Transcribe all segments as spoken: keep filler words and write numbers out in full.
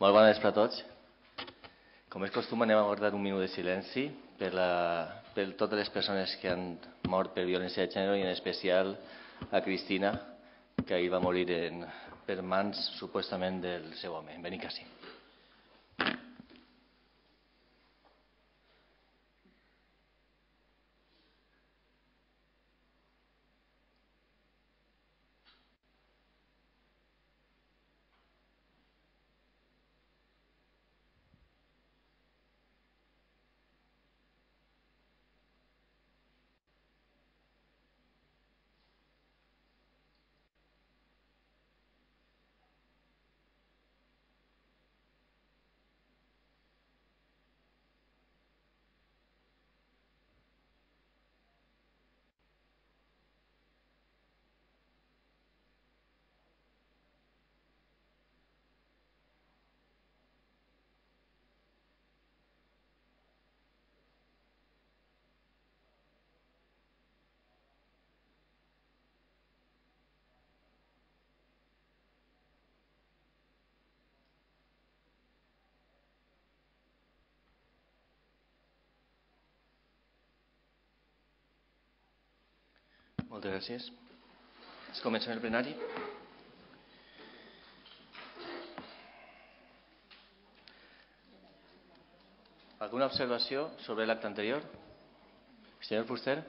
Molt bona vespre a tots. Com és costum, anem a guardar un minut de silenci per, la, per totes les persones que han mort per violència de gènere i en especial a Cristina, que ahir va morir en, per mans supostament del seu home, en Benicàssim. Moltes gràcies. Es comença el plenari. Alguna observació sobre l'acte anterior? Senyor Fuster.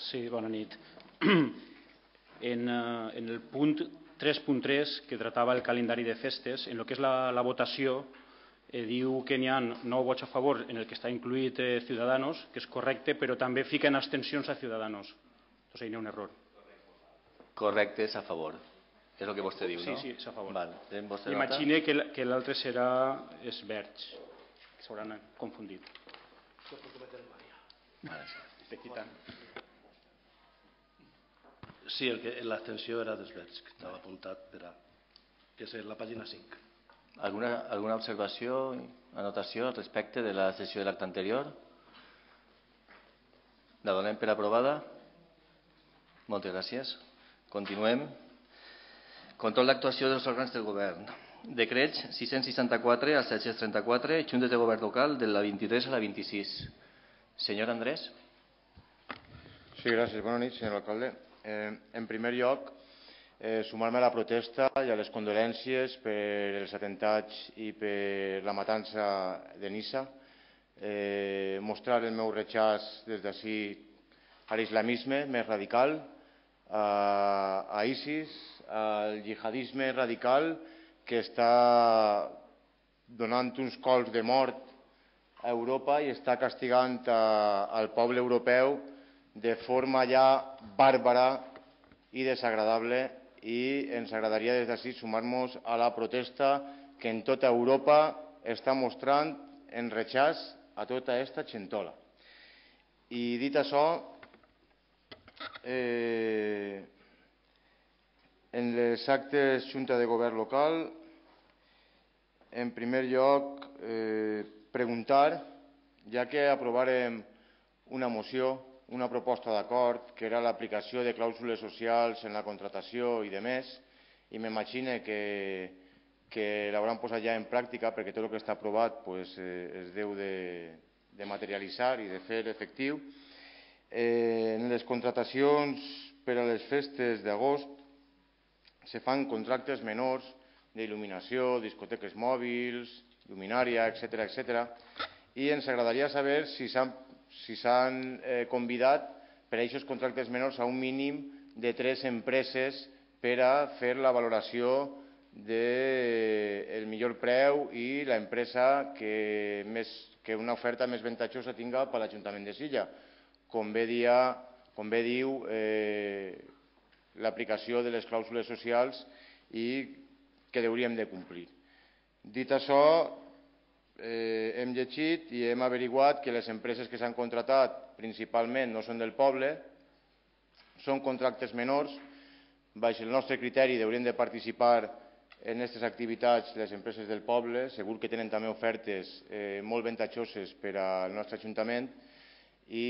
Sí, bona nit. En, en el punt tres punt tres, que tratava el calendari de festes, en el que és la, la votació, eh, diu que n'hi ha nou vots a favor en el que està incluït eh, Ciudadanos, que és correcte, però també fiquen abstencions a Ciudadanos. Entonces hi ha un error. Correcte, és a favor. És el que vostè diu, sí, no? Sí, sí, és a favor. Val. Imagine que, que l'altre serà és Verge, que s'hauran confundit. Estic quitant. Sí, l'abstenció era dels Verds, que estava apuntat per a... que és la pàgina cinc. Alguna, alguna observació, anotació respecte de la sessió de l'acte anterior? La donem per aprovada? Moltes gràcies. Continuem. Control d'actuació dels òrgans del govern. Decrets sis-cents seixanta-quatre al set-cents trenta-quatre, juntes de govern local de la vint-i-tres a la vint-i-sis. Senyor Andrés. Sí, gràcies. Bona nit, senyor alcalde. Eh, en primer lloc, eh, sumar-me a la protesta i a les condolències per els atentats i per la matança de Niça. Eh, mostrar el meu rechaç des d'ací a l'islamisme més radical, a, a ISIS, al jihadisme radical que està donant uns colps de mort a Europa i està castigant a, al poble europeu de forma ja bàrbara i desagradable, i ens agradaria des d'ací sumar-nos a la protesta que en tota Europa està mostrant en rechaç a tota aquesta xentola. I dit això, eh, en les actes Junta de Govern local, en primer lloc, eh, preguntar, ja que aprovarem una moció, una proposta d'acord, que era l'aplicació de clàusules socials en la contratació i de més, i m'imagino que, que l'hauran posat ja en pràctica, perquè tot el que està aprovat pues, eh, es deu de, de materialitzar i de fer efectiu. Eh, en les contratacions per a les festes d'agost se fan contractes menors d'il·luminació, discoteques mòbils, lluminària, etcètera, etcètera, i ens agradaria saber si s'han si s'han eh, convidat per a aquests contractes menors a un mínim de tres empreses per a fer la valoració del millor preu i l'empresa que, més, que una oferta més avantatjosa tinga per a l'Ajuntament de Silla. Com bé, dia, com bé diu eh, l'aplicació de les clàusules socials i que hauríem de complir. Dit això, Eh, hem llegit i hem averiguat que les empreses que s'han contratat principalment no són del poble, són contractes menors. Baix el nostre criteri haurien de participar en aquestes activitats les empreses del poble, segur que tenen també ofertes eh, molt avantatjoses per al nostre Ajuntament, i,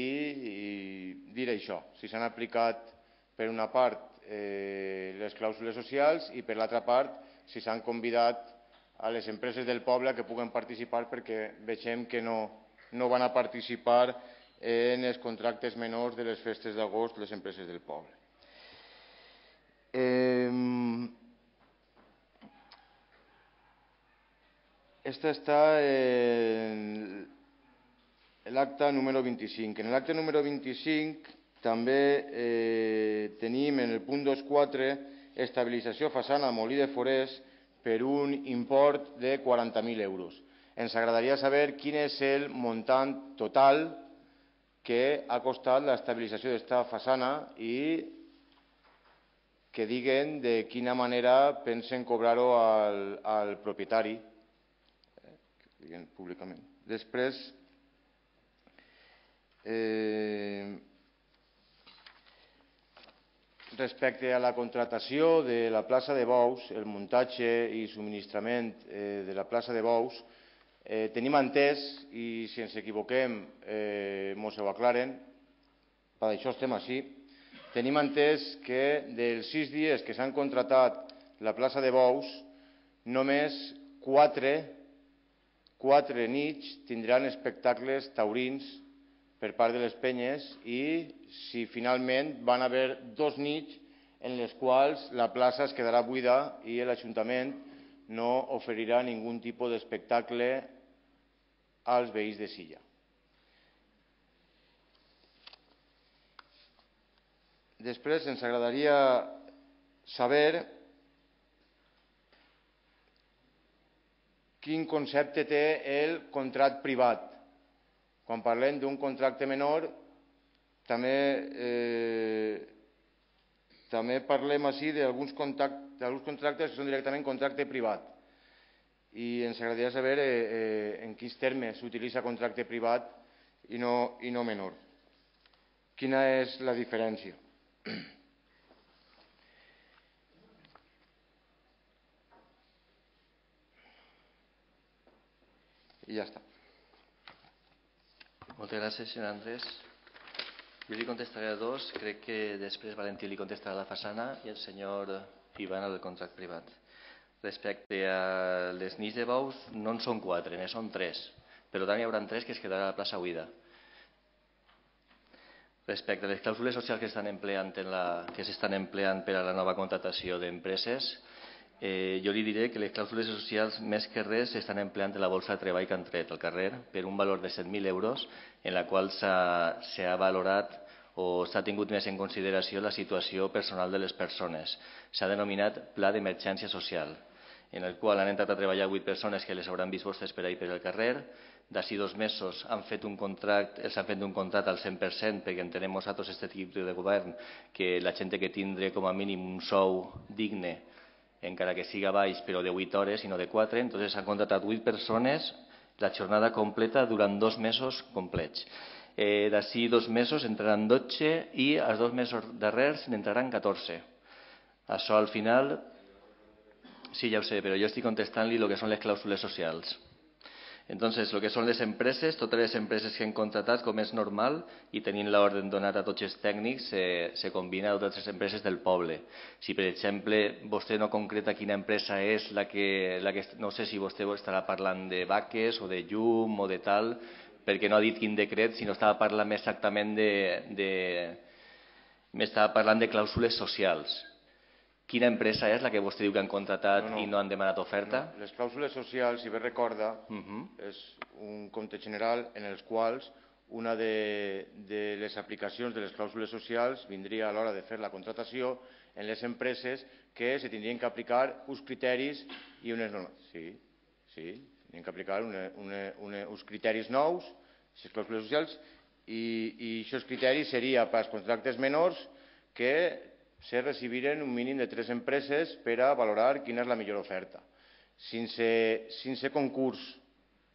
i dir això, si s'han aplicat per una part eh, les clàusules socials i per l'altra part si s'han convidat a les empreses del poble que puguen participar, perquè vegem que no, no van a participar en els contractes menors de les festes d'agost les empreses del poble. Eh, esta està en l'acte número vint-i-cinc. En l'acte número vint-i-cinc també eh, tenim en el punt dos punt quatre estabilització façana Molí de Forès per un import de quaranta mil euros. Ens agradaria saber quin és el muntant total que ha costat l'estabilització d'aquesta façana i que diguen de quina manera pensen cobrar-ho al, al propietari, eh, que diguen públicament. Després, eh, respecte a la contratació de la plaça de bous, el muntatge i subministrament eh, de la plaça de bous, eh, tenim entès, i si ens equivoquem eh, mos ho aclaren, per això estem així, tenim entès que dels sis dies que s'han contratat la plaça de bous, només quatre, quatre nits tindran espectacles taurins per part de les penyes i si finalment van haver dos nits en les quals la plaça es quedarà buida i l'Ajuntament no oferirà ningú tipus d'espectacle als veïns de Silla. Després ens agradaria saber quin concepte té el contracte privat. Quan parlem d'un contracte menor, també, eh, també parlem així d'alguns contractes que són directament contracte privat. I ens agradaria saber eh, eh, en quins termes s'utilitza contracte privat i no, i no menor. Quina és la diferència? I ja està. Moltes gràcies, senyor Andrés. Jo li contestaré a dos, crec que després Valentí li contestarà a la façana i el senyor Ivan al contracte privat. Respecte a les nits de bous, no en són quatre, ne són tres. Per tant, hi haurà tres que es quedarà a la plaça buida. Respecte a les clàusules socials que s'estan empleant, en la, que s'estan empleant per a la nova contratació d'empreses, eh, jo li diré que les clàusules socials més que res s'estan empleant en la bolsa de treball que han tret al carrer per un valor de set mil euros en la qual s'ha valorat o s'ha tingut més en consideració la situació personal de les persones. S'ha denominat Pla d'Emergència Social, en el qual han entrat a treballar vuit persones que les hauran vist vostès per ahir per el carrer. D'ací dos mesos han fet un contracte, els han fet un contracte al cent per cent perquè entenem nosaltres, aquest equip de govern, que la gent que tindrà com a mínim un sou digne, encara que siga baix, però de vuit hores i no de quatre. Entonces s'han contractat vuit persones, la jornada completa durant dos mesos complets. Eh, D'ací dos mesos entraran dotze i als dos mesos darrers n'entraran catorze. Això al final, sí, ja ho sé, però jo estic contestant-li el que són les clàusules socials. Entonces, lo que són les empreses, totes les empreses que han contratat, com és normal, i tenint l'ordre donat a tots els tècnics, se, se combina a totes les empreses del poble. Si, per exemple, vostè no concreta quina empresa és la que, la que... No sé si vostè estarà parlant de vaques o de llum o de tal, perquè no ha dit quin decret, sinó estava parlant exactament de... de m'estava parlant de clàusules socials. Quina empresa és la que vostè diu que han contratat no, no. i no han demanat oferta? No. Les clàusules socials, si bé recorda, uh -huh. és un compte general en els quals una de, de les aplicacions de les clàusules socials vindria a l'hora de fer la contratació en les empreses que se tindrien que aplicar uns criteris i unes normes. Sí, sí, tindrien que aplicar una, una, una, uns criteris nous, les clàusules socials, i, i aquests criteris serien per als contractes menors que se recibiren un mínim de tres empreses per a valorar quina és la millor oferta. Sense, sense concurs,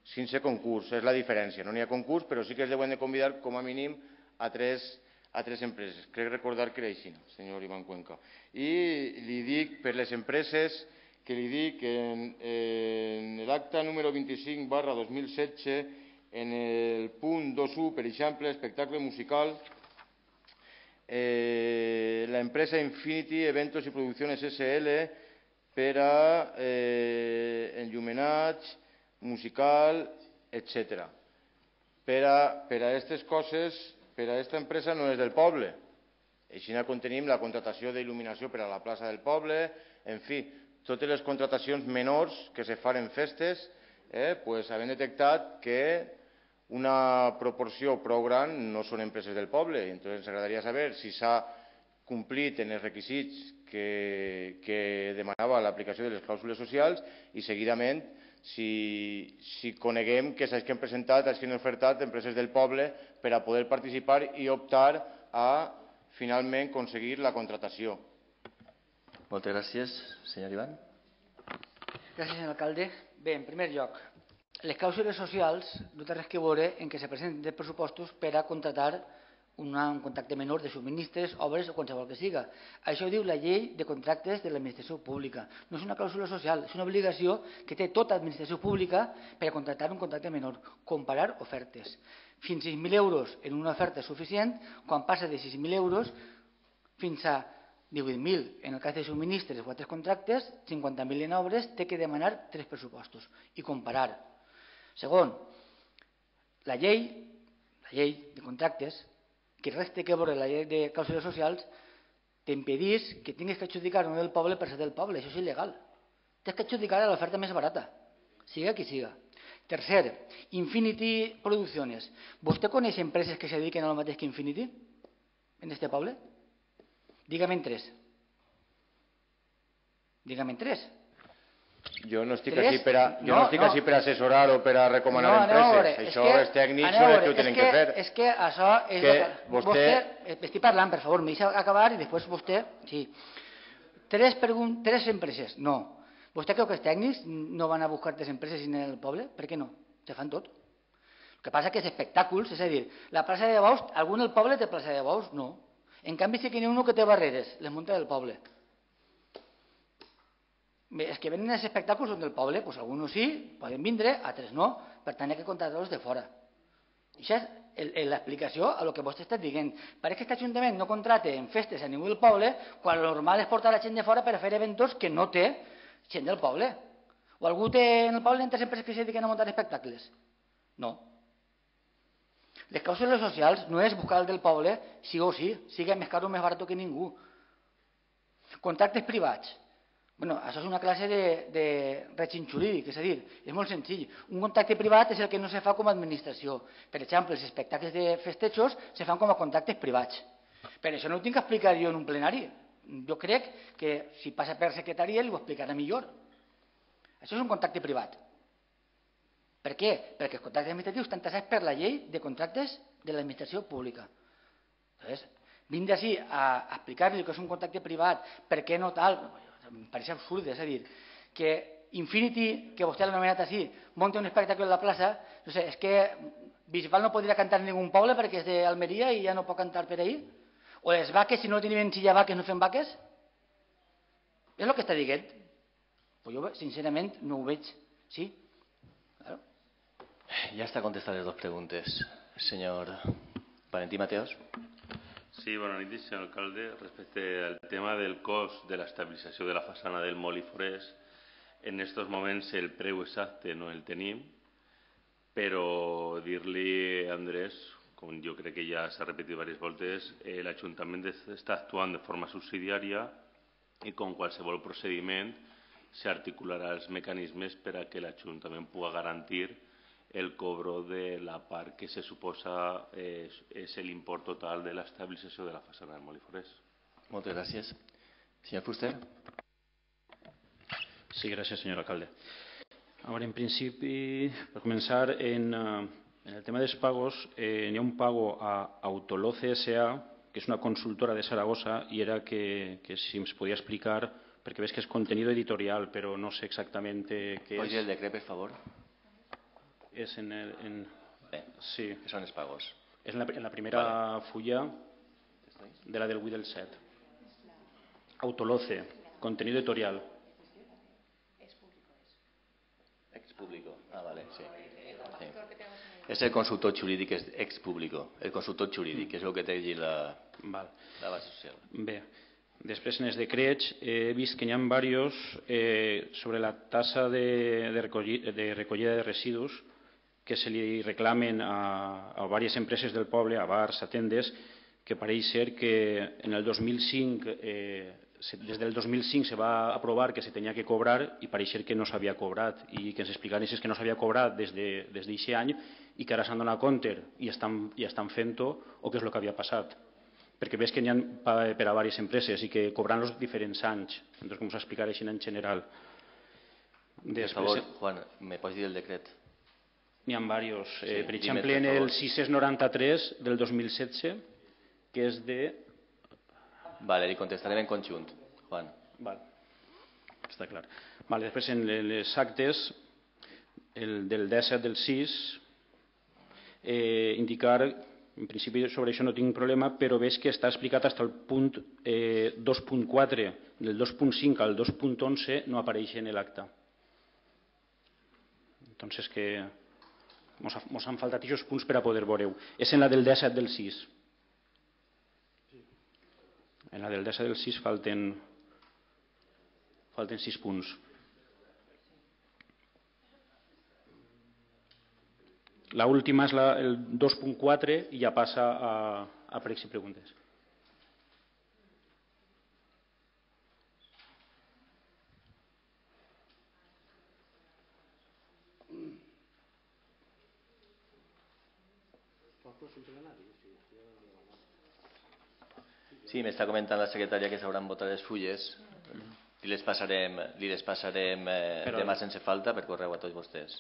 sense concurs, és la diferència. No n'hi ha concurs, però sí que es deuen de convidar com a mínim a tres, a tres empreses. Crec recordar que era així, senyor Ivan Cuenca. I li dic per les empreses que li dic que en, en l'acte número vint-i-cinc barra dos mil setze, en el punt dos punt u, per exemple, espectacle musical, Eh, la empresa Infinity Eventos y Producciones S L per a eh, enllumenats, musical, etcètera. Per a aquestes coses, per a aquesta empresa no és del poble. Així quan tenim la contratació d'il·luminació per a la plaça del poble, en fi, totes les contratacions menors que se fan en festes, hem detectat que una proporció prou gran no són empreses del poble. Entonces ens agradaria saber si s'ha complit en els requisits que demanava l'aplicació de les clàusules socials i seguidament si coneguem que s'hagin presentat, s'hagin ofertat empreses del poble per a poder participar i optar a finalment aconseguir la contratació. Moltes gràcies. Senyor Ivan. Gràcies, senyor alcalde. Bé, en primer lloc, les clàusules socials no té res que veure en què se presenten pressupostos per a contratar un contracte menor de subministres, obres o qualsevol que siga. Això ho diu la llei de contractes de l'administració pública. No és una clàusula social, és una obligació que té tota administració pública per a contractar un contracte menor, comparar ofertes. Fins a sis mil euros en una oferta és suficient, quan passa de sis mil euros fins a divuit mil en el cas de subministres o altres contractes, cinquanta mil en obres, té que demanar tres pressupostos i comparar. Segon, la llei, la llei de contractes, que res té que veure la llei de clàusules socials, t'impedís que tinguis que adjudicar no del poble per ser del poble. Això és il·legal. Tens que adjudicar a l'oferta més barata, siga qui siga. Tercer, Infinity Producciones. ¿Vostè coneix empreses que se dediquen a lo mateix que Infinity en este poble? Dígame en tres. Dígame en tres. Jo no estic així per a, jo no estic així per a assessorar o per a recomanar empreses. Això els tècnics són els que ho tenen que fer. És que això és... Vostè... Estic parlant, per favor, m'hi deixa acabar i després vostè... Sí. Tres empreses, no. ¿Vostè creu que els tècnics no van a buscar tres empreses en el poble? Per què no? Se fan tot. El que passa que és espectacles, és a dir, la plaça de bous, algú del poble té plaça de bous? No. En canvi sí que n'hi ha un que té barreres, les munta del poble. Bé, els que venen als espectacles són del poble, doncs alguns sí, poden vindre, altres no, per tant hi ha que contratar-los de fora. Això és l'explicació a el que vostè està dient. Pareix que aquest ajuntament no contrata en festes a ningú del poble, quan el normal és portar la gent de fora per a fer eventos que no té gent del poble. O algú té en el poble altres empreses que se dediquen a muntar espectacles? No. Les clàusules socials no és buscar el del poble sí o sí, sigui més car o més barat que ningú. Contractes privats. Bueno, això és una classe de règim jurídic, és a dir, és molt senzill. Un contracte privat és el que no se fa com a administració. Per exemple, els espectacles de festejos se fan com a contractes privats. Per això no ho tinc que explicar jo en un plenari. Jo crec que si passa per secretaria li ho explicarà millor. Això és un contracte privat. Per què? Perquè els contractes administratius estan taxats per la llei de contractes de l'administració pública. Llavors, vindre així a explicar-li que és un contracte privat, per què no tal... Em pareix absurd, és a dir, que Infinity, que vostè l'ha anomenat així, monta un espectacle a la plaça, no sé, és que Bisbal no podria cantar en ningú poble perquè és d'Almeria i ja no pot cantar per ahir? O les vaques, si no tenim silla vaques, no fem vaques? És el que està dient. Pues jo, sincerament, no ho veig. Sí? Claro. Ya está contestada las dos preguntas. Señor Valentí Mateos. Sí, bona nit, senyor alcalde. Respecte al tema del cost de l'estabilització de la façana del Molí Forès, en aquests moments el preu exacte no el tenim, però dir-li a Andrés, com jo crec que ja s'ha repetit diverses voltes, l'Ajuntament està actuant de forma subsidiària i com qualsevol procediment s'articularà els mecanismes per a que l'Ajuntament pugui garantir el cobro de la part que se suposa és, és l'import total de l'estabilització de la façana del Molí Forès. Moltes gràcies. Senyor Fuster. Sí, gràcies, senyor alcalde. Ahora, en principi, per començar, en, en el tema dels pagos, eh, hi ha un pago a Autoloce S A, que és una consultora de Saragossa, i era que, que si ens podia explicar, perquè veig que és contenido editorial, però no sé exactament què és. Oye, el decret, per favor. És en el... En... Bé, sí. que són els pagos. És en la, en la primera vale. fulla de la del vuit del set. Autoloce, contenido editorial. Ex público. Ah, vale, sí. sí. És el consultor jurídic, és ex público. El consultor jurídic, és el que té allí la, Val. la base social. Bé, Després, en els decrets, he vist que n'hi ha diversos eh, sobre la tassa de, de, recollir, de recollida de residus que se li reclamen a, a diverses empreses del poble, a bars, a tendes, que pareix ser que en el dos mil cinc, eh, des del dos mil cinc se va aprovar que se tenia que cobrar i pareix ser que no s'havia cobrat i que ens explicaressin que no s'havia cobrat des d'aquest de, any i que ara s'han donat compte i estan, i estan fent-ho o què és el que havia passat. Perquè veig que n'hi ha per a diverses empreses i que cobran els diferents anys. Entonces, com s'explicarà així en general. Per favor, Juan, me pots dir el decret? N'hi ha diversos. Sí, eh, per exemple, en el sis-cents noranta-tres del dos mil setze, que és de... Vale, li contestarem en conjunt, Juan. Vale. Està clar. Vale, després, en les actes, el del disset del sis, eh, indicar... En principi sobre això no tinc problema, però veig que està explicat fins al punt eh, dos punt quatre, del dos punt cinc al dos punt onze no apareix en l'acte. Entonces que mos, mos han faltat aquests punts per a poder veure-ho. És en la del disset del sis. En la del disset del sis falten, falten sis punts. La última és la, el dos punt quatre i ja passa a, a pregs i preguntes. Sí, m'està comentant la secretària que s'hauran votat les fulles. Li les passarem, li les passarem eh, Però... demà sense falta per correu a tots vostès.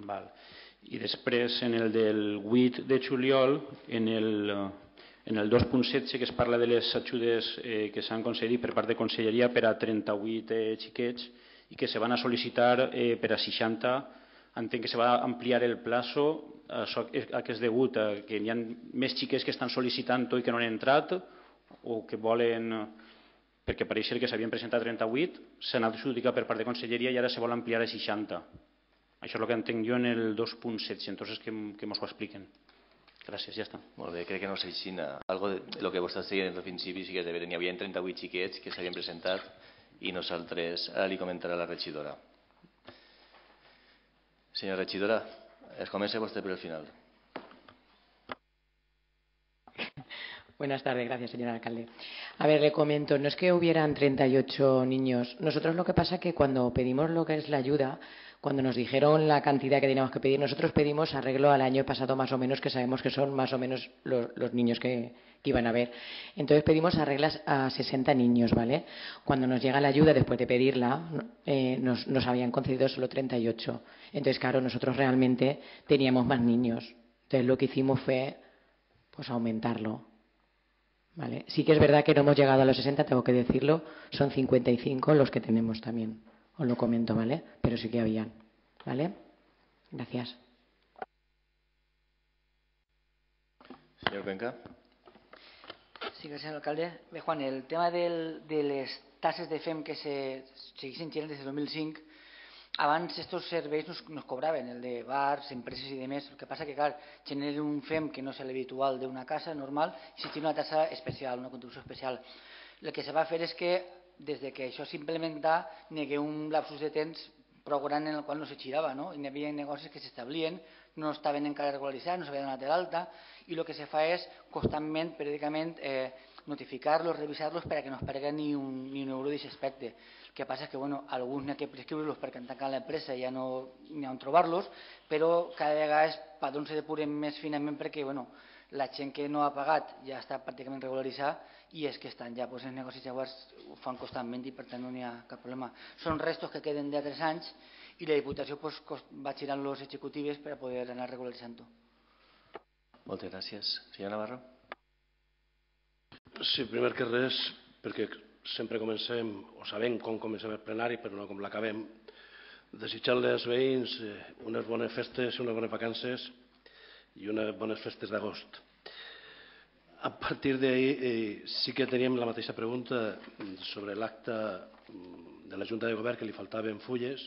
Val. I després, en el del vuit de juliol, en el, en el dos punt setze, que es parla de les ajudes eh, que s'han concedit per part de Conselleria per a trenta-vuit eh, xiquets i que se van a sol·licitar eh, per a seixanta, entenc que se va ampliar el plazo, això que és degut a que hi ha més xiquets que estan sol·licitant-ho i que no han entrat o que volen, perquè pareix ser que s'havien presentat trenta-vuit, s'han adjudicat per part de Conselleria i ara se vol ampliar a seixanta. Això és el que entenc jo en el dos punt setze, entonces que, que mos ho expliquen. Gràcies, ja està. Molt bé, crec que no s'aixina. Algo de lo que vostè deia al principi sí que és de veure. N'hi havia trenta-vuit xiquets que s'havien presentat i nosaltres, ara li comentarà la regidora. Senyora regidora, es comença vostè per el final. Buenas tardes, gracias, señor alcalde. A ver, le comento, no es que hubieran treinta y ocho niños. Nosotros lo que pasa es que cuando pedimos lo que es la ayuda, cuando nos dijeron la cantidad que teníamos que pedir, nosotros pedimos arreglo al año pasado más o menos, que sabemos que son más o menos los, los niños que, que iban a haber. Entonces pedimos arreglas a sesenta niños, ¿vale? Cuando nos llega la ayuda, después de pedirla, eh, nos, nos habían concedido solo treinta y ocho. Entonces, claro, nosotros realmente teníamos más niños. Entonces, lo que hicimos fue pues aumentarlo. ¿Vale? Sí que es verdad que no hemos llegado a los sesenta, tengo que decirlo, son cincuenta y cinco los que tenemos también. Os lo comento, ¿vale? Pero sí que habían, ¿vale? Gracias. Señor Cuenca. Sí, gràcies, alcalde. Bé, Juan, el tema del, de les tasses de F E M que se segueixen generant des del dos mil cinc, abans estos serveis nos, nos cobraven, el de bars, empreses i demés. El que passa que, clar, generen un F E M que no és l'habitual d'una casa normal i si tiene una tassa especial, una contribució especial. El que se va fer és que, des de que això s'implementà, n'hi hagué un lapsus de temps prou gran en el qual no se girava, no? I hi havia negocis que s'establien, no estaven encara regularitzats, no s'havien donat de l'alta, i el que se fa és constantment, periòdicament, eh, notificar-los, revisar-los perquè no es perdrà ni un, ni un euro d'aquest aspecte. El que passa és que bueno, alguns n'hi ha que prescriure-los perquè han tancat l'empresa i ja no n'hi ha on trobar-los, però cada vegada els patrons se depuren més finament perquè bueno, la gent que no ha pagat ja està pràcticament regularitzada i és que estan ja, doncs, els negocis llavors ho fan constantment i per tant no n'hi ha cap problema. Són restos que queden de tres anys i la Diputació doncs, va girant les executives per a poder anar regularitzant-ho. Moltes gràcies. Senyor Navarro. Sí, primer que res, perquè sempre comencem, o sabem com comencem el plenari, però no com l'acabem, desitjant-li als veïns unes bones festes, unes bones vacances i unes bones festes d'agost. A partir d'ahir eh, sí que teníem la mateixa pregunta sobre l'acte de la Junta de Govern que li faltaven fulles,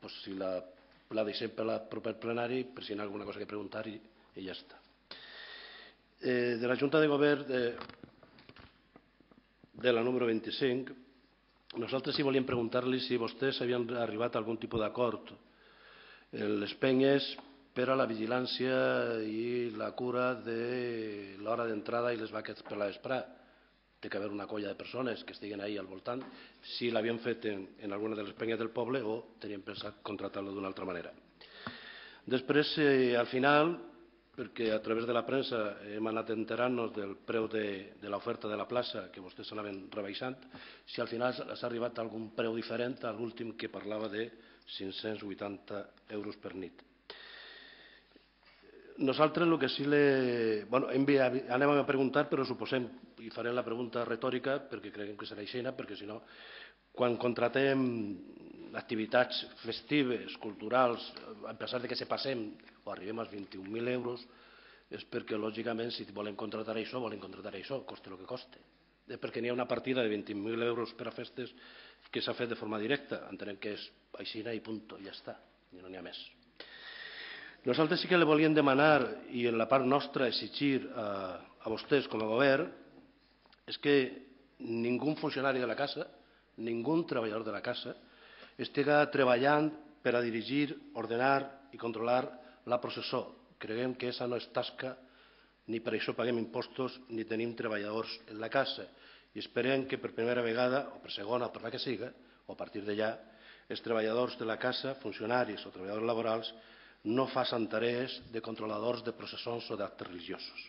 pues si la, la deixem per al proper plenari, per si hi ha alguna cosa que preguntar i, i ja està. Eh, de la Junta de Govern, eh, de la número vint-i-cinc, nosaltres sí volíem preguntar-li si vostès havien arribat a algun tipus d'acord en les penyes per a la vigilància i la cura de l'hora d'entrada i les vaques per la vesprà. Té que haver una colla de persones que estiguen ahí al voltant, si l'havien fet en, en alguna de les penyes del poble o tenien pensat contratar-lo d'una altra manera. Després, eh, al final, perquè a través de la premsa hem anat enterant-nos del preu de, de l'oferta de la plaça que vostès s'anaven rebaixant, si al final s'ha arribat a algun preu diferent a l'últim que parlava de cinc-cents vuitanta euros per nit. Nosaltres el que sí le... Bueno, anem a preguntar, però suposem, i farem la pregunta retòrica perquè creiem que serà aixina, perquè si no, quan contratem activitats festives, culturals, a pesar de que se passem o arribem als vint-i-un mil euros, és perquè, lògicament, si volem contratar això, volem contratar això, coste el que coste. És perquè n'hi ha una partida de vint mil euros per a festes que s'ha fet de forma directa. Entenem que és aixina i punt, i ja està, i no n'hi ha més. Nosaltres sí que li volíem demanar, i en la part nostra exigir a, a vostès com a govern, és que ningú funcionari de la casa, ningú treballador de la casa, estiga treballant per a dirigir, ordenar i controlar la processó. Creiem que aquesta no és tasca, ni per això paguem impostos, ni tenim treballadors en la casa. I esperem que per primera vegada, o per segona, o per la que siga, o a partir d'allà, els treballadors de la casa, funcionaris o treballadors laborals, no facin tarees de controladors de processons o d'actes religiosos.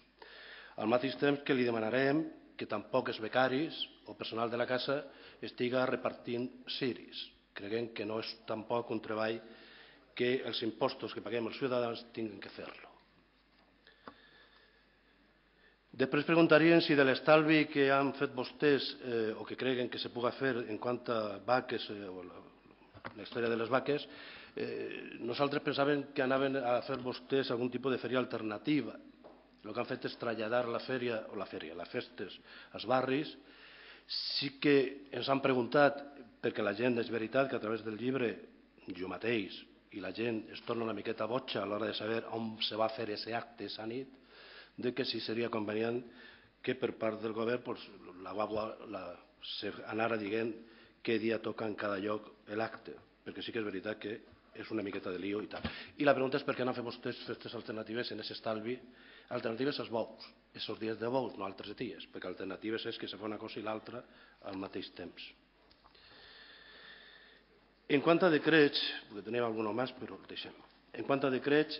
Al mateix temps que li demanarem que tampoc els becaris o personal de la casa estiga repartint ciris. Creiem que no és tampoc un treball que els impostos que paguem els ciutadans tinguin que fer-lo. Després preguntarien si de l'estalvi que han fet vostès eh, o que creuen que se pugui fer en quant a vaques eh, o la, la història de les vaques, eh, nosaltres pensàvem que anaven a fer vostès algun tipus de fèria alternativa. El que han fet és traslladar la fèria, o la fèria, les festes als barris. Sí que ens han preguntat, perquè la gent és veritat que a través del llibre, jo mateix, i la gent es torna una miqueta boja a l'hora de saber on se va fer aquest acte aquesta nit, de que sí seria convenient que per part del govern pues, la guagua la, se anara dient què dia toca en cada lloc l'acte, perquè sí que és veritat que és una miqueta de lío i tal. I la pregunta és per què no fem vostès festes alternatives en aquest estalvi, alternatives als bous, aquests dies de bous, no altres dies, perquè alternatives és que se fa una cosa i l'altra al mateix temps. En quant a decrets, perquè tenim algun més, però el deixem. En quant a decrets,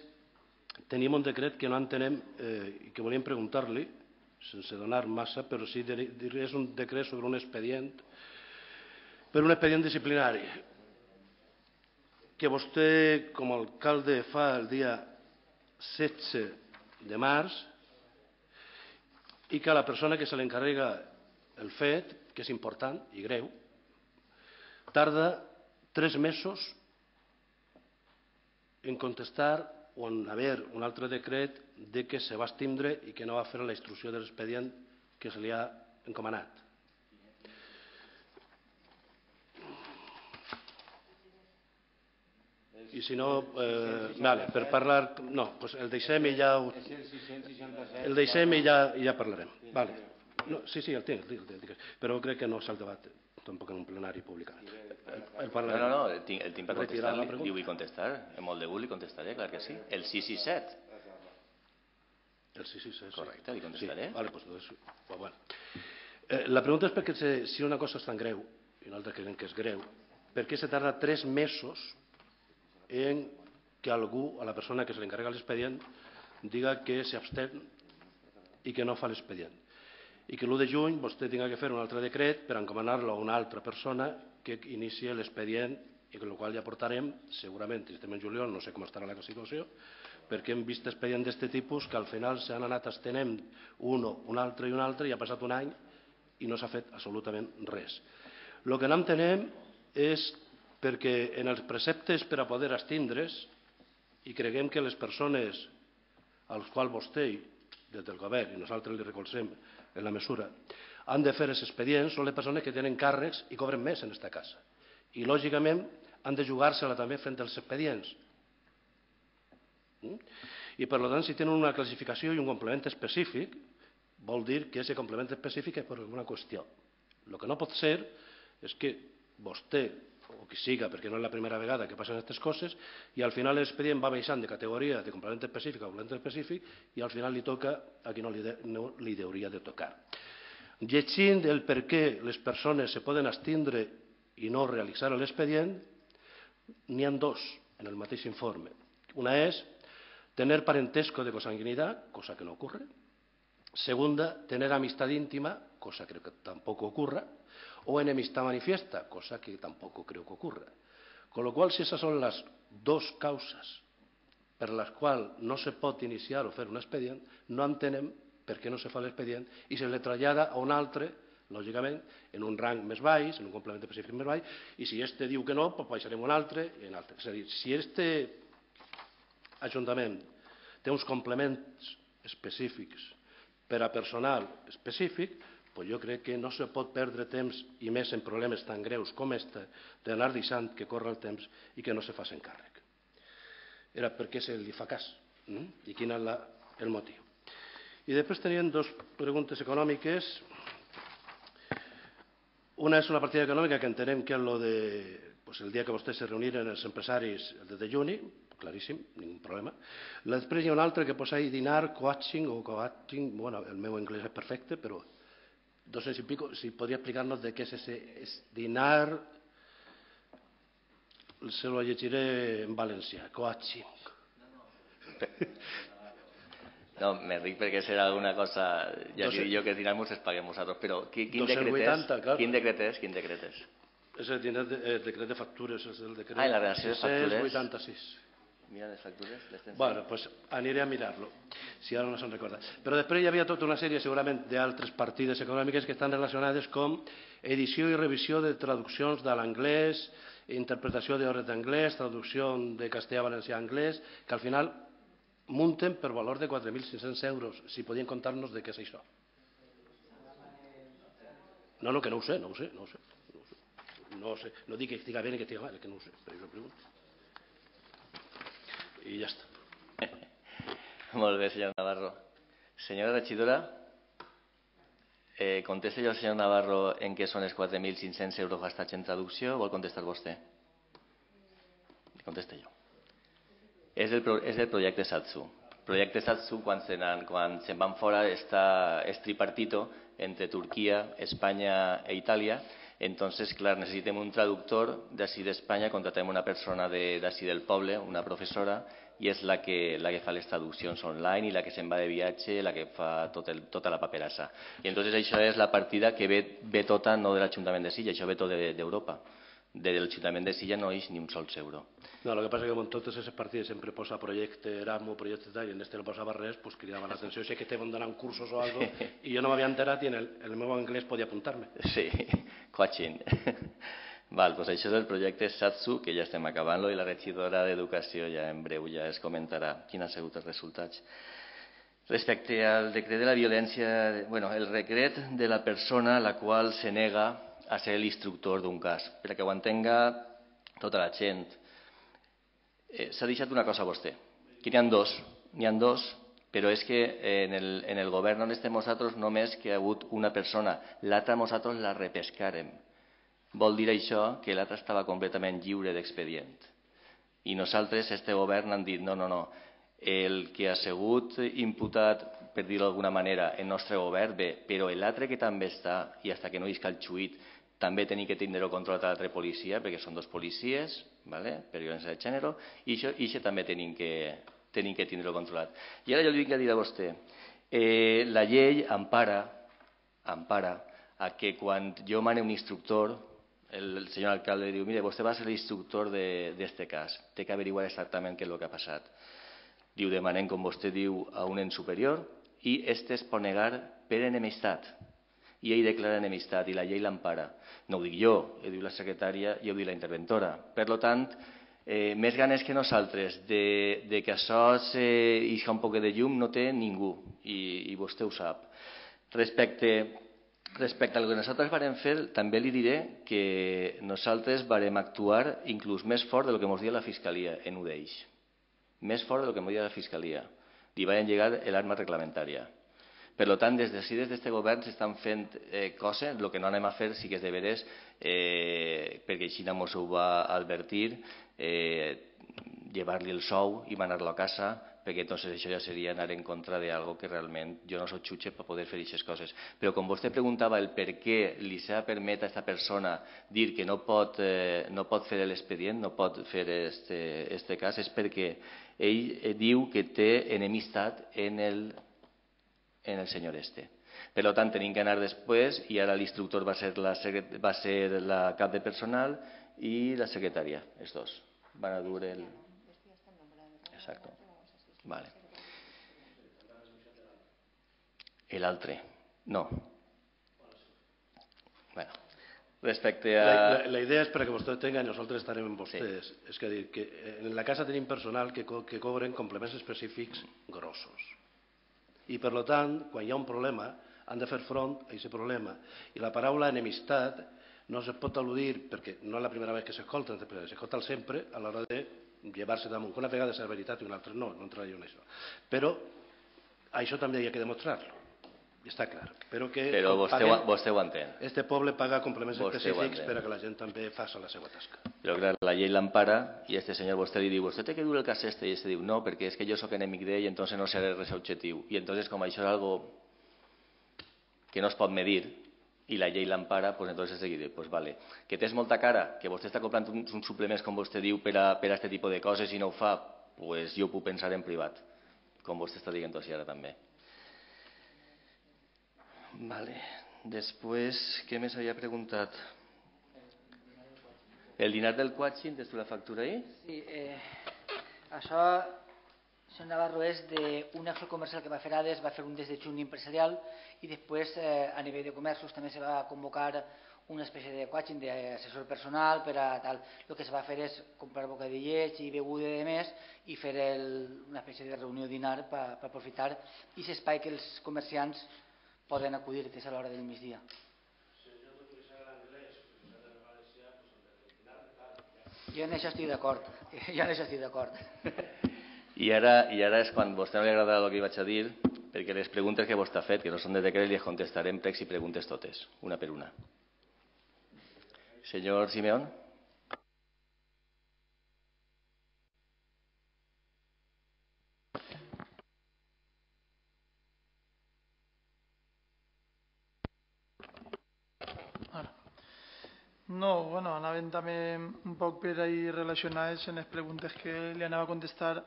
tenim un decret que no entenem eh, i que volíem preguntar-li, sense donar massa, però sí que és un decret sobre un expedient, per un expedient disciplinari, que vostè, com a alcalde, fa el dia setze de març i que a la persona que se li encarrega el fet, que és important i greu, tarda tres mesos en contestar o en haver un altre decret de que se va extindre i que no va fer la instrucció de l'expedient que se li ha encomanat. I si no, eh, vale, per parlar... No, pues el deixem i ja... Ho, el deixem i ja, i ja parlarem. Vale. No, sí, sí, el tinc, el tinc, però crec que no s'ha el debat tampoc en un plenari públicament. El no, no, no, el tinc, el tinc per contestar, li vull contestar, amb molt de gust li contestaré, clar que sí. El sis sis set. El sis sis set, sí. Correcte, li contestaré. Sí, vale, pues, bueno. eh, la pregunta és perquè se, si una cosa és tan greu, i nosaltres creiem que és greu, per què se tarda tres mesos en que algú, a la persona que se li encarrega l'expedient, diga que s'abstén i que no fa l'expedient. I que l'u de juny vostè tinga que fer un altre decret per encomanar-lo a una altra persona que inicie l'expedient i amb el qual ja portarem, segurament, si estem en juliol, no sé com estarà la situació, perquè hem vist expedients d'aquest tipus que al final s'han anat estenent un, un altre i un altre i ha passat un any i no s'ha fet absolutament res. El que no entenem és perquè en els preceptes per a poder extindre's, i creguem que les persones als quals vostè, des del govern, i nosaltres li recolzem en la mesura, han de fer els expedients, són les persones que tenen càrrecs i cobren més en aquesta casa. I, lògicament, han de jugar-se-la també fent els expedients. I, per tant, si tenen una classificació i un complement específic, vol dir que aquest complement específic és per alguna qüestió. El que no pot ser és que vostè, o qui siga, perquè no és la primera vegada que passen aquestes coses, i al final l'expedient va baixant de categoria de complement específic a complement específic i al final li toca a qui no li, de, no li hauria de tocar. Llegint el per què les persones se poden abstindre i no realitzar l'expedient, n'hi ha dos en el mateix informe. Una és tener parentesco de consanguinidad, cosa que no ocurre. Segunda, tener amistad íntima, cosa que tampoco ocurra. O enemistad manifiesta, cosa que tampoco creo que ocurra. Con lo cual, si esas son las dos causas per les quals no se pot iniciar o fer un expedient, no entenem per què no se fa l'expedient i se le trasllada a un altre, lògicament, en un rang més baix, en un complement específic més baix, i si este diu que no, doncs baixarem un altre i un altre. És a dir, si este Ajuntament té uns complements específics per a personal específic, doncs jo crec que no se pot perdre temps, i més en problemes tan greus com este, d'anar deixant que corre el temps i que no se facin càrrec. Era per què se li fa cas i quin és el motiu. I després tenien dues preguntes econòmiques. Una és una partida econòmica que entenem que és lo de, pues el dia que vostès se reuniren els empresaris el de juny, claríssim, ningú problema. Després hi ha una altra que posa ahí dinar, coaching o coaching, bueno, el meu anglès és perfecte, però no sé si, pico, si podria explicar-nos de què és ese es dinar, se lo llegiré en valencià, coaching. No, me ric perquè serà alguna cosa, ja que jo que dinar-nos es paguem nosaltres, però quin decret és? Quin decret és? Quin decret és? És el decret de factures, és el decret Ah, la relació de factures. sis cents vuitanta-sis. Mira les factures. Bueno, doncs aniré a mirar-lo, si ara no se'n recorda. Però després hi havia tota una sèrie, segurament, d'altres partides econòmiques que estan relacionades com edició i revisió de traduccions de l'anglès, interpretació d'hores d'anglès, traducció de castellà, valencià, anglès, que al final munten per valor de quatre mil cinc-cents euros. Si podien contar-nos de què és això. No, no, que no ho sé, no ho sé, no ho sé. No ho sé, no dic que estiga bé ni que estiga mal, que no ho sé, per això pregunto. I ja està. Molt bé, senyor Navarro. Senyora regidora, eh, contesta jo al senyor Navarro en què són els quatre mil cinc-cents euros gastats en traducció o vol contestar vostè? Contesta jo. És el, pro, és el projecte SATSU. El projecte SATSU, quan se'n quan se van fora, està, és tripartito entre Turquia, Espanya e Itàlia. Entonces, clar, necessitem un traductor d'ací d'Espanya, contratem una persona d'ací del poble, una professora, i és la que, la que fa les traduccions online i la que se'n va de viatge, la que fa tot el, tota la paperassa. I entonces això és la partida que ve, ve tota no de l'Ajuntament de Silla, això ve tot d'Europa. De l'Ajuntament de Silla no és ni un sol euro. No, el que passa és que en totes aquestes partides sempre posa projecte Erasmus, projecte tal, i en este no posava res, pues cridava l'atenció. Sé que estaven donant cursos o algo, i jo no m'havia enterat i en el, el meu anglès podia apuntar-me. Sí, coaching. Val, doncs això és el projecte SATSU, que ja estem acabant-lo, i la regidora d'Educació ja en breu ja es comentarà quins han sigut els resultats. Respecte al decret de la violència, bueno, el decret de la persona a la qual se nega a ser l'instructor d'un cas, perquè ho entenga tota la gent. Eh, S'ha deixat una cosa a vostè, que n'hi ha dos, n'hi ha dos, però és que en el, en el govern on estem nosaltres només que hi ha hagut una persona, l'altra nosaltres la repescarem. Vol dir això que l'altra estava completament lliure d'expedient. I nosaltres, este govern, han dit no, no, no, el que ha sigut imputat, per dir-ho d'alguna manera, el nostre govern, bé, però l'altre que també està, i fins que no isca el xuit, també tenim que tindre-ho controlat a l'altra policia, perquè són dos policies, ¿vale? Per violència de gènere, i això, i això també tenim que, tenim que tindre-ho controlat. I ara jo li vinc a dir a vostè, eh, la llei empara, empara a que quan jo mane un instructor, el, el senyor alcalde diu, mire, vostè va ser l'instructor d'aquest cas, té que averiguar exactament què és el que ha passat. Diu, demanem, com vostè diu, a un ens superior, i este es pot negar per enemistat. I ell declara enemistat i la llei l'empara. No ho dic jo, ho diu la secretària i ho diu la interventora. Per tant, eh, més ganes que nosaltres de, de que això s'isca un poc de llum no té ningú, i, i vostè ho sap. Respecte, respecte al que nosaltres varem fer, també li diré que nosaltres varem actuar inclús més fort del que ens dia la Fiscalia en ho d'ells. Més fort del que ens dia la Fiscalia. Li van llegar l'arma reglamentària. Per tant, des d'ací, des d'aquest govern, s'estan fent coses. El que no anem a fer sí que és de veres, perquè així mos ho va advertir, llevar-li el sou i manar-lo a casa, perquè entonces això ja seria anar en contra d'algo que realment jo no soc jutge per poder fer aquestes coses. Però com vostè preguntava el per què li s'ha permet a aquesta persona dir que no pot fer l'expedient, no pot fer aquest cas, és perquè ell diu que té enemistat en el en el senyor este. Per tant, tenim que anar després i ara l'instructor va ser la cap de personal i la secretària, els dos. Van a dur el... Exacto. Vale. L'altre, no. Bueno, respecte a... La idea és, perquè vostè tenga, nosaltres estarem amb vostès. És que dir que en la casa tenim personal que cobren complements específics grossos. I, per tant, quan hi ha un problema, han de fer front a aquest problema. I la paraula enemistat no se pot al·ludir, perquè no és la primera vegada que s'escolta, s'escolta sempre a l'hora de llevar-se damunt. Una vegada és la veritat i una altra no, no entraré en això. Però això també hi ha que demostrar-lo, i està clar. Però vostè ho entén. Este poble paga complements específics per a que la gent també faci la seva tasca. Però clar, la llei l'empara i este senyor vostè li diu, vostè té que dur el cas este, i este diu, no, perquè és que jo soc enemic d'ell i entonces no seré res objectiu. I entonces com això és algo que no es pot medir i la llei l'empara, doncs entonces es digui, doncs vale, que tens molta cara, que vostè està comprant uns suplements, com vostè diu, per a aquest tipus de coses i no ho fa, doncs jo ho puc pensar en privat, com vostè està dient així ara també. Vale. Després, què més havia preguntat? El dinar del Quatxin, tens tu la factura ahí? Sí, això, senyor Navarro, és d'un acció comercial que va fer Ades, va fer un des de juny empresarial i després a nivell de comerços també se va convocar una espècie de Quatxin d'assessor personal per a tal. El que es va fer és comprar bocadillets i beguda de més i fer una espècie de reunió dinar per aprofitar aquest espai que els comerciants poden acudir, que és a l'hora del migdia. Jo en això estic d'acord. Jo en això estic d'acord. I ara és quan a vostè no li agrada el que vaig a dir, perquè les preguntes que vostè ha fet, que no són de decret, les contestarem pregs i preguntes totes, una per una. Senyor Simeón. No, bueno, anaven també un poc per ahí relacionades en les preguntes que li anava a contestar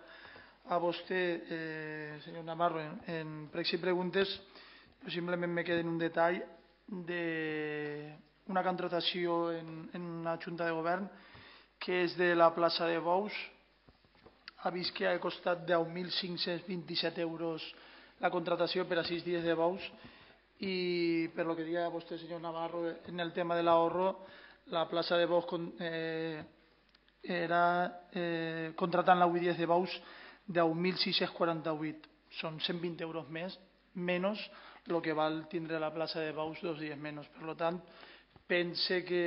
a vostè, eh, senyor Navarro, en pregs i preguntes. Jo simplement me quedo en un detall d'una contratació en, en una junta de govern que és de la plaça de Bous. Ha vist que ha costat deu mil cinc-cents vint-i-set euros la contratació per a sis dies de Bous i per lo que deia vostè, senyor Navarro, en el tema de l'ahorro, la plaça de Bous eh, era eh, contratant la huit dies de Bous deu mil sis-cents quaranta-vuit. Són cent vint euros més, menys el que val tindre la plaça de Bous dos dies menys. Per tant, pense que,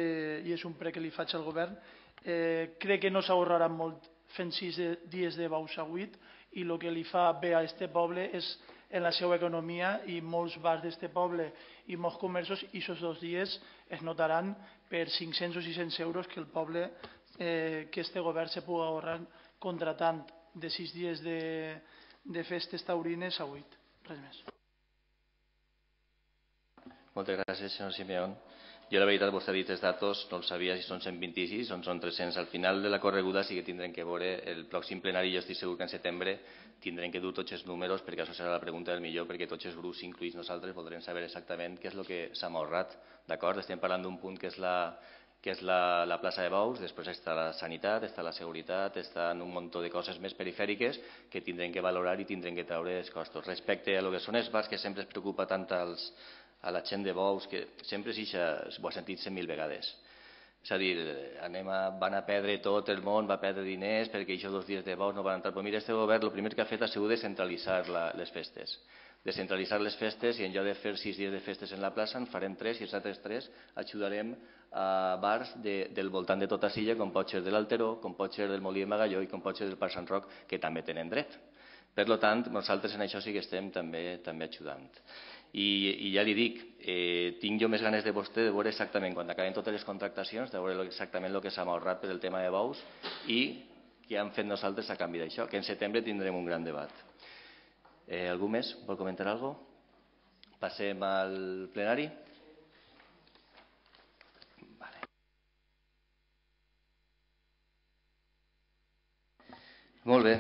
i és un prec que li faig al govern, eh, crec que no s'ahorrarà molt fent sis dies de Bous a huit i el que li fa bé a aquest poble és en la seva economia i molts bars d'aquest poble i molts comerços i aquests dos dies es notaran per cinc-cents o sis-cents euros que el poble, eh, que este govern se pugui ahorrar contratant de sis dies de, de festes taurines a huit. Res més. Moltes gràcies, senyor Simeón. Jo, la veritat, vostè ha dit els datos, no els sabia si són cent vint-i-sis o són tres-cents. Al final de la correguda sí que tindrem que veure el pròxim plenari. Jo estic segur que en setembre tindrem que dur tots els números, perquè això serà la pregunta del millor, perquè tots els grups, incluïts nosaltres, voldrem saber exactament què és el que s'ha ahorrat. D'acord? Estem parlant d'un punt que és la, que és la, la plaça de Bous, després està la sanitat, està la seguretat, estan un munt de coses més perifèriques que tindrem que valorar i tindrem que treure els costos. Respecte a lo que són els bars, que sempre es preocupa tant als a la gent de Bous, que sempre s'hi ho ha sentit cent mil vegades. És a dir, anem a, van a perdre tot el món, va perdre diners perquè aquests dos dies de Bous no van entrar. Però mira, este govern el primer que ha fet ha sigut descentralitzar la, les festes. Descentralitzar les festes i en lloc de fer sis dies de festes en la plaça en farem tres i els altres tres ajudarem a bars de, del voltant de tota Silla, com pot ser de l'Alteró, com pot ser del Molí de Magalló i com pot ser del Parc Sant Roc, que també tenen dret. Per tant, nosaltres en això sí que estem també també ajudant. I, i ja li dic, eh, tinc jo més ganes de vostè de veure exactament, quan acaben totes les contractacions, de veure exactament el que s'ha ahorrat per el tema de bous i què hem fet nosaltres a canvi d'això, que en setembre tindrem un gran debat. Eh, algú més vol comentar alguna cosa? Passem al plenari. Vale. Molt bé.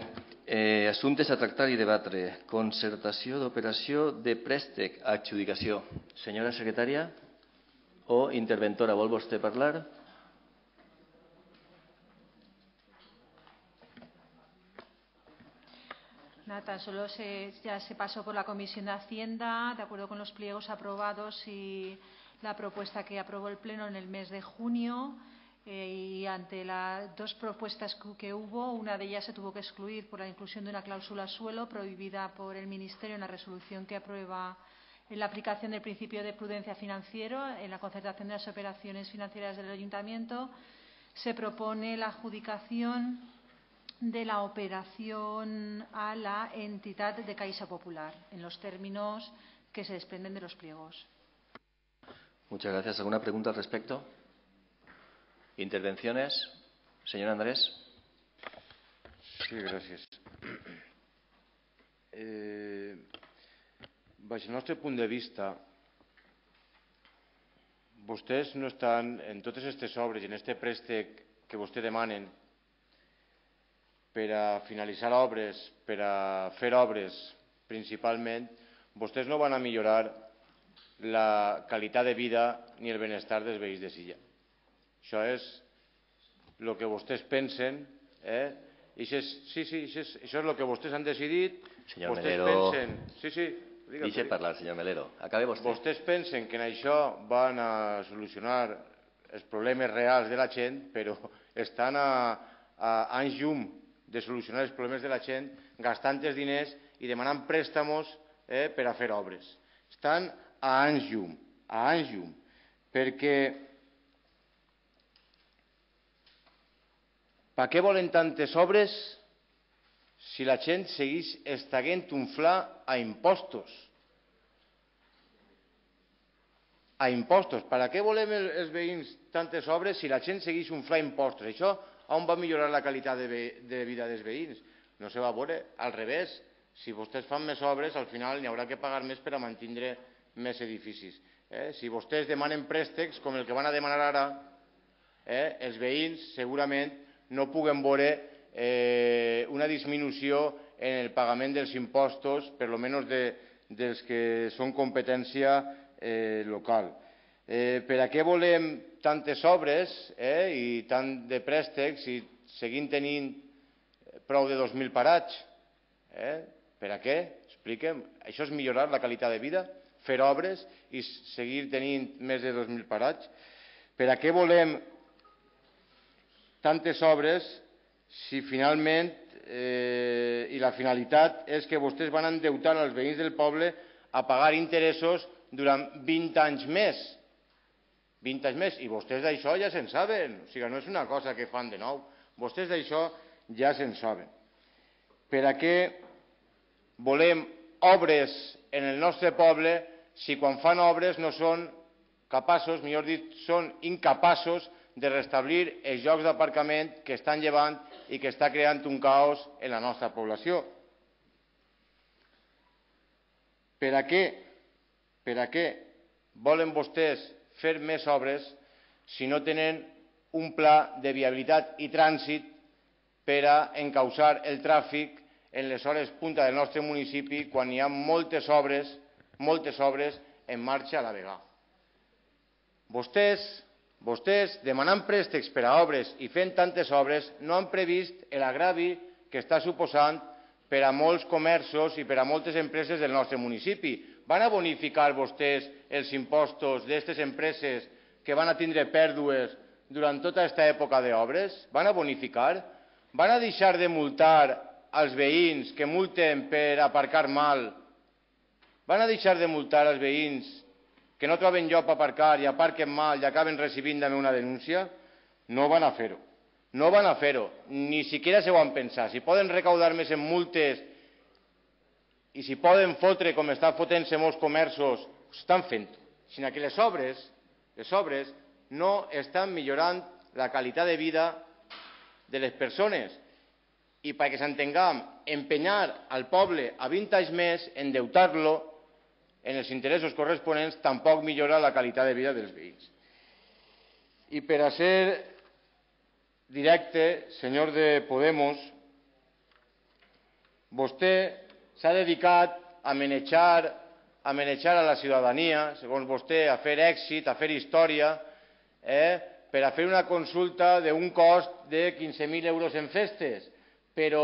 Eh, assumptes a tractar i debatre. Concertació d'operació de préstec a adjudicació. Senyora secretària o interventora, vol vostè parlar? Nada, tan solo se, ya se pasó por la Comisión de Hacienda, de acuerdo con los pliegos aprobados y la propuesta que aprobó el Pleno en el mes de junio. Eh, y ante las dos propuestas que hubo, una de ellas se tuvo que excluir por la inclusión de una cláusula suelo prohibida por el Ministerio en la resolución que aprueba en la aplicación del principio de prudencia financiero en la concertación de las operaciones financieras del Ayuntamiento. Se propone la adjudicación de la operación a la entidad de Caixa Popular en los términos que se desprenden de los pliegos. Muchas gracias. ¿Alguna pregunta al respecto? ¿Intervenciones? Señor Andrés. Sí, gràcies. Eh, baix el nostre punt de vista, vostès no estan en totes aquestes obres i en aquest préstec que vostè demanen per a finalitzar obres, per a fer obres principalment, vostès no van a millorar la qualitat de vida ni el benestar dels veïns de Silla. Això és el que vostès pensen, eh? I això és, sí, sí, això és, això és el que vostès han decidit. Senyor vostès Melero, pensen, sí, sí, deixe parlar, senyor Melero. Acabe vostè. Vostès pensen que en això van a solucionar els problemes reals de la gent, però estan a, a anys llum de solucionar els problemes de la gent, gastant els diners i demanant préstamos eh, per a fer obres. Estan a anys llum, a anys llum, perquè per què volen tantes obres si la gent segueix estaguent unflar a impostos? A impostos. Per què volem els veïns tantes obres si la gent segueix unflar impostos? Això on va millorar la qualitat de, de vida dels veïns? No se va veure. Al revés, si vostès fan més obres, al final n'hi haurà que pagar més per a mantenir més edificis. Eh? Si vostès demanen préstecs, com el que van a demanar ara, eh, els veïns segurament no puguen veure eh, una disminució en el pagament dels impostos, per almenys de, dels que són competència eh, local. Eh, per a què volem tantes obres eh, i tant de préstecs i seguint tenint prou de dos mil parats? Eh? Per a què? Expliquem. Això és millorar la qualitat de vida? Fer obres i seguir tenint més de dos mil parats? Per a què volem tantes obres si finalment eh, i la finalitat és que vostès van endeutar als veïns del poble a pagar interessos durant vint anys més. vint anys més. I vostès d'això ja se'n saben. O sigui, no és una cosa que fan de nou. Vostès d'això ja se'n saben. Per a què volem obres en el nostre poble si quan fan obres no són capaços, millor dit, són incapaços de restablir els llocs d'aparcament que estan llevant i que està creant un caos en la nostra població. Per a què? Per a què volen vostès fer més obres si no tenen un pla de viabilitat i trànsit per a encausar el tràfic en les hores punta del nostre municipi quan hi ha moltes obres, moltes obres en marxa a la vegada. Vostès Vostès, demanant préstecs per a obres i fent tantes obres, no han previst l'agravi que està suposant per a molts comerços i per a moltes empreses del nostre municipi. Van a bonificar vostès els impostos d'aquestes empreses que van a tindre pèrdues durant tota aquesta època d'obres? Van a bonificar? Van a deixar de multar als veïns que multen per aparcar mal? Van a deixar de multar als veïns que no troben lloc per aparcar i aparquen mal i acaben recibint també una denúncia? No van a fer-ho. No van a fer-ho. Ni siquiera se ho han pensat. Si poden recaudar més en multes i si poden fotre com estan fotent-se molts comerços, estan fent-ho, sinó que les obres, les obres no estan millorant la qualitat de vida de les persones. I perquè s'entenguem, empenyar al poble a vint anys més, endeutar-lo en els interessos corresponents, tampoc millora la qualitat de vida dels veïns. I per a ser directe, senyor de Podemos, vostè s'ha dedicat a manejar, a manejar a la ciutadania, segons vostè, a fer èxit, a fer història, eh, per a fer una consulta d'un cost de quinze mil euros en festes. Però,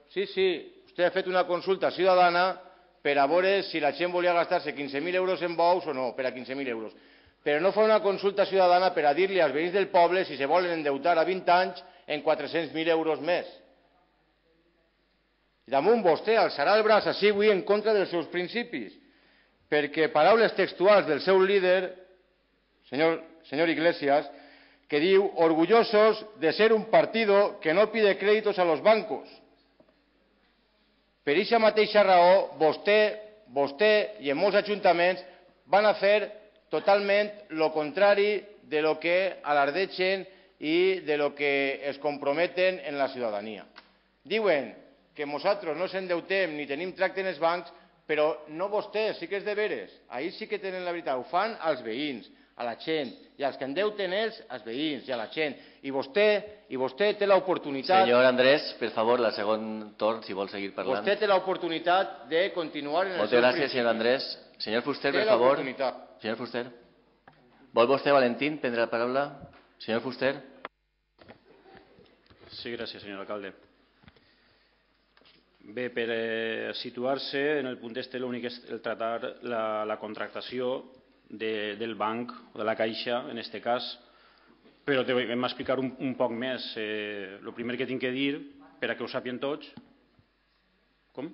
sí, sí, vostè ha fet una consulta ciutadana per a veure si la gent volia gastar-se quinze mil euros en bous o no, per a quinze mil euros. Però no fa una consulta ciutadana per a dir-li als veïns del poble si se volen endeutar a vint anys en quatre-cents mil euros més. I damunt vostè alçarà el braç així avui en contra dels seus principis, perquè paraules textuals del seu líder, senyor, senyor Iglesias, que diu, orgullosos de ser un partido que no pide créditos a los bancos. Per aquesta mateixa raó, vostè, vostè i en molts ajuntaments van a fer totalment el contrari de lo que alardegen i de lo que es comprometen en la ciutadania. Diuen que nosaltres no s'endeutem ni tenim tracte en els bancs, però no vostès, sí que és de veres. Ahir sí que tenen la veritat, ho fan als veïns, a la gent, i els que endeuten ells, als veïns i a la gent. I vostè, i vostè té l'oportunitat... Senyor Andrés, per favor, la segon torn, si vol seguir parlant. Vostè té l'oportunitat de continuar en el Moltes seu gràcies, principi. senyor Andrés. Senyor Fuster, Té per favor. l'oportunitat. Senyor Fuster. Vol vostè, Valentín, prendre la paraula? Senyor Fuster. Sí, gràcies, senyor alcalde. Bé, per eh, situar-se en el punt este, l'únic és el tratar la, la contractació de, del banc o de la caixa, en aquest cas, però te vam explicar un, un poc més. Eh, el primer que tinc que dir, per a que ho sàpien tots... Com?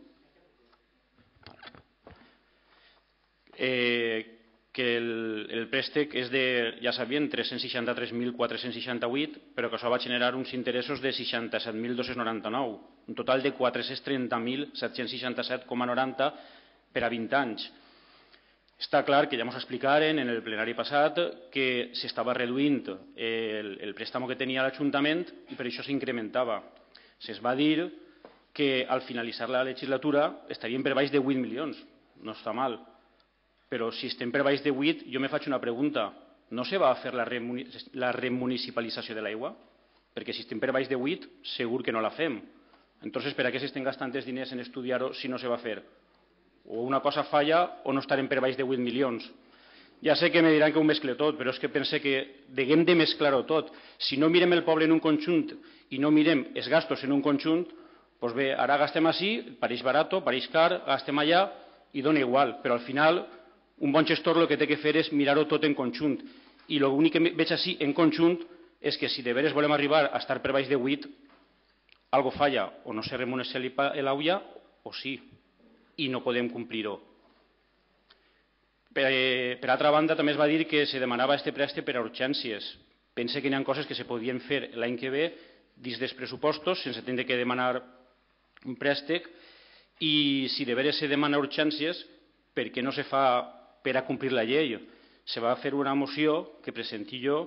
Eh, que el, el préstec és de, ja sabien, tres-cents seixanta-tres mil quatre-cents seixanta-vuit, però que això va generar uns interessos de seixanta-set mil dos-cents noranta-nou, un total de quatre-cents trenta mil set-cents seixanta-set coma noranta per a vint anys. Està clar que ja ens explicaren en el plenari passat que s'estava reduint el, el préstamo que tenia l'Ajuntament i per això s'incrementava. Se'ls va dir que al finalitzar la legislatura estaríem per baix de vuit milions, no està mal. Però si estem per baix de vuit, jo me faig una pregunta. No se va a fer la, remuni la remunicipalització de l'aigua? Perquè si estem per baix de vuit, segur que no la fem. Entonces, per a què s'estem gastant els diners en estudiar-ho si no se va fer? O una cosa falla o no estarem per baix de vuit milions. Ja sé que me diran que ho mescle tot, però és que pense que deguem de mesclar-ho tot. Si no mirem el poble en un conjunt i no mirem els gastos en un conjunt, doncs bé, ara gastem així, pareix barat, pareix car, gastem allà i dona igual, però al final un bon gestor el que té que fer és mirar-ho tot en conjunt. I l'únic que veig així en conjunt és que si de veres volem arribar a estar per baix de vuit, algo falla, o no se remunicipalitza l'aigua, o sí, i no podem complir-ho. Per, per altra banda, també es va dir que se demanava este préstec per a urgències. Pense que hi ha coses que se podien fer l'any que ve dins dels pressupostos, sense tindre que demanar un préstec, i si de veres se demana urgències, per què no se fa per a complir la llei? Se va fer una moció que presenti jo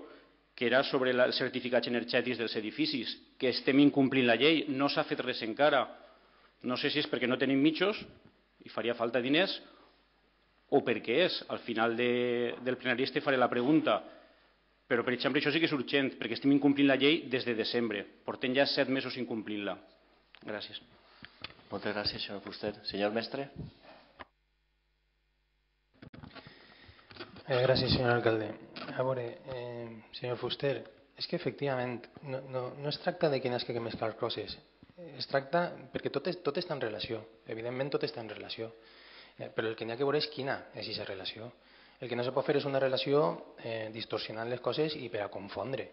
que era sobre els certificats energètics dels edificis, que estem incomplint la llei, no s'ha fet res encara. No sé si és perquè no tenim mitjos i faria falta diners o per què és. Al final de, del plenari este faré la pregunta. Però, per exemple, això sí que és urgent, perquè estem incomplint la llei des de desembre. Portem ja set mesos incomplint-la. Gràcies. Moltes gràcies, senyor Fuster. Senyor mestre. Eh, gràcies, senyor alcalde. A veure, eh, senyor Fuster, és que efectivament no, no, no es tracta de que n'has que mesclar coses. Es tracta, perquè tot, és, tot està en relació. Evidentment tot està en relació. Eh, però el que n'hi ha que veure és quina és aquesta relació. El que no se pot fer és una relació eh, distorsionant les coses i per a confondre.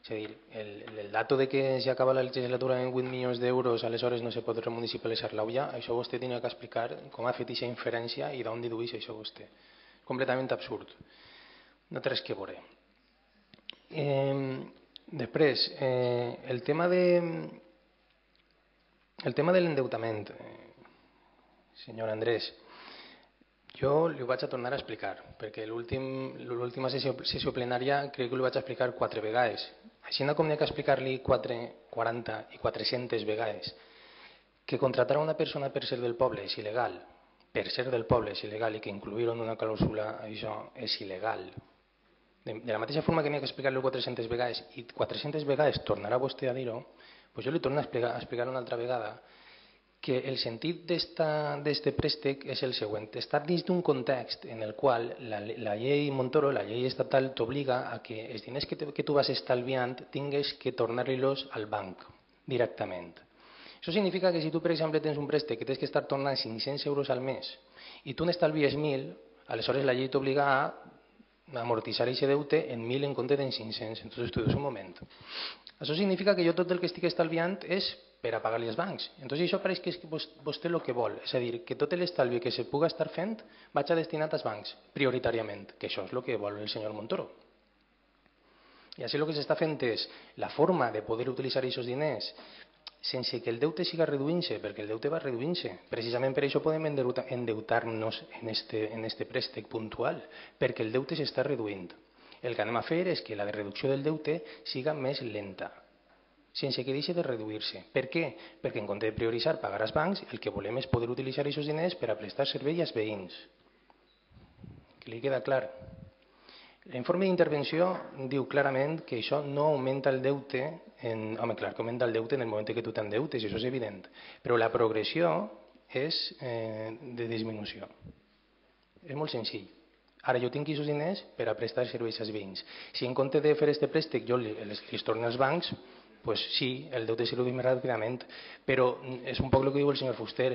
És a dir, el, el dato de que si acaba la legislatura en vuit milions d'euros aleshores no se pot remunicipalitzar l'Aulla, això vostè tenia que explicar com ha fet aquesta inferència i d'on dedueix això vostè. Completament absurd. No té res que veure. Eh, després, eh, el tema de el tema de l'endeutament. Eh, Senyor Andrés, jo li ho vaig a tornar a explicar, perquè l'última sessió, sessió plenària crec que li vaig explicar quatre vegades. Així com n'hi ha que explicar-li quaranta i quatre-centes vegades que contratar a una persona per ser del poble és il·legal, per ser del poble és il·legal i que incluir-ho en una clàusula, això és il·legal. De, de la mateixa forma que n'hi ha que explicar-li quatre-centes vegades i quatre-centes vegades tornarà vostè a dir-ho, doncs jo li torno a explicar, a explicar una altra vegada que el sentit d'aquest préstec és el següent. Està dins d'un context en el qual la, la llei Montoro, la llei estatal, t'obliga a que els diners que, te, que tu vas estalviant tingues que tornar-los al banc directament. Això significa que si tu, per exemple, tens un préstec que tens que estar tornant cinc-cents euros al mes i tu n'estalvies mil, aleshores la llei t'obliga a amortitzar aquest deute en mil en compte d'en cinc-cents. Entonces tu dius un moment. Això significa que jo tot el que estic estalviant és per a pagar-li als bancs. Entonces això pareix que és vostè el que vol. És a dir, que tot l'estalvi que se puga estar fent vaig a destinat als bancs, prioritàriament, que això és el que vol el senyor Montoro. I així el que s'està fent és la forma de poder utilitzar aquests diners sense que el deute siga reduint-se, perquè el deute va reduint-se. Precisament per això podem endeutar-nos en este, en este préstec puntual, perquè el deute s'està reduint. El que anem a fer és que la reducció del deute siga més lenta, sense que deixi de reduir-se. Per què? Perquè en compte de prioritzar pagar als bancs, el que volem és poder utilitzar aquests diners per a prestar servei als veïns. Que li queda clar? L'informe d'intervenció diu clarament que això no augmenta el deute, en, home, clar, que augmenta el deute en el moment que tu t'endeutes, això és evident, però la progressió és eh, de disminució. És molt senzill. Ara jo tinc aquests diners per a prestar serveis als veïns. Si en compte de fer aquest préstec jo els, els torno als bancs, pues sí, el deute se redueix més ràpidament, però és un poc el que diu el senyor Fuster,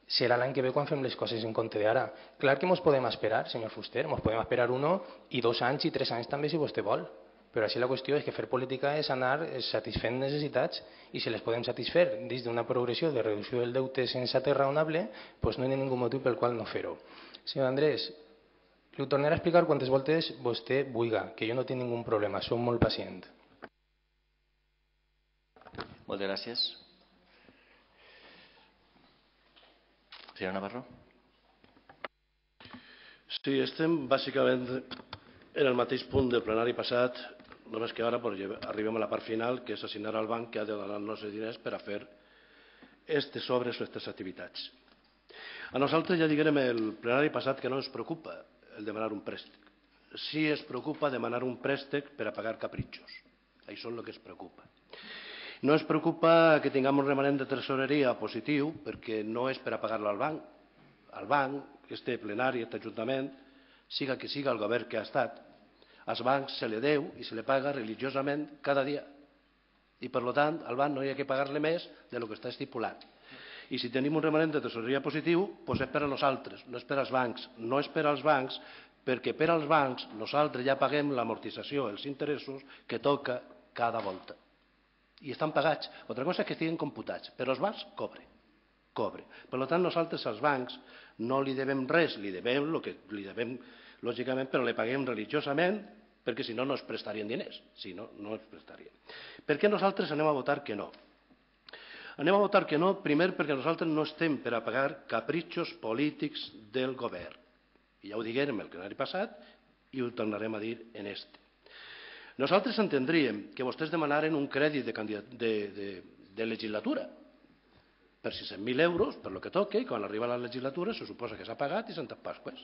serà l'any que ve quan fem les coses en compte d'ara. Clar que ens podem esperar, senyor Fuster, ens podem esperar uno i dos anys i tres anys també si vostè vol, però així la qüestió és que fer política és anar satisfent necessitats i si les podem satisfer dins d'una progressió de reducció del deute sensata i raonable, doncs no hi ha ningú motiu pel qual no fer-ho. Senyor Andrés, li ho tornaré a explicar quantes voltes vostè vulga, que jo no tinc ningú problema, som molt pacient. Moltes gràcies. Senyor Navarro. Sí, estem bàsicament en el mateix punt del plenari passat, només que ara arribem a la part final, que és assignar al banc que ha de donar els nostres diners per a fer aquestes obres o aquestes activitats. A nosaltres ja diguem el plenari passat que no ens preocupa el demanar un préstec. Sí es preocupa demanar un préstec per a pagar capritxos. Això és el que es preocupa. No ens preocupa que tinguem un remanent de tresoreria positiu perquè no és per a pagar-lo al banc. Al banc, este plenari, aquest ajuntament, siga que siga el govern que ha estat, als bancs se li deu i se li paga religiosament cada dia. I per tant, al banc no hi ha que pagar-li més del que està estipulat. I si tenim un remanent de tresoreria positiu, doncs és per a nosaltres, no és per als bancs. No és per als bancs perquè per als bancs nosaltres ja paguem l'amortització, els interessos que toca cada volta. I estan pagats. Altra cosa és que estiguin computats, però els bancs cobren. Cobre. Per tant, nosaltres als bancs no li devem res, li devem el que li devem, lògicament, però li paguem religiosament, perquè si no, no es prestarien diners. Si no, no es prestarien. Per què nosaltres anem a votar que no? Anem a votar que no, primer perquè nosaltres no estem per a pagar capritxos polítics del govern. I ja ho diguem el plenari passat i ho tornarem a dir en este. Nosaltres entendríem que vostès demanaren un crèdit de, de, de, de legislatura per sis-cents mil euros, per lo que toque, i quan arriba la legislatura se suposa que s'ha pagat i Santes Pasques.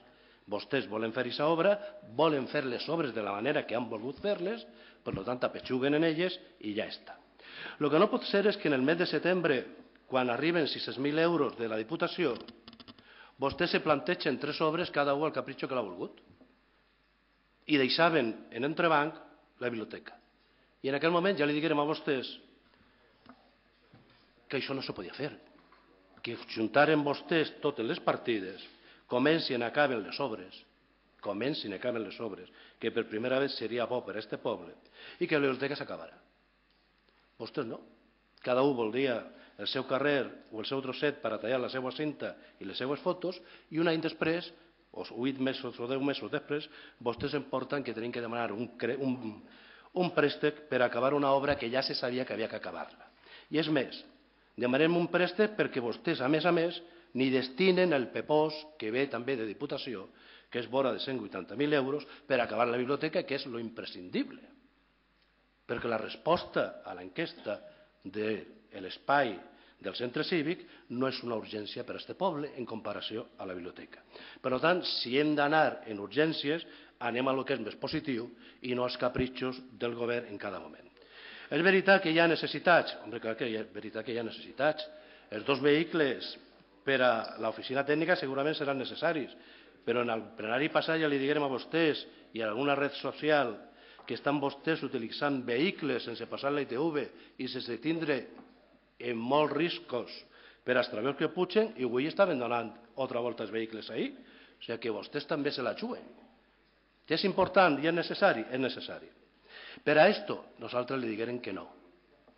Vostès volen fer aquesta obra, volen fer les obres de la manera que han volgut fer-les, per tant apetxuguen en elles i ja està. El que no pot ser és que en el mes de setembre, quan arriben sis-cents mil euros de la Diputació, vostès se plantegen tres obres cada un al capritxo que l'ha volgut i deixaven en entrebanc la biblioteca. I en aquell moment ja li diguérem a vostès que això no se podia fer, que juntaren vostès totes les partides, comencin i acaben les obres, comencin i acaben les obres, que per primera vegada seria bo per a este poble, i que la biblioteca s'acabarà. Vostès no. Cada un voldria el seu carrer o el seu trosset per a tallar la seva cinta i les seues fotos, i un any després, o vuit mesos o deu mesos després, vostès em porten que tenen que demanar un, un, un préstec per acabar una obra que ja se sabia que havia que acabar-la. I és més, demanem un préstec perquè vostès, a més a més, ni destinen el pepós que ve també de Diputació, que és vora de cent vuitanta mil euros, per acabar la biblioteca, que és lo imprescindible. Perquè la resposta a l'enquesta de l'espai del centre cívic no és una urgència per a aquest poble en comparació a la biblioteca. Per tant, si hem d'anar en urgències, anem a lo que és més positiu i no als capritxos del govern en cada moment. És veritat que hi ha necessitats, home, clar que és veritat que hi ha necessitats. Els dos vehicles per a l'oficina tècnica segurament seran necessaris, però en el plenari passat ja li diguem a vostès i a alguna red social que estan vostès utilitzant vehicles sense passar la I T V i sense tindre en molts riscos per als treballadors que pugen, i avui estaven donant altra volta els vehicles ahir. O sigui que vostès també se la juguen. Que és important i és necessari? És necessari. Per a esto, nosaltres li diguem que no.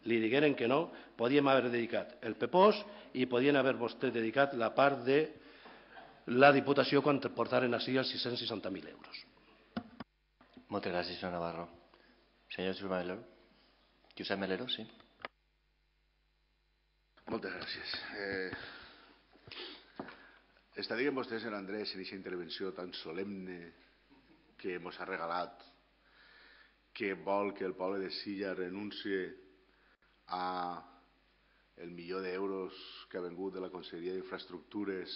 Li diguem que no, podíem haver dedicat el pepós i podien haver vostès dedicat la part de la Diputació quan portaren així els sis-cents seixanta mil euros. Moltes gràcies, senyor Navarro. Senyor Josep Melero. Josep Melero, sí. Moltes gràcies. Eh, està dient vostè, senyor Andrés, en aquesta intervenció tan solemne que ens ha regalat, que vol que el poble de Silla renuncie a el milió d'euros que ha vengut de la Conselleria d'Infraestructures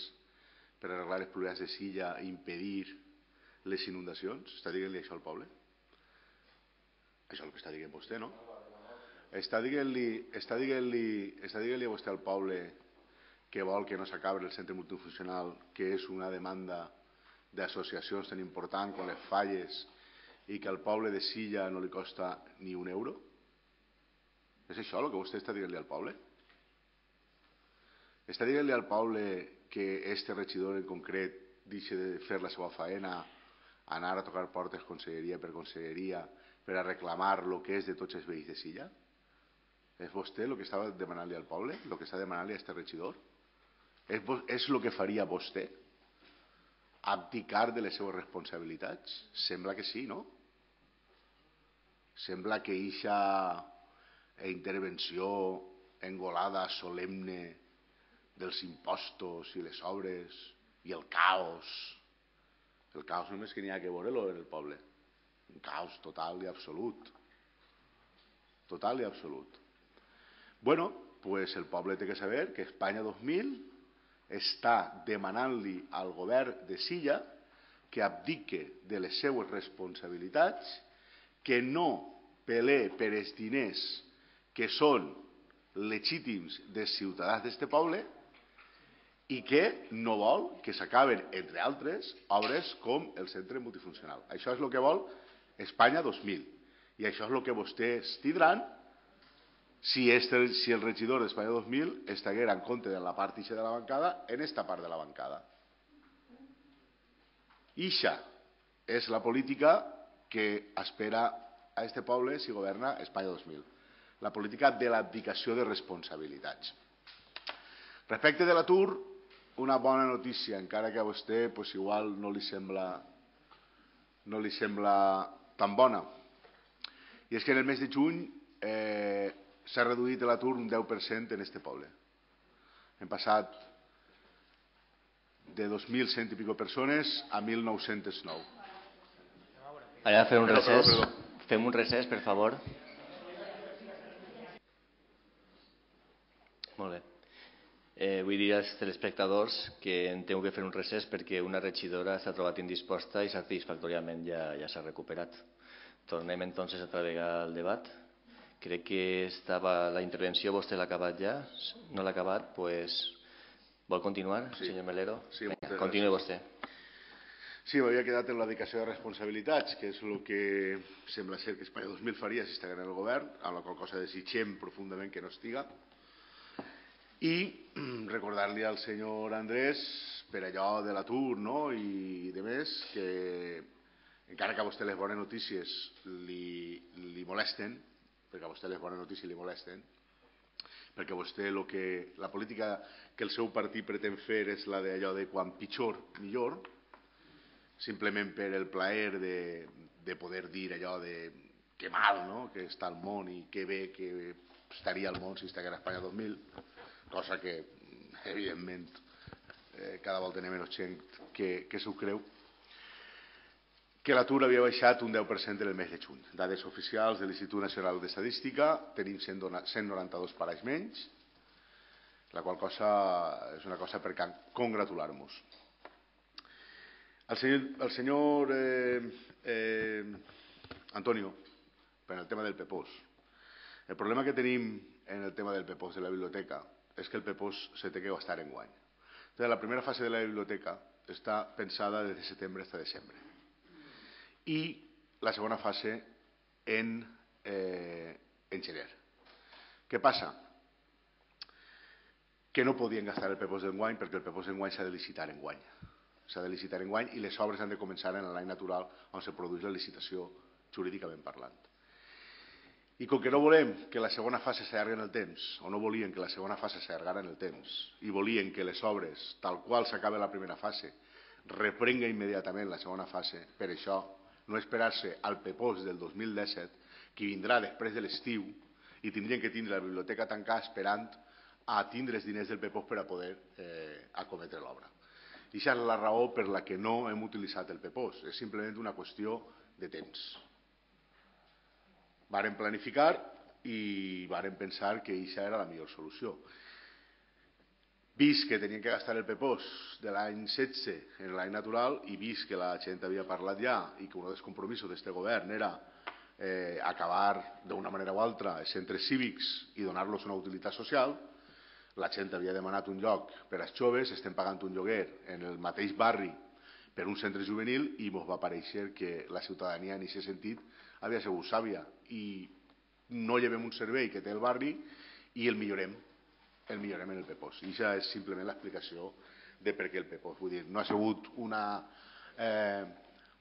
per arreglar els problemes de Silla i impedir les inundacions? Està dient-li això al poble? Això és el que està dient vostè, no? Està dient-li està dient-li està dient-li a vostè al poble que vol que no s'acabi el centre multifuncional, que és una demanda d'associacions tan important com les Falles i que al poble de Silla no li costa ni un euro? És això el que vostè està dient-li al poble? Està dient-li al poble que este regidor en concret deixi de fer la seva faena, anar a tocar portes conselleria per conselleria per a reclamar el que és de tots els veïns de Silla? És vostè el que estava demanant-li al poble? El que està demanant-li a este regidor? És el que faria vostè? Abdicar de les seves responsabilitats? Sembla que sí, no? Sembla que eixa intervenció engolada, solemne, dels impostos i les obres i el caos. El caos només que n'hi ha que veure-lo en el poble. Un caos total i absolut. Total i absolut. Bueno, pues el poble té que saber que Espanya dos mil està demanant-li al govern de Silla que abdique de les seues responsabilitats, que no pelee per els diners que són legítims dels ciutadans d'este poble i que no vol que s'acaben, entre altres, obres com el centre multifuncional. Això és el que vol Espanya dos mil. I això és el que vostès tindran si, este, si el regidor d'Espanya dos mil estiguera en compte de la part ixa de la bancada en esta part de la bancada. Ixa és la política que espera a este poble si governa Espanya dos mil. La política de l'abdicació de responsabilitats. Respecte de l'atur, una bona notícia, encara que a vostè pues, igual no li sembla no li sembla tan bona. I és que en el mes de juny eh, s'ha reduït l'atur un deu per cent en este poble. Hem passat de dos mil cent i pico persones a mil nou-cents nou. Anem a fer un recés. Fem un recés, per favor. Molt bé. Eh, vull dir als telespectadors que en tengo que fer un recés perquè una regidora s'ha trobat indisposta i satisfactòriament ja, ja s'ha recuperat. Tornem entonces otra vez al debat. Crec que estava la intervenció, vostè l'ha acabat ja. No l'ha acabat, pues... Vol continuar, sí. Senyor Melero? Sí, Venga, continue vostè. Sí, m'havia quedat en la dedicació de responsabilitats, que és el que sembla ser que Espanya dos mil faria si estigués en el govern, amb la qual cosa desitgem profundament que no estiga. I recordar-li al senyor Andrés, per allò de l'atur, no?, i de més, que encara que a vostè les bones notícies li, li molesten, perquè a vostè les bones notícies li molesten, perquè vostè lo que, la política que el seu partit pretén fer és la d'allò de quan pitjor, millor, simplement per el plaer de, de poder dir allò de que mal, no?, que està al món i que bé que estaria al món si estigués a Espanya dos mil, cosa que, evidentment, eh, cada volta n'hi ha menys gent que, que s'ho creu, que l'atur havia baixat un deu per cent en el mes de juny. Dades oficials de l'Institut Nacional d'Estadística, tenim cent noranta-dos parells menys, la qual cosa és una cosa per congratular-nos. El senyor, el senyor eh, eh, Antonio, per el tema del P P O S. El problema que tenim en el tema del P P O S de la biblioteca és que el P P O S se té que gastar en guany. Entonces, la primera fase de la biblioteca està pensada des de setembre fins a desembre. I la segona fase en, eh, en gener. Què passa? Que no podien gastar el P P O S d'enguany perquè el P P O S d'enguany s'ha de licitar enguany. S'ha de licitar enguany i les obres han de començar en l'any natural on se produeix la licitació jurídicament parlant. I com que no volem que la segona fase s'allargui en el temps, o no volien que la segona fase s'allargara en el temps, i volien que les obres, tal qual s'acaba la primera fase, reprenga immediatament la segona fase, per això no esperar-se al P P O S del dos mil disset, que vindrà després de l'estiu, i tindrien que tindre la biblioteca tancada esperant a tindre els diners del P P O S per a poder eh, acometre l'obra. I aquesta és la raó per la que no hem utilitzat el P P O S, és simplement una qüestió de temps. Varen planificar i varen pensar que aquesta era la millor solució. Vist que tenien que gastar el P P O S de l'any setze en l'any natural i vist que la gent havia parlat ja i que un dels compromisos d'aquest govern era eh, acabar d'una manera o altra els centres cívics i donar-los una utilitat social, la gent havia demanat un lloc per als joves, estem pagant un lloguer en el mateix barri per un centre juvenil i ens va aparèixer que la ciutadania en aquest sentit havia sigut sàvia i no llevem un servei que té el barri i el millorem, el millorem en el P P O S. I això és simplement l'explicació de per què el P P O S. Vull dir, no ha sigut una, eh,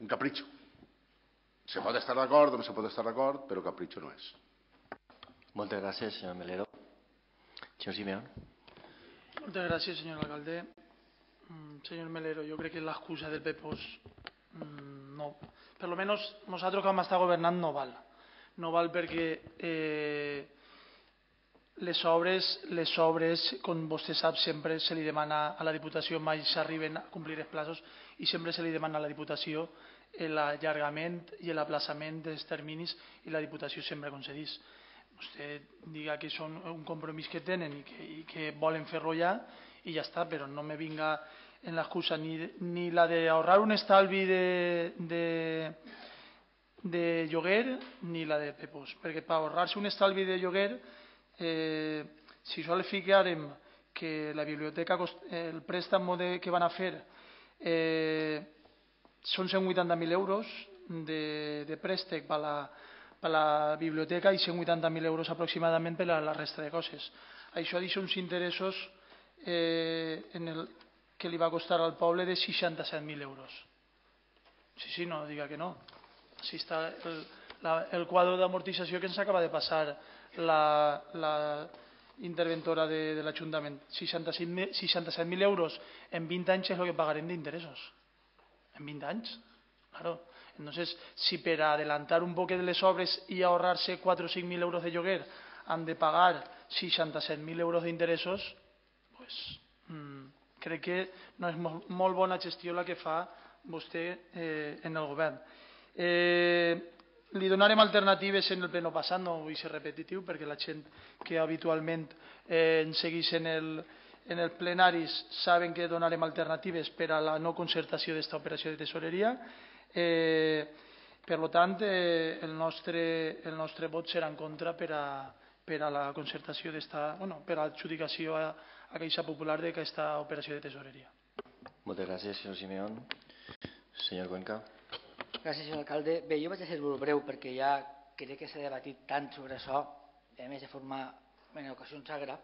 un capritxo. Se pot estar d'acord o no se pot estar d'acord, però capritxo no és. Moltes gràcies, senyor Melero. Senyor Simeón. Moltes gràcies, senyor alcalde. Mm, senyor Melero, jo crec que l'excusa del P P O S mm, no, per lo menos nosaltres que hem estat governant no val. No val perquè eh, les obres, les obres, com vostè sap, sempre se li demana a la Diputació, mai s'arriben a complir els plazos i sempre se li demana a la Diputació l'allargament i l'aplaçament dels terminis i la Diputació sempre concedís. Vostè diga que són un compromís que tenen i que, i que volen fer-lo ja i ja està, però no me vinga en l'excusa ni, ni la d'ahorrar un estalvi de, de, de lloguer ni la de P P O S, perquè per ahorrar-se un estalvi de lloguer, eh, si sol ficarem que la biblioteca, el préstec de, que van a fer eh, són cent vuitanta mil euros de, de préstec per la per la biblioteca i cent vuitanta mil euros aproximadament per a la resta de coses. Això deixa uns interessos eh, en el, que li va costar al poble de seixanta-set mil euros. Sí, sí, no diga que no. Així està el, la, el quadre d'amortització que ens acaba de passar la, la interventora de, de l'Ajuntament. seixanta-set mil euros en vint anys és el que pagarem d'interessos. En vint anys, claro. Entonces, si per adelantar un poc de les obres i ahorrar-se quatre o cinc mil euros de lloguer han de pagar seixanta-set mil euros d'interessos, pues, mmm, crec que no és molt, molt bona gestió la que fa vostè eh, en el govern. Eh, li donarem alternatives en el pleno passat, no vull ser repetitiu, perquè la gent que habitualment eh, ens segueix en el, en el plenaris saben que donarem alternatives per a la no concertació d'esta operació de tesoreria. Eh, per tant, eh, el, nostre, el nostre vot serà en contra per a, per a la concertació d'esta, bueno, per a l'adjudicació a, a Caixa Popular d'aquesta operació de tesoreria. Moltes gràcies, senyor Simeón. Senyor Cuenca. Gràcies, senyor alcalde. Bé, jo vaig a ser molt breu perquè ja crec que s'ha debatit tant sobre això, a més de forma en ocasions sagra.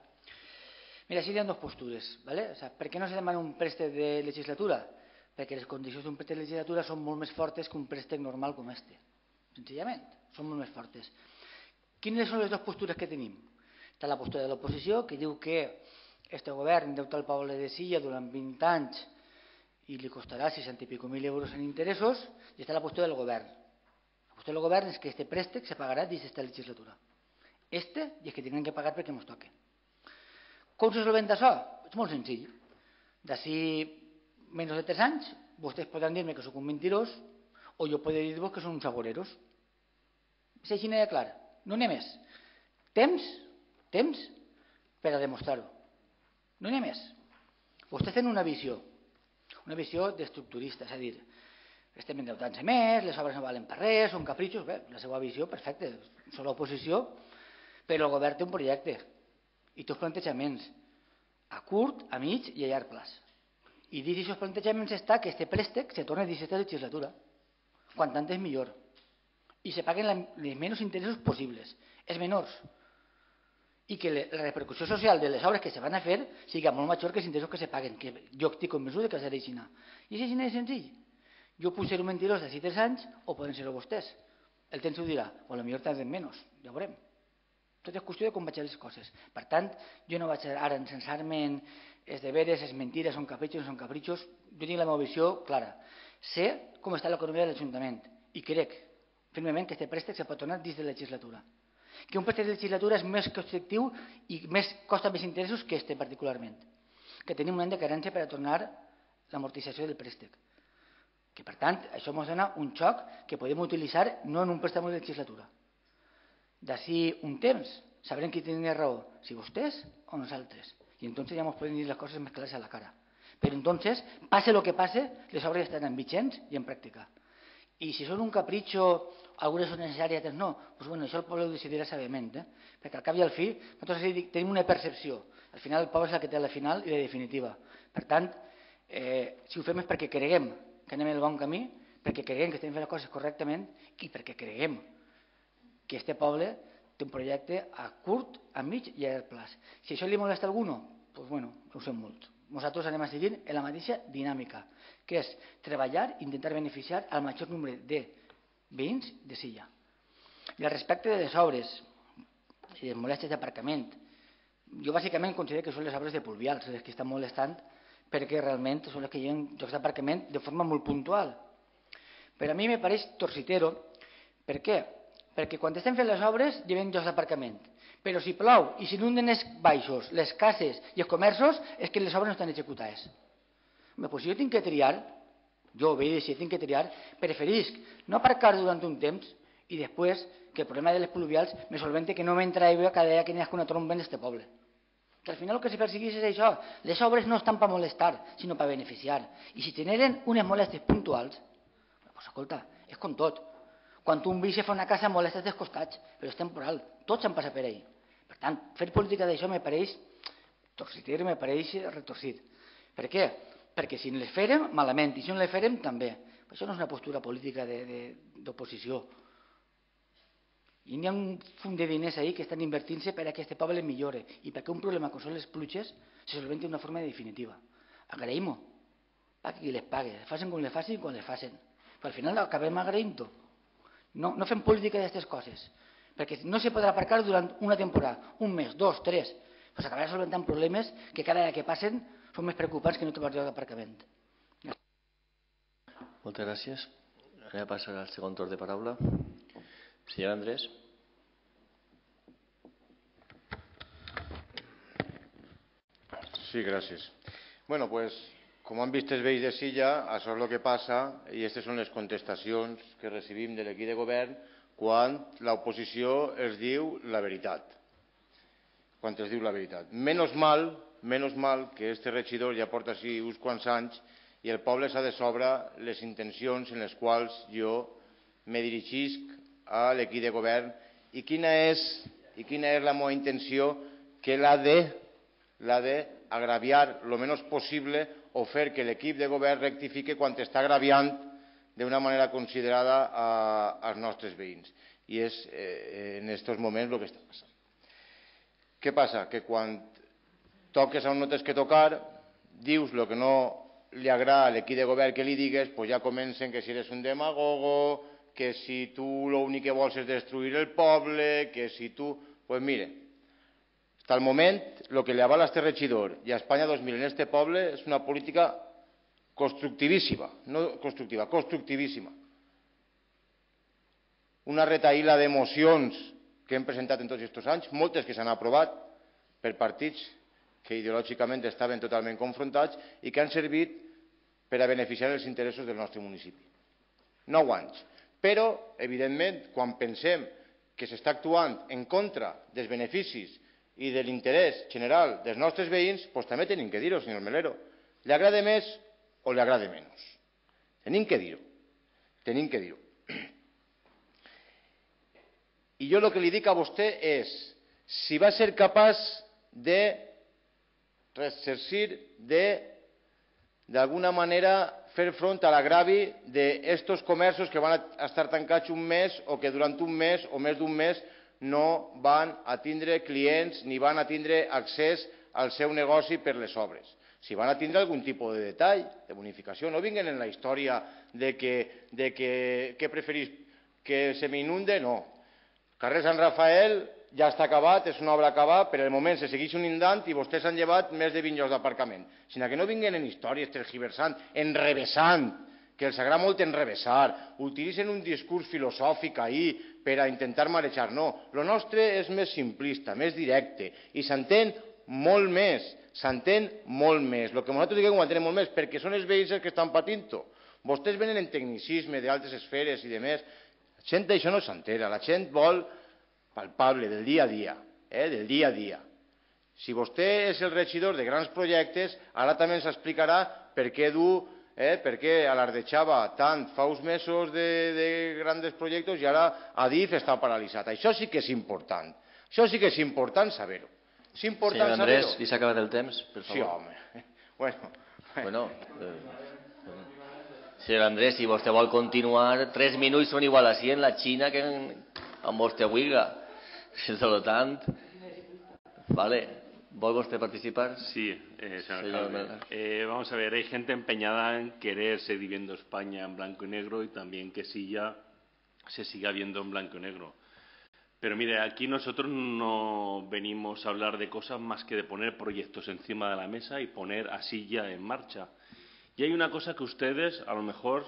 Mira, així hi ha dues postures, ¿vale? O sea, per què no se demana un préstec de legislatura? Perquè les condicions d'un préstec de legislatura són molt més fortes que un préstec normal com este. Senzillament, són molt més fortes. Quines són les dues postures que tenim? Està la postura de l'oposició, que diu que este govern endeuta el poble de Silla durant vint anys i li costarà seixanta i pico mil euros en interessos, i està la postura del govern. La postura del govern és que este préstec se pagarà dins d'esta legislatura. Este, i és que tenen que pagar perquè ens toque. Com se solventa això? És molt senzill. D'ací menys de tres anys, vostès podran dir-me que sóc un mentirós o jo podré dir-vos que són uns agoreros. És així de clar, no n'hi ha més. Temps, temps per a demostrar-ho. No n'hi ha més. Vostès tenen una visió, una visió d'estructurista, és a dir, estem endeutant-se més, les obres no valen per res, són capritxos, bé, la seva visió, perfecte, són l'oposició, però el govern té un projecte i té uns plantejaments a curt, a mig i a llarg plaç. I dins d'aquests plantejaments està que aquest préstec se torna a aquesta legislatura, quan tant és millor, i se paguen els menys interessos possibles, els menors, i que la repercussió social de les obres que se van a fer sigui molt major que els interessos que se paguen, que jo estic convençut que serà així. I és així de senzill. Jo puc ser un mentirós d'ací tres anys o poden ser-ho vostès. El temps ho dirà, o potser tardem menys, ja veurem. Tot és qüestió de com vaig a les coses. Per tant, jo no vaig ara encensar-me en els deberes, les mentires, són capritxos, no són capritxos. Jo tinc la meva visió clara. Sé com està l'economia de l'Ajuntament i crec firmement que aquest préstec se pot donar dins de la legislatura. Que un préstec de legislatura és més constructiu i més costa més interessos que este particularment. Que tenim un any de carència per a tornar l'amortització del préstec. Que per tant, això ens dona un xoc que podem utilitzar no en un préstec de legislatura. D'ací un temps sabrem qui tenia raó, si vostès o nosaltres. I entonces ja ens poden dir les coses més clares a la cara. Però entonces, pase lo que pase, les obres estaran vigents i en pràctica. I si són un capritxo, algunes són necessàries, altres no, doncs bueno, això el poble ho decidirà sabiament, eh? Perquè al cap i al fi nosaltres tenim una percepció. Al final el poble és el que té la final i la definitiva. Per tant, eh, si ho fem és perquè creguem que anem en el bon camí, perquè creguem que estem fent les coses correctament i perquè creguem que este poble té un projecte a curt, a mig i a llarg plaç. Si això li molesta a algú, doncs bueno, ho sé molt. Nosaltres anem a seguir en la mateixa dinàmica, que és treballar i intentar beneficiar al major nombre de veïns de Silla. I al respecte de les obres i les molèsties d'aparcament, jo bàsicament considero que són les obres de pluvials les que estan molestant perquè realment són les que hi ha llocs d'aparcament de forma molt puntual. Però a mi me pareix torcitero. Per què? Perquè quan estem fent les obres hi ha llocs d'aparcament. Però si plou i s'inunden els baixos, les cases i els comerços, és que les obres no estan executades. Bé, doncs si jo tinc que triar, jo veig si tinc que triar, preferisc no aparcar durant un temps i després que el problema de les pluvials me solvente que no m'entra aigua cada dia que n'hi ha una tromba en este poble. Que al final el que se persegueix és això. Les obres no estan per molestar, sinó per beneficiar. I si generen unes molèsties puntuals, doncs escolta, és com tot. Quan un veí se fa una casa molestes dels costats, però és temporal, tots han passat per ahí. Per tant, fer política d'això me pareix torcitir, me pareix retorcit. Per què? Perquè si les fèrem, malament, i si no les fèrem, també. Això no és una postura política d'oposició. I n'hi ha un fum de diners ahí que estan invertint-se per a que aquest poble millore i perquè un problema com són les pluges se solventi d'una forma definitiva. Agraïm-ho, perquè qui les pague, les facin com les facin i quan les facin. Però al final acabem agraint-ho. No, no fem política d'aquestes coses, perquè no se podrà aparcar durant una temporada, un mes, dos, tres, però s'acabarà solventant problemes que cada dia que passen són més preocupants que no trobar lloc d'aparcament. Moltes gràcies. Ara passarà al segon torn de paraula. Senyor Andrés. Sí, gràcies. Bueno, pues, com han vist els veïns de Silla, això és el que passa i aquestes són les contestacions que recibim de l'equip de govern quan l'oposició es diu la veritat. Quan es diu la veritat. Menos mal, menos mal que este regidor ja porta així uns quants anys i el poble s'ha de sobre les intencions en les quals jo me dirigisc a l'equip de govern i quina és, i quina és la meva intenció, que l'ha de, l'ha de agraviar el menys possible o fer que l'equip de govern rectifique quan està agraviant d'una manera considerada a, als nostres veïns. I és eh, en aquests moments el que està passant. Què passa? Que quan toques on no tens que tocar, dius el que no li agrada a l'equip de govern que li digues, doncs ja comencen que si eres un demagogo, que si tu l'únic que vols és destruir el poble, que si tu... Doncs pues mire, fins al moment el que li avala a este regidor i a Espanya dos mil en este poble és una política constructivíssima, no constructiva, constructivíssima. Una retaïla d'emocions que hem presentat en tots aquests anys, moltes que s'han aprovat per partits que ideològicament estaven totalment confrontats i que han servit per a beneficiar els interessos del nostre municipi. Nou anys. Però, evidentment, quan pensem que s'està actuant en contra dels beneficis i de l'interès general dels nostres veïns, doncs també tenim que dir-ho, senyor Melero. Li agrada més o li agrada menys. Tenim que dir-ho. Tenim que dir-ho. I jo el que li dic a vostè és si va ser capaç de resarcir, de d'alguna manera fer front a l'agravi d'estos comerços que van estar tancats un mes o que durant un mes o més d'un mes no van a tindre clients ni van a tindre accés al seu negoci per les obres. Si van a tindre algun tipus de detall, de bonificació, no vinguen en la història de que, de que, que preferís que se m'inunde, no. Carrer Sant Rafael ja està acabat, és una obra acabada, per el moment se segueix inundant i vostès han llevat més de vint llocs d'aparcament. Sinó que no vinguen en històries tergiversant, enrevessant, que els agrada molt enrevessar, utilitzen un discurs filosòfic ahí per a intentar marejar. No, el nostre és més simplista, més directe, i s'entén molt més, s'entén molt més. El que nosaltres diguem ho entenem molt més, perquè són els veïns els que estan patint-ho. Vostès venen en tecnicisme d'altres esferes i de més. La gent d'això no s'entera, la gent vol palpable, del dia a dia, eh, del dia a dia. Si vostè és el regidor de grans projectes, ara també ens explicarà per què du, eh, per què alardejava tant fa uns mesos de, de grans projectes i ara Adif està paralitzat. Això sí que és important. Això sí que és important saber-ho. És important Senyor Andrés, saber-ho. li s'ha acabat el temps, per favor. Sí, home. Bueno, bueno eh, senyor Andrés, si vostè vol continuar, tres minuts són igual així en la Xina que en, amb vostè huiga. Per lo tant, vale. ¿Vuelve usted a participar? Sí, eh, señor Señor alcalde. Eh, vamos a ver, hay gente empeñada en querer seguir viendo España en blanco y negro y también que Silla se siga viendo en blanco y negro. Pero mire, aquí nosotros no venimos a hablar de cosas más que de poner proyectos encima de la mesa y poner a Silla en marcha. Y hay una cosa que a ustedes a lo mejor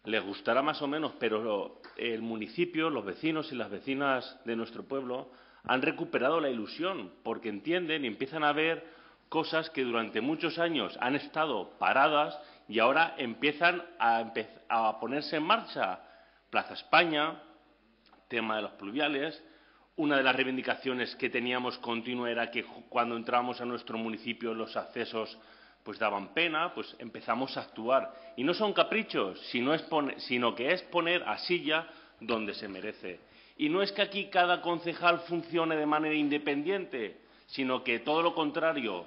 les gustará más o menos, pero el municipio, los vecinos y las vecinas de nuestro pueblo han recuperado la ilusión porque entienden y empiezan a ver cosas que durante muchos años han estado paradas y ahora empiezan a, empe a ponerse en marcha. Plaza España, tema de los pluviales. Una de las reivindicaciones que teníamos continua era que cuando entramos a nuestro municipio los accesos pues daban pena, pues empezamos a actuar. Y no son caprichos, sino, es poner, sino que es poner a Silla donde se merece. Y no es que aquí cada concejal funcione de manera independiente, sino que todo lo contrario,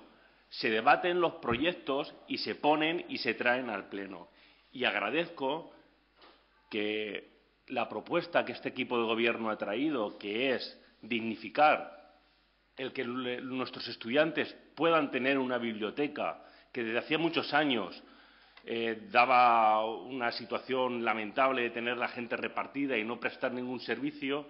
se debaten los proyectos y se ponen y se traen al Pleno. Y agradezco que la propuesta que este equipo de gobierno ha traído, que es dignificar el que nuestros estudiantes puedan tener una biblioteca que desde hacía muchos años eh, daba una situación lamentable de tener la gente repartida y no prestar ningún servicio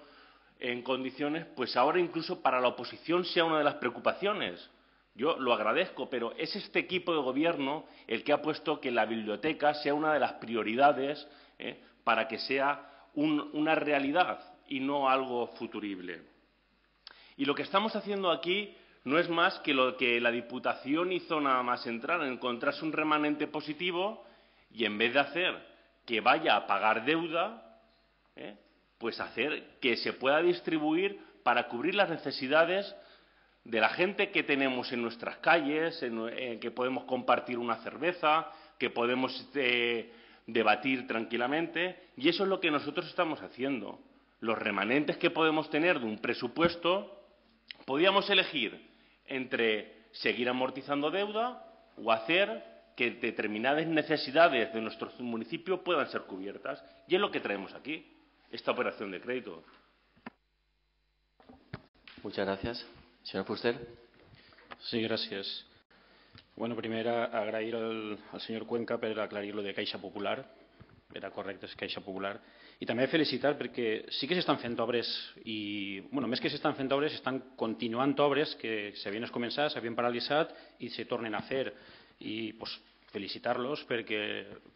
en condiciones, pues ahora incluso para la oposición sea una de las preocupaciones. Yo lo agradezco, pero es este equipo de gobierno el que ha puesto que la biblioteca sea una de las prioridades eh, para que sea un, una realidad y no algo futurible. Y lo que estamos haciendo aquí no es más que lo que la Diputación hizo nada más entrar, encontrarse un remanente positivo y en vez de hacer que vaya a pagar deuda, ¿eh? pues hacer que se pueda distribuir para cubrir las necesidades de la gente que tenemos en nuestras calles, en, en que podemos compartir una cerveza, que podemos eh, debatir tranquilamente, y eso es lo que nosotros estamos haciendo. Los remanentes que podemos tener de un presupuesto, podíamos elegir entre seguir amortizando deuda o hacer que determinadas necesidades de nuestro municipio puedan ser cubiertas. Y es lo que traemos aquí, esta operación de crédito. Muchas gracias. Señor Fuster. Sí, gràcies. Bueno, primer agrair al, al senyor Cuenca per aclarir lo de Caixa Popular. Era correcte, és Caixa Popular. I també felicitar perquè sí que s'estan fent obres i, bueno, més que s'estan fent obres, estan continuant obres que s'havien començat, s'havien paralitzat i se tornen a fer. I pues, felicitar-los perquè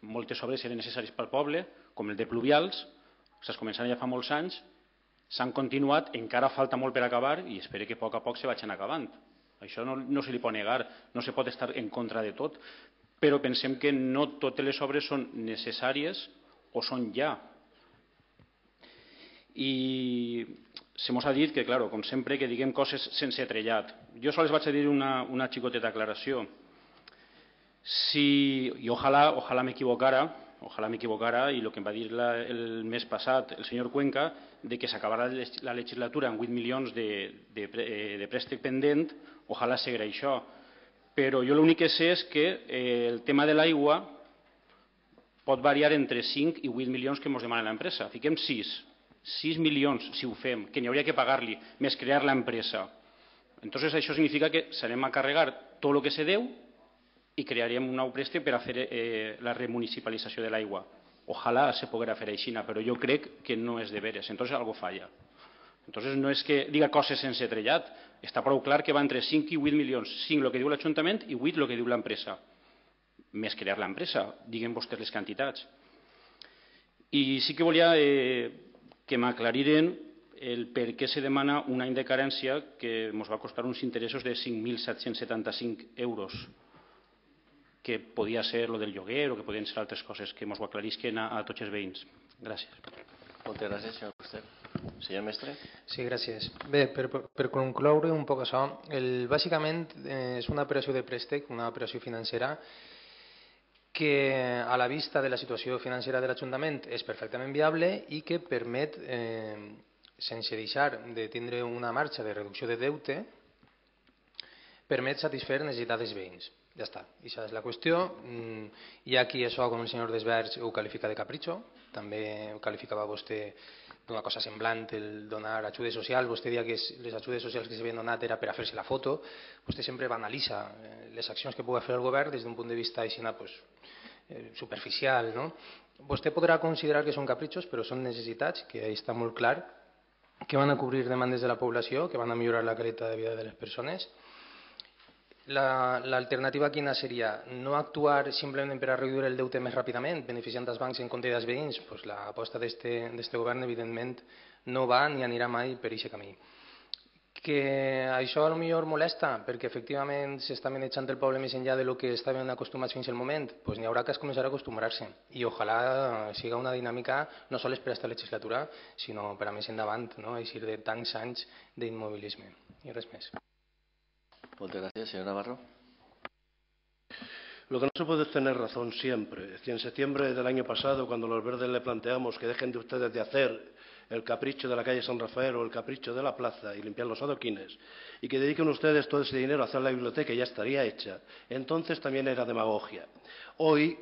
moltes obres eren necessàries pel poble, com el de pluvials, s'han començat ja fa molts anys, s'han continuat, encara falta molt per acabar i espero que a poc a poc se vagin acabant. Això no, no se li pot negar, no se pot estar en contra de tot, però pensem que no totes les obres són necessàries o són ja. I se mos ha dit que, claro, com sempre, que diguem coses sense trellat. Jo sols vaig a dir una, una xicoteta aclaració. Si, i ojalà, ojalà m'equivocara, ojalà m'equivocara, i el que em va dir la, el mes passat el senyor Cuenca, de que s'acabarà la legislatura amb vuit milions de, de, de préstec pendent, ojalà seguirà això. Però jo l'únic que sé és que eh, el tema de l'aigua pot variar entre cinc i vuit milions que ens demana l'empresa. Fiquem sis. sis milions, si ho fem, que n'hi hauria que pagar-li, més crear l'empresa. Entonces això significa que s'anem a carregar tot el que se deu i crearíem un nou préstec per a fer eh, la remunicipalització de l'aigua. Ojalà se poguera fer així, però jo crec que no és de veres, entonces algo falla. Entonces no és que diga coses sense trellat, està prou clar que va entre cinc i vuit milions, cinc el que diu l'Ajuntament i vuit el que diu l'empresa. Més crear l'empresa, diguen vostès les quantitats. I sí que volia eh, que m'aclariren el per què se demana un any de carència que ens va costar uns interessos de cinc mil set-cents setanta-cinc euros, que podia ser lo del lloguer o que podien ser altres coses que ens ho aclarisquen a, a tots els veïns. Gràcies. Moltes gràcies, senyor Fuster. Senyor Mestre. Sí, gràcies. Bé, per, per concloure un poc això, el, bàsicament eh, és una operació de préstec, una operació financera que a la vista de la situació financera de l'Ajuntament és perfectament viable i que permet, eh, sense deixar de tindre una marxa de reducció de deute, permet satisfer necessitats dels veïns. Ja està, aquesta és la qüestió. Hi ha qui això, com el senyor Desverge, ho qualifica de capritxo, també ho qualificava vostè d'una cosa semblant el donar ajudes socials. Vostè deia que les ajudes socials que s'havien donat era per a fer-se la foto. Vostè sempre banalitza les accions que pugui fer el govern des d'un punt de vista així, pues, eh, superficial, no? Vostè podrà considerar que són capritxos, però són necessitats, que ahí està molt clar, que van a cobrir demandes de la població, que van a millorar la qualitat de vida de les persones. L'alternativa la, quina seria? No actuar simplement per a reduir el deute més ràpidament, beneficiant els bancs en compte dels veïns? Pues l'aposta d'aquest govern, evidentment, no va ni anirà mai per aquest camí. Que això potser molesta, perquè efectivament s'està manejant el poble més enllà del que estaven acostumats fins al moment, doncs n'hi haurà que començar a acostumar-se. I ojalà siga una dinàmica no sols per a aquesta legislatura, sinó per a més endavant, no? Així de tants anys d'immobilisme. I res més. Muchas gracias, señor Navarro. Lo que no se puede es tener razón siempre. Es decir, en septiembre del año pasado, cuando los verdes le planteamos que dejen de ustedes de hacer el capricho de la calle San Rafael o el capricho de la plaza y limpiar los adoquines, y que dediquen ustedes todo ese dinero a hacer la biblioteca y ya estaría hecha, entonces también era demagogia. Hoy,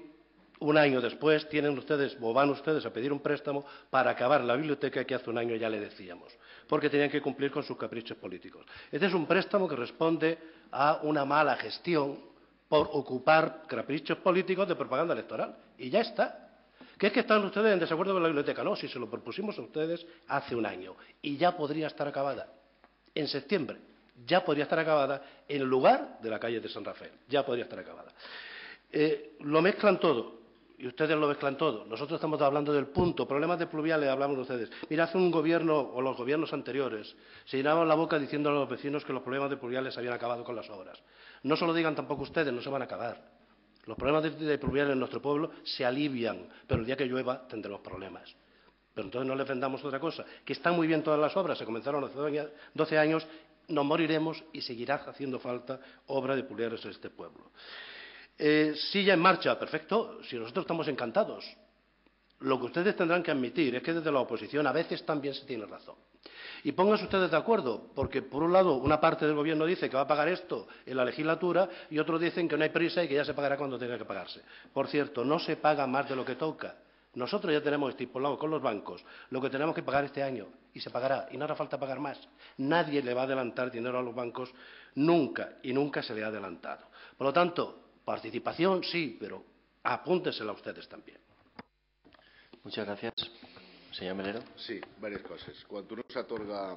un año después, tienen ustedes o van ustedes a pedir un préstamo para acabar la biblioteca que hace un año ya le decíamos, porque tenían que cumplir con sus caprichos políticos. Este es un préstamo que responde a una mala gestión por ocupar caprichos políticos de propaganda electoral. Y ya está. ¿Qué es que están ustedes en desacuerdo con la biblioteca? No, si se lo propusimos a ustedes hace un año y ya podría estar acabada. En septiembre ya podría estar acabada en lugar de la calle de San Rafael. Ya podría estar acabada. Eh, lo mezclan todo. Y ustedes lo mezclan todo. Nosotros estamos hablando del punto. Problemas de pluviales hablamos de ustedes. Mira, hace un gobierno, o los gobiernos anteriores, se llenaban la boca diciendo a los vecinos que los problemas de pluviales habían acabado con las obras. No se lo digan tampoco ustedes, no se van a acabar. Los problemas de, de pluviales en nuestro pueblo se alivian, pero el día que llueva tendremos problemas. Pero entonces no les vendamos otra cosa. Que están muy bien todas las obras, se comenzaron hace doce años, nos moriremos y seguirá haciendo falta obra de pluviales en este pueblo. Eh, silla en marcha, perfecto, si nosotros estamos encantados. Lo que ustedes tendrán que admitir es que desde la oposición a veces también se tiene razón. Y pónganse ustedes de acuerdo, porque por un lado una parte del gobierno dice que va a pagar esto en la legislatura y otros dicen que no hay prisa y que ya se pagará cuando tenga que pagarse. Por cierto, no se paga más de lo que toca. Nosotros ya tenemos estipulado con los bancos lo que tenemos que pagar este año y se pagará y no hará falta pagar más. Nadie le va a adelantar dinero a los bancos nunca y nunca se le ha adelantado. Por lo tanto, participación sí, pero apúntensela ustedes también. Muchas gracias. Senyor Melero. Sí, diverses coses. Quan no s'atorga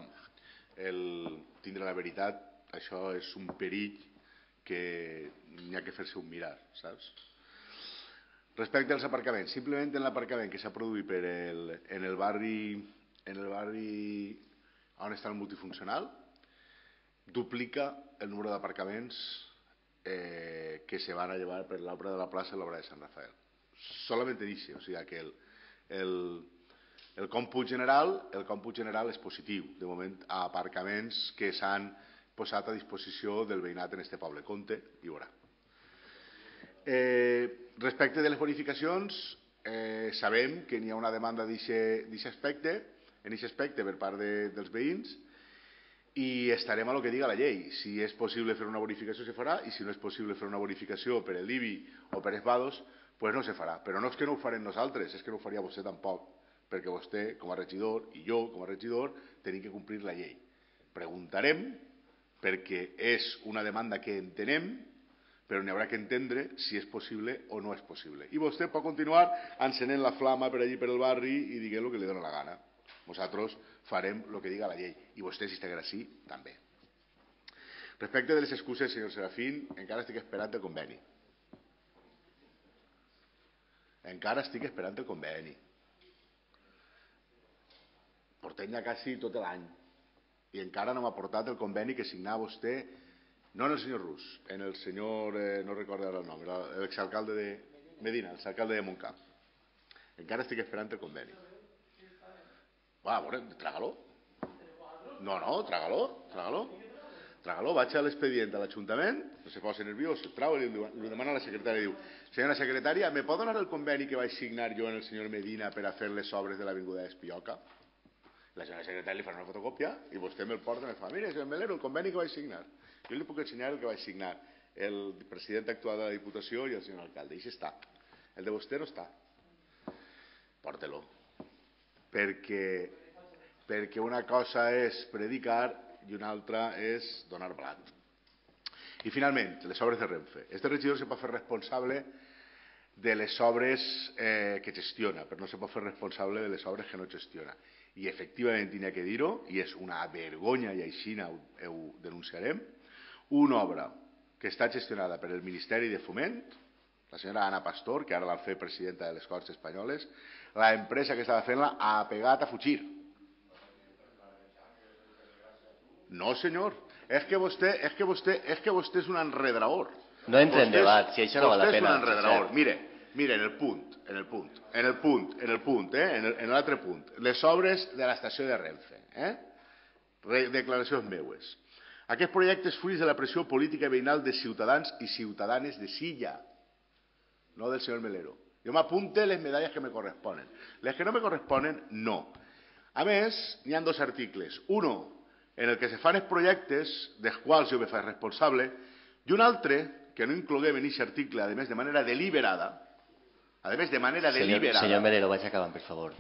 el tindre la veritat, això és un perill que n'hi ha que fer-se un mirar, saps? Respecte als aparcaments, simplement en l'aparcament que s'ha produït per el, en el barri en el barri on està el multifuncional, duplica el número d'aparcaments eh, que se van a llevar per l'obra de la plaça i l'obra de Sant Rafael. Solamente dice, o sigui que el, el, el còmput general, el còmput general és positiu, de moment, a aparcaments que s'han posat a disposició del veïnat en este poble. Compte, hi haurà. Eh, respecte de les bonificacions, eh, sabem que n'hi ha una demanda d'aquest aspecte, en aquest aspecte per part de, dels veïns, i estarem a lo que diga la llei. Si és possible fer una bonificació, se farà, i si no és possible fer una bonificació per l'I B I o per els vados, pues no se farà. Però no és que no ho farem nosaltres, és que no ho faria vostè tampoc, perquè vostè, com a regidor, i jo, com a regidor, tenim que complir la llei. Preguntarem, perquè és una demanda que entenem, però n'hi haurà que entendre si és possible o no és possible. I vostè pot continuar encenent la flama per allí per el barri i diguent el que li dóna la gana. Nosaltres farem el que diga la llei. I vostè, si estigués així, també. Respecte de les excuses, senyor Serafín, encara estic esperant el conveni. Encara estic esperant el conveni. Portem ja quasi tot l'any. I encara no m'ha portat el conveni que signava vostè, no en el senyor Rus, en el senyor, eh, no recordo ara el nom, l'exalcalde de Medina, l'exalcalde de Montcamp. Encara estic esperant el conveni. Va, a veure, trágalo. No, no, trágalo, trágalo. Trágalo, vaig a l'expedient a l'Ajuntament, no se posa nerviós, el trau i li demana a la secretària, diu, senyora secretària, me pot donar el conveni que vaig signar jo en el senyor Medina per a fer les obres de l'Avinguda d'Espioca? La senyora secretària li farà una fotocòpia i vostè me'l porta i me fa, mire, senyor Melero, el conveni que vaig signar. Jo li puc ensenyar el que vaig signar, el president actual de la Diputació i el senyor alcalde, i això està. El de vostè no està. Porte-lo. Perquè, perquè una cosa és predicar i una altra és donar blat. I finalment, les obres de Renfe. Este regidor se pot fer responsable de les obres eh, que gestiona, però no se pot fer responsable de les obres que no gestiona. I efectivament n'hi ha que dir-ho, i és una vergonya, i així ho, ho denunciarem, una obra que està gestionada per el Ministeri de Foment, la senyora Ana Pastor, que ara l'han fet presidenta de les Corts Espanyoles, la empresa que estava fent-la ha pegat a fugir. No, senyor, és que vostè és, que vostè, és, que vostè és un enredraor. No entra en debat, si això no val la pena. Vostè és un enredraor. Mire, mire, en el punt, en el punt, en el punt, en el punt, eh? en l'altre punt, les obres de l'estació de Renfe, eh? Declaracions meues. Aquest projecte és fruit de la pressió política i veïnal de ciutadans i ciutadanes de Silla, no del senyor Melero. Jo m'apunte les medalles que me corresponen. Les que no me corresponen, no. A més, n'hi ha dos articles. Uno, en el que se fan els projectes, dels quals jo me faig responsable, i un altre, que no incloguem en aquest article, a més de manera deliberada, a més de manera deliberada... Senyor Melero, vaig acabant, per favor.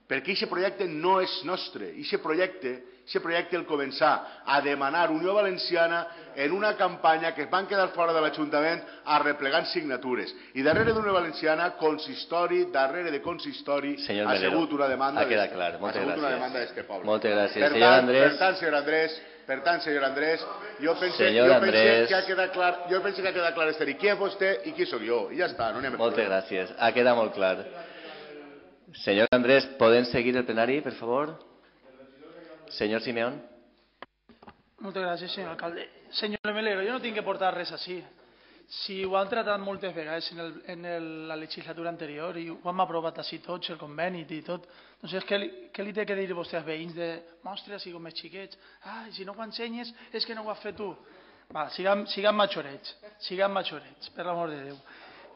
Perquè aquest projecte no és nostre. Aquest projecte, aquest projecte el començar a demanar Unió Valenciana en una campanya que es van quedar fora de l'Ajuntament arreplegant signatures. I darrere d'Unió Valenciana, consistori, darrere de consistori, ha sigut una demanda d'este poble. Moltes gràcies. Senyor Andrés... Per tant, senyor Andrés, per tant, senyor Andrés, jo pense, senyor jo Andrés... pense que ha quedat clar, jo pense que ha quedat clar este qui és vostè i qui sóc jo. I ja està, no anem a... Moltes gràcies. Ha quedat molt clar. Senyor Andrés, ¿pueden seguir el plenari, per favor? Señor Simeón. Moltes gràcies, senyor alcalde. Senyor Melero, jo no tinc que portar res així. Si ho han tratat moltes vegades en, el, en el, la legislatura anterior i ho hem aprovat així tots, el conveni i tot, doncs què li, què li té que dir vostè als veïns de mostra, si com més xiquets, ah, si no ho ensenyes és que no ho has fet tu. Va, siguem, siguem matxorets, siguem matxorets, per l'amor de Déu.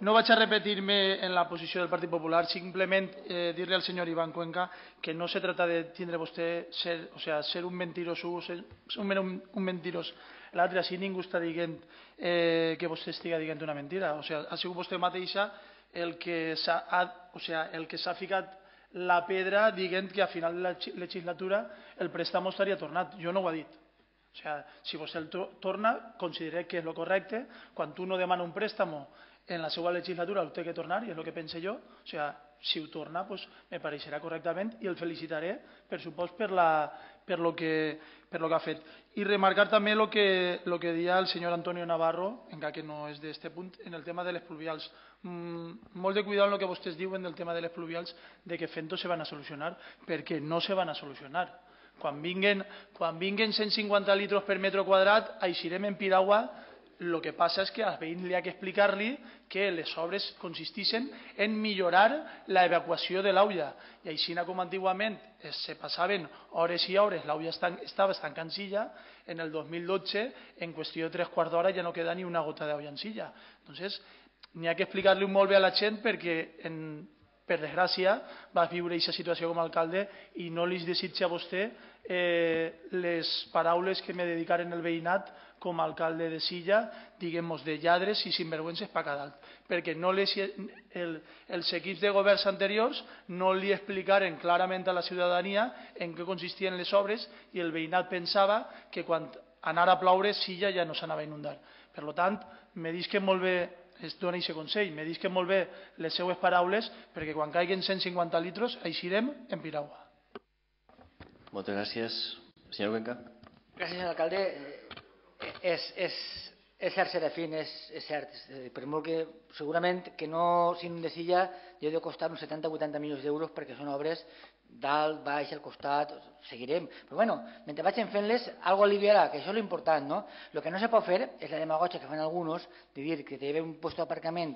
No vaig a repetir-me en la posició del Partit Popular, simplement eh, dir-li al senyor Iván Cuenca que no se trata de tindre vostè ser, o sea, ser un mentirós, ser un, un, un mentirós. L'altre, així ningú està dient eh, que vostè estigui dient una mentira. O sea, ha sigut vostè mateixa el que s'ha o sea, el que s'ha ficat la pedra dient que a final de la legislatura el préstamo estaria tornat. Jo no ho he dit. O sea, si vostè el torna, consideré que és el correcte. Quan tu no demana un préstamo en la seva legislatura ho té que tornar, i és el que pense jo. O sigui, si ho torna, pues, me pareixerà correctament i el felicitaré, per supost, per, la, per, lo que, per lo que ha fet. I remarcar també el que, lo que deia el senyor Antonio Navarro, encara que no és d'este punt, en el tema de les pluvials. Mm, molt de cuidado en el que vostès diuen del tema de les pluvials, de que fent-ho se van a solucionar, perquè no se van a solucionar. Quan vinguen, quan vinguen cent cinquanta litres per metre quadrat, eixirem en piragua. El que passa és que als veïns li ha que explicar-li que les obres consisteixen en millorar l'evacuació de l'aulla. I així com antigament se passaven hores i hores, l'aulla estava estancant silla, en el dos mil dotze, en qüestió de tres quarts d'hora ja no queda ni una gota d'aulla en silla. Entonces, n'hi ha que explicar-li molt bé a la gent perquè, en, per desgràcia, va viure aquesta situació com a alcalde i no li desitja a vostè eh, les paraules que me dedicaren el veïnat com a alcalde de Silla, diguem-nos, de lladres i sinvergüences per cada alt. Perquè no les, el, els equips de governs anteriors no li explicaren clarament a la ciutadania en què consistien les obres i el veïnat pensava que quan anara a ploure Silla ja no s'anava a inundar. Per tant, me disquen molt bé, es dona aquest consell, me disquen molt bé les seues paraules perquè quan caiguen cent cinquanta litres eixirem en piragua. Moltes gràcies. Senyor Cuenca. Gràcies, senyor alcalde. És, és, és cert, Serafín, és, és cert. Per molt que segurament que no s'inunde Silla deu de costar uns setanta o vuitanta milions d'euros perquè són obres dalt, baix, al costat, seguirem. Però bueno, mentre vagin fent-les, algo aliviarà, que això és l'important, no? El que no se pot fer és la demagogia que fan alguns de dir que té un lloc d'aparcament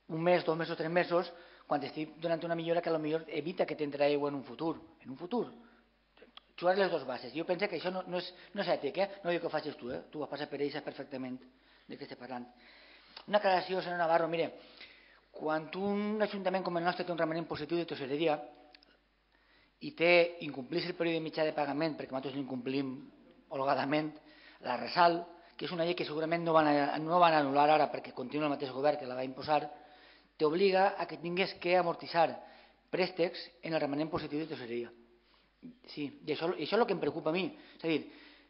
un mes, dos mesos, tres mesos, quan estic donant una millora que potser evita que tindrà aigua en un futur. En un futur. Jugar les dues bases. Jo penso que això no, no, és, no és ètic, eh? No dic que ho facis tu, eh? Tu ho has passat per ell, saps perfectament de què estic parlant. Una aclaració, senyor Navarro, mire, quan un ajuntament com el nostre té un remanent positiu de tesoreria i té incomplís el període mitjà de pagament, perquè nosaltres l'incomplim holgadament, la resal, que és una llei que segurament no van, a, no van anul·lar ara perquè continua el mateix govern que la va imposar, t'obliga a que tingues que amortitzar préstecs en el remanent positiu de tesoreria. Sí, i això, i això és el que em preocupa a mi. És a dir,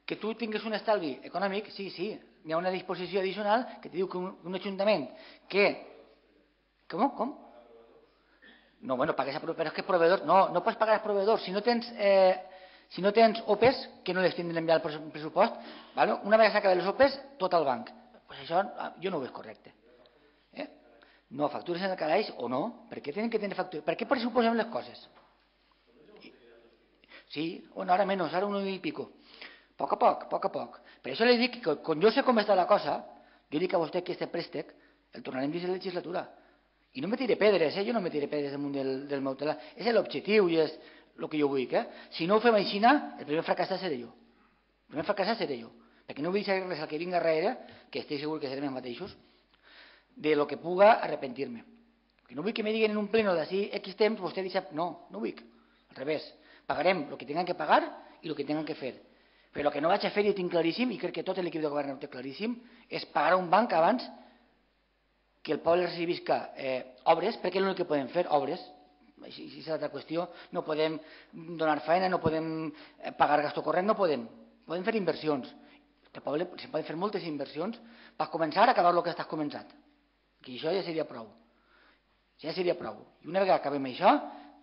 que tu tingues un estalvi econòmic, sí, sí, hi ha una disposició addicional que te diu que un, un ajuntament que... Com? Com? No, bueno, pagues a proveïdors, però és que proveïdors... No, no pots pagar als proveïdors. Si no tens, eh, si no tens O P Es, que no les tindran enviar al pressupost, ¿vale? Una vegada s'acaben les O P Es, tot al banc. Pues això jo no ho veig correcte. Eh? No, factures en el calaix o no? Per què tenen que tenir factures? Per què pressuposem les coses? Sí, bueno, ara menys, ara un i pico. A poc a poc, a poc a poc. Per això li dic que quan jo sé com està la cosa, jo dic a vostè que aquest préstec el tornarem dins de la legislatura. I no me tire pedres, eh? Jo no me tire pedres damunt del, del meu telar. És l'objectiu i és el que jo vull. Eh? Si no ho fem així, el primer fracassat seré jo. El primer fracassat seré jo. Perquè no vull dir res al que vinga darrere, que estic segur que serem els mateixos, de lo que puga arrepentir-me. Que no vull que me diguin en un pleno d'ací X temps, vostè dice, no, no vull. Al revés. Pagarem el que tinguem que pagar i el que tinguem que fer. Però el que no vaig a fer, i ho tinc claríssim, i crec que tot l'equip de govern ho té claríssim, és pagar un banc abans que el poble recibisca eh, obres, perquè és l'únic que podem fer, obres. Així és l'altra qüestió. No podem donar feina, no podem pagar gasto corrent, no podem. Podem fer inversions. El poble se poden fer moltes inversions per començar a acabar el que estàs començat. Que això ja seria prou. Ja seria prou. I una vegada acabem això,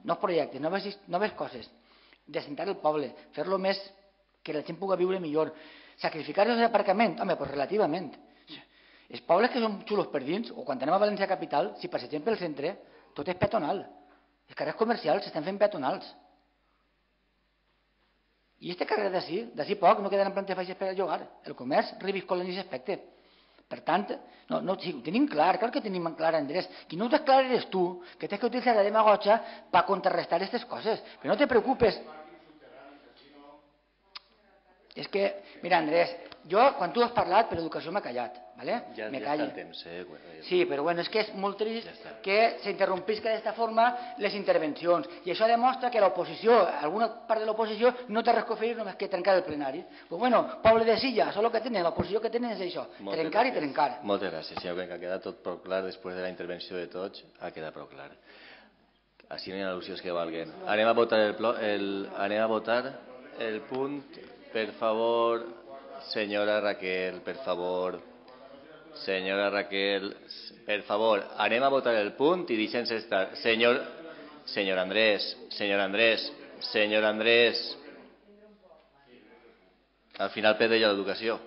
nous projectes, noves, noves coses, d'assentar el poble, fer-lo més que la gent pugui viure millor, sacrificar els aparcaments, home, doncs relativament. Els pobles que són xulos per dins, o quan anem a València Capital, si passegem pel centre, tot és peatonal. Els carrers comercials s'estan fent peatonals. I este carrer d'ací, d'ací poc, no quedaran plantes baixes per a llogar. El comerç reviscola en aquest aspecte. Per tant, no, no, sí, ho tenim clar, clar que tenim clar, Andrés. Qui no ho tens clar eres tu, que tens que utilitzar la demagogia per contrarrestar aquestes coses. Però no te preocupes. És que, mira, Andrés, jo, quan tu has parlat, per educació m'he callat, ¿vale? Ja, me ja callo. està el temps, eh? Bueno, ja... Sí, però bueno, és que és molt trist ja que s'interrompisca d'esta forma les intervencions. I això demostra que l'oposició, alguna part de l'oposició, no té res que fer només que trencar el plenari. Pues bueno, poble de Silla, això és el que tenen, l'oposició que tenen és això, Moltes trencar gràcies. i trencar. Moltes gràcies, senyor Cuenca. Ha quedat tot prou clar després de la intervenció de tots. Ha quedat prou clar. Així no hi ha al·lusions que valguen. Anem a votar el, el, anem a votar el punt, per favor, senyora Raquel, per favor. Senyora Raquel, per favor, anem a votar el punt i deixem-se estar. Senyor, senyor Andrés, senyor Andrés, senyor Andrés. Al final perde jo l'educació.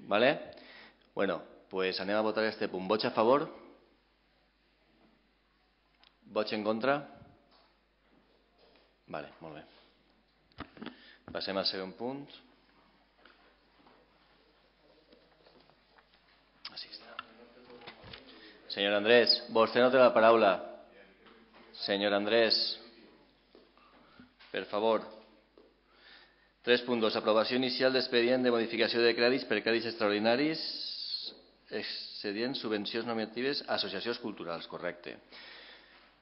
¿Vale? Bueno, pues anem a votar este punt. Vots a favor? Vots en contra? Vale, molt bé. Passem al segon punt. Així està. Senyor Andrés, vostè no té la paraula. Senyor Andrés, per favor. tres punt dos. Aprovació inicial d'expedient de modificació de crèdits per crèdits extraordinaris, excedients, subvencions nominatives a associacions culturals. Correcte.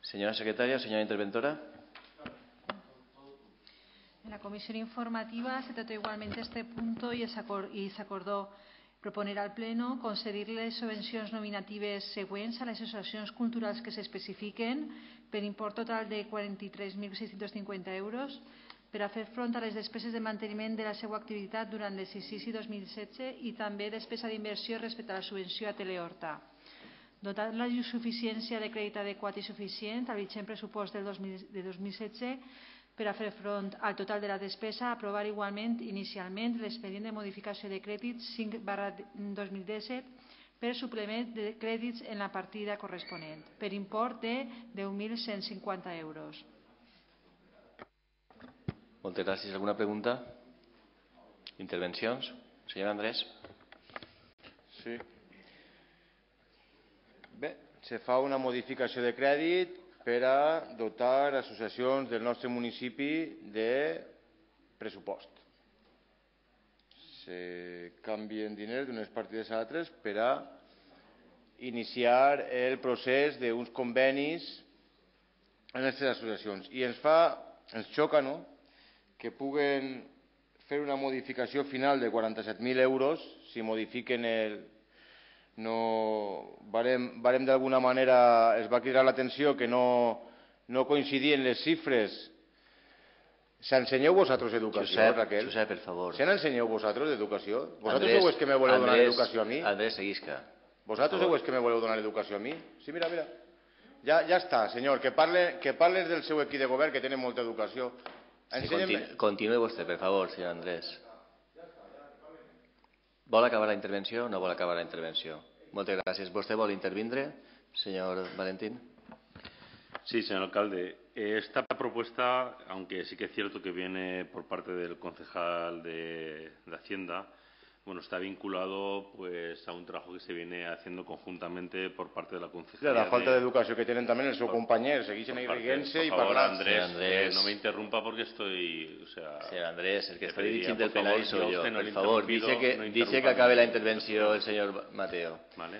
Senyora secretària, senyora interventora. En la comisión informativa se trató igualmente este punto y se acordó proponer al Pleno concedir-les subvencions nominatives següents a les associacions culturals que s'especifiquen per import total de quaranta-tres mil sis-cents cinquanta euros per a fer front a les despeses de manteniment de la seva activitat durant l'exercici dos mil setze i també despesa d'inversió respecte a la subvenció a Telehorta. Dotat la suficiència de crèdit adequat i suficient al vigent pressupost del de dos mil setze per a fer front al total de la despesa, aprovar igualment inicialment l'expedient de modificació de crèdits cinc barra dos mil disset per suplement de crèdits en la partida corresponent, per import de deu mil cent cinquanta euros. Moltes gràcies. Alguna pregunta? Intervencions? Senyor Andrés. Sí. Bé, se fa una modificació de crèdit per a dotar associacions del nostre municipi de pressupost. Se canvien diners d'unes partides a altres per a iniciar el procés d'uns convenis en aquestes associacions. I ens fa, ens xoca, no?, que puguen fer una modificació final de quaranta-set mil euros si modifiquen el... No, varem, varem d'alguna manera, es va cridar l'atenció que no, no coincidien les xifres. ¿S'ensenyeu vosaltres educació, Josep, Raquel? Josep, per favor. ¿Se n'ensenyeu vosaltres d'educació? Vosaltres Andrés, sou els que me voleu donar Andrés, educació a mi? Andrés, seguisca. Vosaltres sou els que me voleu donar educació a mi? Sí, mira, mira. Ja, ja està, senyor, que parle, que parles del seu equip de govern, que tenen molta educació. Sí, continu, continue vostè, per favor, senyor Andrés. Vol acabar la intervenció o no vol acabar la intervenció? Moltes gràcies. ¿Vostè vol intervindre, señor Valentín? Sí, señor alcalde. Esta propuesta, aunque sí que es cierto que viene por parte del concejal de, de Hacienda, bueno, está vinculado pues a un trabajo que se viene haciendo conjuntamente por parte de la concejalía. La falta d'educació que tenen també els seus companys, segueixen irriguent-se i parlant. Por favor, Andrés, Andrés. Eh, no me interrumpa porque estoy... O sea, señor Andrés, el que está dirigint el plenari soy yo. No por favor, dice que, no dice que acabe la intervención el señor Mateo. Vale.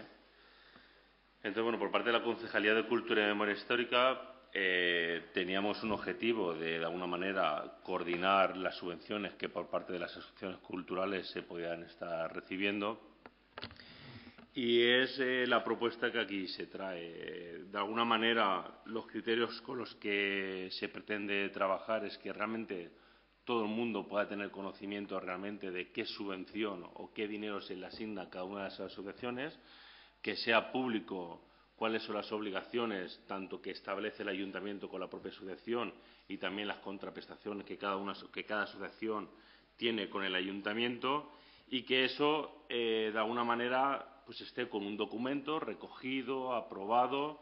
Entonces, bueno, por parte de la Concejalía de Cultura y Memoria Histórica eh, teníamos un objetivo de, de alguna manera, coordinar las subvenciones que por parte de las asociaciones culturales se podían estar recibiendo. Y es eh, la propuesta que aquí se trae. De alguna manera, los criterios con los que se pretende trabajar es que realmente todo el mundo pueda tener conocimiento realmente de qué subvención o qué dinero se le asigna a cada una de esas asociaciones, que sea público cuáles son las obligaciones, tanto que establece el ayuntamiento con la propia asociación y también las contraprestaciones que cada, una, que cada asociación tiene con el ayuntamiento, y que eso, eh, de alguna manera, pues esté con un documento recogido, aprobado,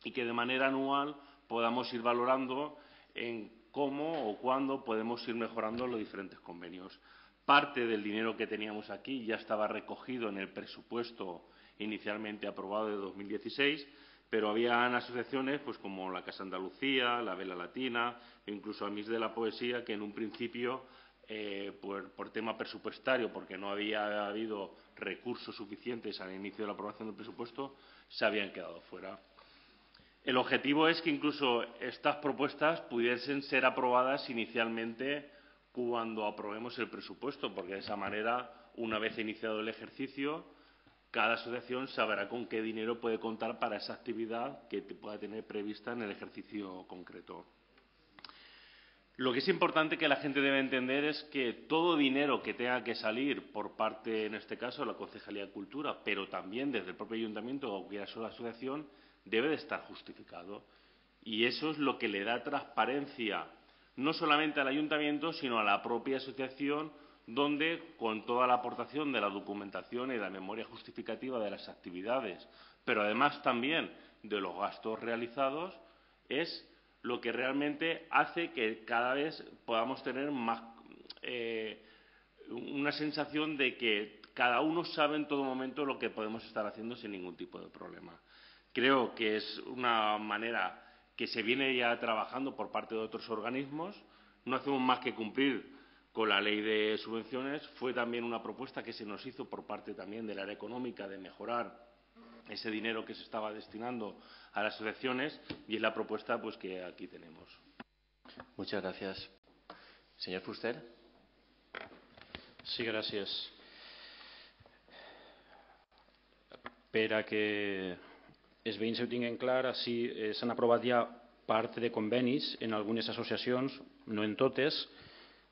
y que de manera anual podamos ir valorando en cómo o cuándo podemos ir mejorando los diferentes convenios. Parte del dinero que teníamos aquí ya estaba recogido en el presupuesto inicialmente aprobado de dos mil dieciséis, pero habían asociaciones pues como la Casa Andalucía, la Vela Latina e incluso Amis de la Poesía que en un principio, eh, por, por tema presupuestario, porque no había habido recursos suficientes al inicio de la aprobación del presupuesto, se habían quedado fuera. El objetivo es que incluso estas propuestas pudiesen ser aprobadas inicialmente cuando aprobemos el presupuesto, porque de esa manera, una vez iniciado el ejercicio, cada asociación sabrá con qué dinero puede contar para esa actividad que pueda tener prevista en el ejercicio concreto. Lo que es importante que la gente debe entender es que todo dinero que tenga que salir por parte, en este caso, de la Concejalía de Cultura, pero también desde el propio ayuntamiento o cualquier asociación, debe de estar justificado. Y eso es lo que le da transparencia no solamente al ayuntamiento, sino a la propia asociación, donde, con toda la aportación de la documentación y de la memoria justificativa de las actividades, pero además también de los gastos realizados, es lo que realmente hace que cada vez podamos tener más eh, una sensación de que cada uno sabe en todo momento lo que podemos estar haciendo sin ningún tipo de problema. Creo que es una manera que se viene ya trabajando por parte de otros organismos. No hacemos más que cumplir con la ley de subvenciones. Fue también una propuesta que se nos hizo por parte también del área económica de mejorar ese dinero que se estaba destinando a las asociaciones, y es la propuesta pues que aquí tenemos. Muchas gracias. Señor Fuster. Sí, gràcies. Per a que els veïns ho tinguin clar, així eh, s'han aprovat ja part de convenis en algunes associacions, no en totes.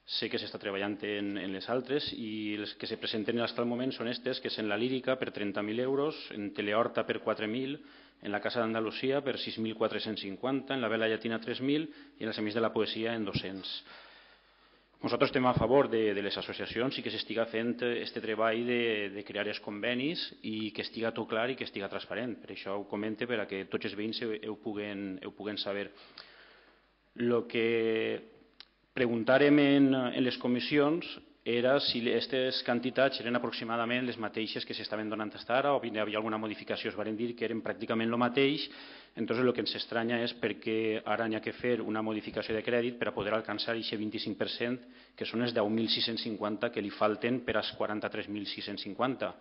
Sé que s'està treballant en, en les altres, i les que se presenten fins al moment són aquestes, que és en la Lírica per trenta mil euros, en Telehorta per quatre mil, en la Casa d'Andalusia per sis mil quatre-cents cinquanta, en la Vela Llatina tres mil i en els Amics de la Poesia en dos-cents. Nosaltres estem a favor de, de les associacions i que s'estiga fent aquest treball de, de crear els convenis i que estiga tot clar i que estiga transparent. Per això ho comente, per a que tots els veïns ho, ho, puguen, ho puguen saber. El que preguntàrem en, en les comissions era si aquestes quantitats eren aproximadament les mateixes que s'estaven donant fins ara, o hi havia alguna modificació. Es van dir que eren pràcticament el mateix. Entonces, el que ens estranya és perquè ara hi ha que fer una modificació de crèdit per a poder alcançar aquest vint-i-cinc per cent, que són els deu mil sis-cents cinquanta que li falten per als quaranta-tres mil sis-cents cinquanta.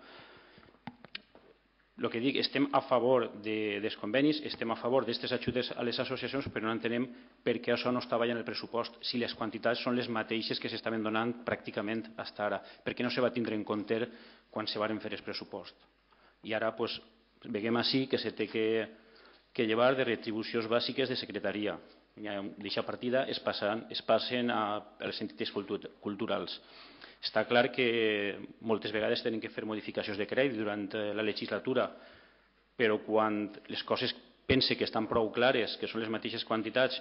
El que dic, estem a favor de, dels convenis, estem a favor d'aquestes ajudes a les associacions, però no entenem per què això no estava ja en el pressupost, si les quantitats són les mateixes que s'estaven donant pràcticament fins ara. Per què no se va tindre en compte quan se varen fer el pressupost? I ara, doncs, veiem així que se té que, que llevar de retribucions bàsiques de secretaria. D'aquesta partida es passen, es passen a, a les entitats culturals. Està clar que moltes vegades tenen que fer modificacions de crèdit durant la legislatura, però quan les coses pense que estan prou clares, que són les mateixes quantitats,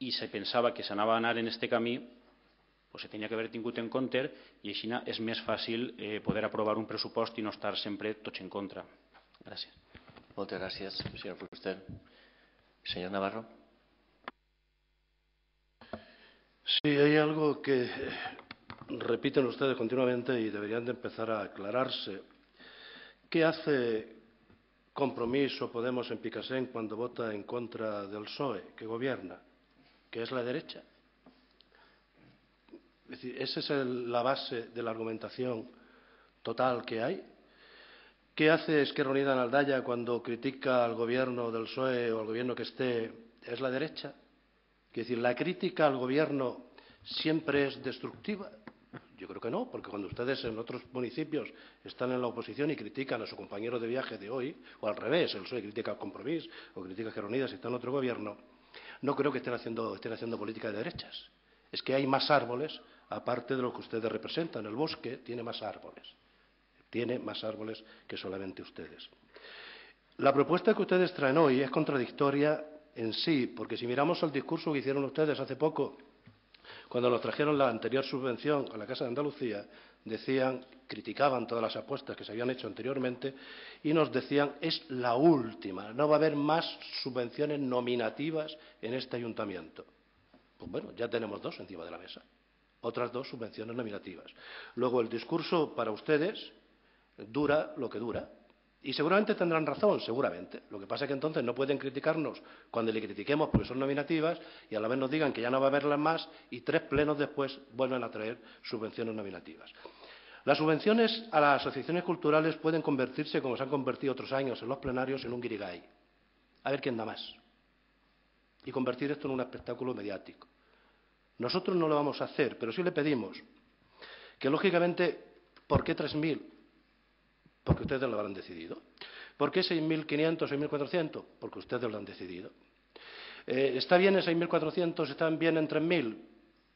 i se pensava que s'anava a anar en aquest camí, doncs se tenia que haver tingut en compte, i així és més fàcil eh, poder aprovar un pressupost i no estar sempre tots en contra. Gràcies. Moltes gràcies, senyor Fuster. Senyor Navarro. Sí, hay algo que repiten ustedes continuamente y deberían de empezar a aclararse. ¿Qué hace Compromís o Podemos en Picassent cuando vota en contra del P S O E, que gobierna? ¿Que es la derecha? Es decir, ¿esa es el, la base de la argumentación total que hay? ¿Qué hace Esquerra Unida en Aldaya cuando critica al gobierno del P S O E o al gobierno que esté? ¿Es la derecha? Es decir, ¿la crítica al gobierno siempre es destructiva? Yo creo que no, porque cuando ustedes en otros municipios están en la oposición y critican a su compañero de viaje de hoy, o al revés, el P S O E critica al Compromís o critica a Esquerra Unida si está en otro gobierno, no creo que estén haciendo, estén haciendo política de derechas. Es que hay más árboles, aparte de lo que ustedes representan. El bosque tiene más árboles, tiene más árboles que solamente ustedes. La propuesta que ustedes traen hoy es contradictoria en sí, porque si miramos el discurso que hicieron ustedes hace poco, cuando nos trajeron la anterior subvención a la Casa de Andalucía, decían, criticaban todas las apuestas que se habían hecho anteriormente y nos decían, es la última, no va a haber más subvenciones nominativas en este ayuntamiento. Pues bueno, ya tenemos dos encima de la mesa, otras dos subvenciones nominativas. Luego, el discurso para ustedes dura lo que dura. Y seguramente tendrán razón, seguramente. Lo que pasa es que entonces no pueden criticarnos cuando le critiquemos porque son nominativas y a la vez nos digan que ya no va a haberlas más y tres plenos después vuelven a traer subvenciones nominativas. Las subvenciones a las asociaciones culturales pueden convertirse, como se han convertido otros años en los plenarios, en un guirigay. A ver quién da más. Y convertir esto en un espectáculo mediático. Nosotros no lo vamos a hacer, pero sí le pedimos que, lógicamente, ¿por qué tres mil? Porque ustedes lo habrán decidido. ¿Por qué seis mil quinientos, seis mil cuatrocientos? Porque ustedes lo han decidido. Eh, ¿Está bien en seis mil cuatrocientos? ¿Están bien en tres mil?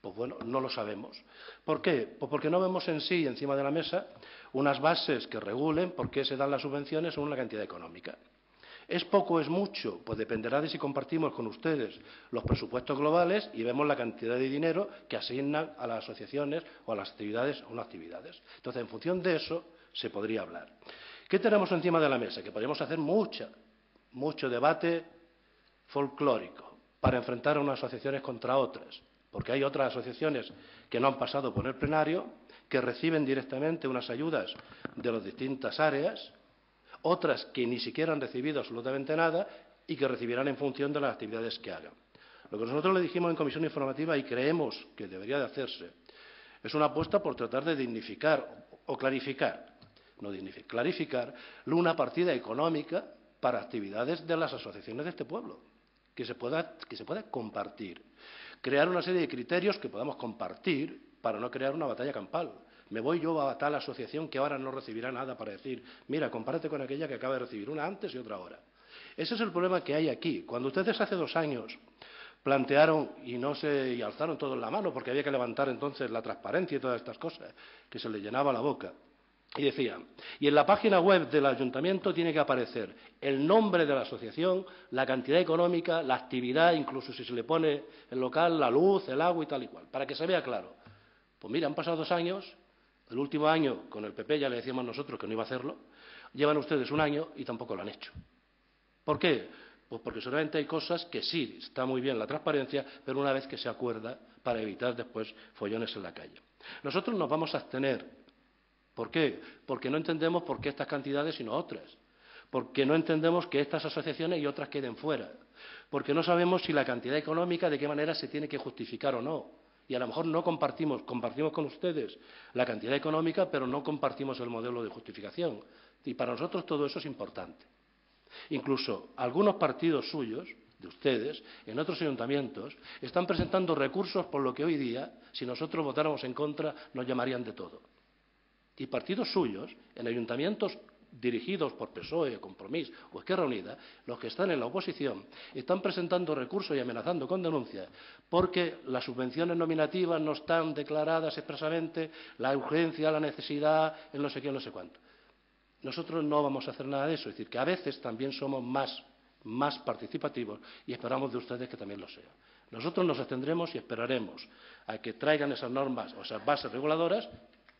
Pues bueno, no lo sabemos. ¿Por qué? Pues porque no vemos en sí, encima de la mesa, unas bases que regulen por qué se dan las subvenciones según la cantidad económica. ¿Es poco o es mucho? Pues dependerá de si compartimos con ustedes los presupuestos globales y vemos la cantidad de dinero que asignan a las asociaciones o a las actividades o no actividades. Entonces, en función de eso, se podría hablar. ¿Qué tenemos encima de la mesa? Que podríamos hacer mucha, mucho debate folclórico. para enfrentar a unas asociaciones contra otras, porque hay otras asociaciones que no han pasado por el plenario, que reciben directamente unas ayudas de las distintas áreas, otras que ni siquiera han recibido absolutamente nada y que recibirán en función de las actividades que hagan. Lo que nosotros le dijimos en comisión informativa y creemos que debería de hacerse es una apuesta por tratar de dignificar o clarificar, no dignificar, clarificar una partida económica para actividades de las asociaciones de este pueblo, que se pueda, que se pueda compartir. Crear una serie de criterios que podamos compartir para no crear una batalla campal. Me voy yo a tal asociación que ahora no recibirá nada para decir, mira, compárate con aquella que acaba de recibir una antes y otra ahora. Ese es el problema que hay aquí. Cuando ustedes hace dos años plantearon y no se y alzaron todos la mano porque había que levantar entonces la transparencia y todas estas cosas, que se les llenaba la boca, y decían, y en la página web del ayuntamiento tiene que aparecer el nombre de la asociación, la cantidad económica, la actividad, incluso si se le pone el local, la luz, el agua y tal y cual, para que se vea claro. Pues mira, han pasado dos años, el último año con el P P ya le decíamos nosotros que no iba a hacerlo, llevan ustedes un año y tampoco lo han hecho. ¿Por qué? Pues porque solamente hay cosas que sí, está muy bien la transparencia, pero una vez que se acuerda para evitar después follones en la calle. Nosotros nos vamos a abstener. ¿Por qué? Porque no entendemos por qué estas cantidades y no otras. Porque no entendemos que estas asociaciones y otras queden fuera. Porque no sabemos si la cantidad económica de qué manera se tiene que justificar o no. Y a lo mejor no compartimos, compartimos con ustedes la cantidad económica, pero no compartimos el modelo de justificación. Y para nosotros todo eso es importante. Incluso algunos partidos suyos, de ustedes, en otros ayuntamientos, están presentando recursos por lo que hoy día, si nosotros votáramos en contra, nos llamarían de todo. Y partidos suyos, en ayuntamientos dirigidos por P S O E, Compromís o Esquerra Unida, los que están en la oposición, están presentando recursos y amenazando con denuncias porque las subvenciones nominativas no están declaradas expresamente, la urgencia, la necesidad, el no sé qué, no sé cuánto. Nosotros no vamos a hacer nada de eso, es decir, que a veces también somos más, más participativos y esperamos de ustedes que también lo sean. Nosotros nos abstendremos y esperaremos a que traigan esas normas o esas bases reguladoras,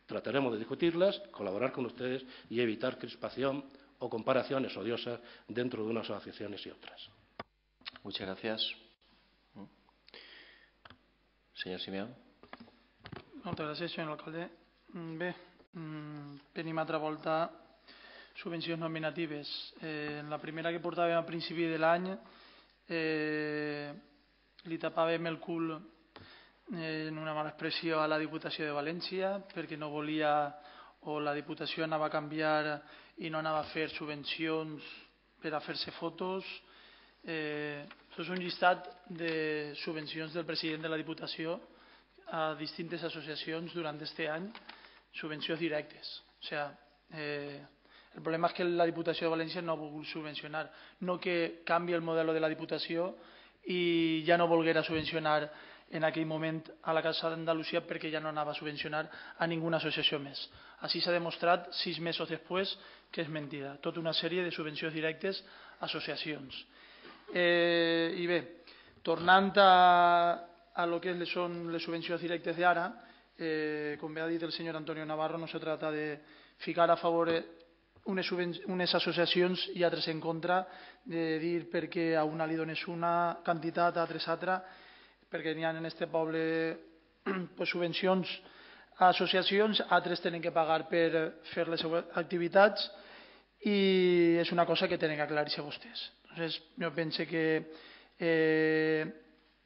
trataremos de discutirlas, colaborar con ustedes y evitar crispación o comparaciones odiosas dentro de unas asociaciones y otras. Muchas gracias. Señor Simeón. Moltes gràcies, senyor alcalde. Bé, venim altra volta subvencions nominatives. Eh, en la primera que portàvem a principi de l'any eh, li tapàvem el cul eh, en una mala expressió a la Diputació de València perquè no volia o la Diputació anava a canviar i no anava a fer subvencions per a fer-se fotos. Eh, això és un llistat de subvencions del president de la Diputació a distintes associacions durant aquest any, subvencions directes. O sigui, eh, el problema és que la Diputació de València no ha volgut subvencionar, no que canvi el model de la Diputació i ja no volguera subvencionar en aquell moment a la Casa d'Andalusia perquè ja no anava a subvencionar a ninguna associació més. Així s'ha demostrat sis mesos després que és mentida. Tota una sèrie de subvencions directes a associacions. Eh, I bé, tornant a, a lo que són les subvencions directes d'ara, eh, com bé ha dit el senyor Antonio Navarro, no se trata de ficar a favor unes, unes associacions i altres en contra, de dir perquè a una li dones una quantitat, a altres altra, perquè n'hi ha en aquest poble pues, subvencions a associacions, altres tenen que pagar per fer les seues activitats i és una cosa que tenen que aclarir-se vostès. Entonces, jo penso que eh,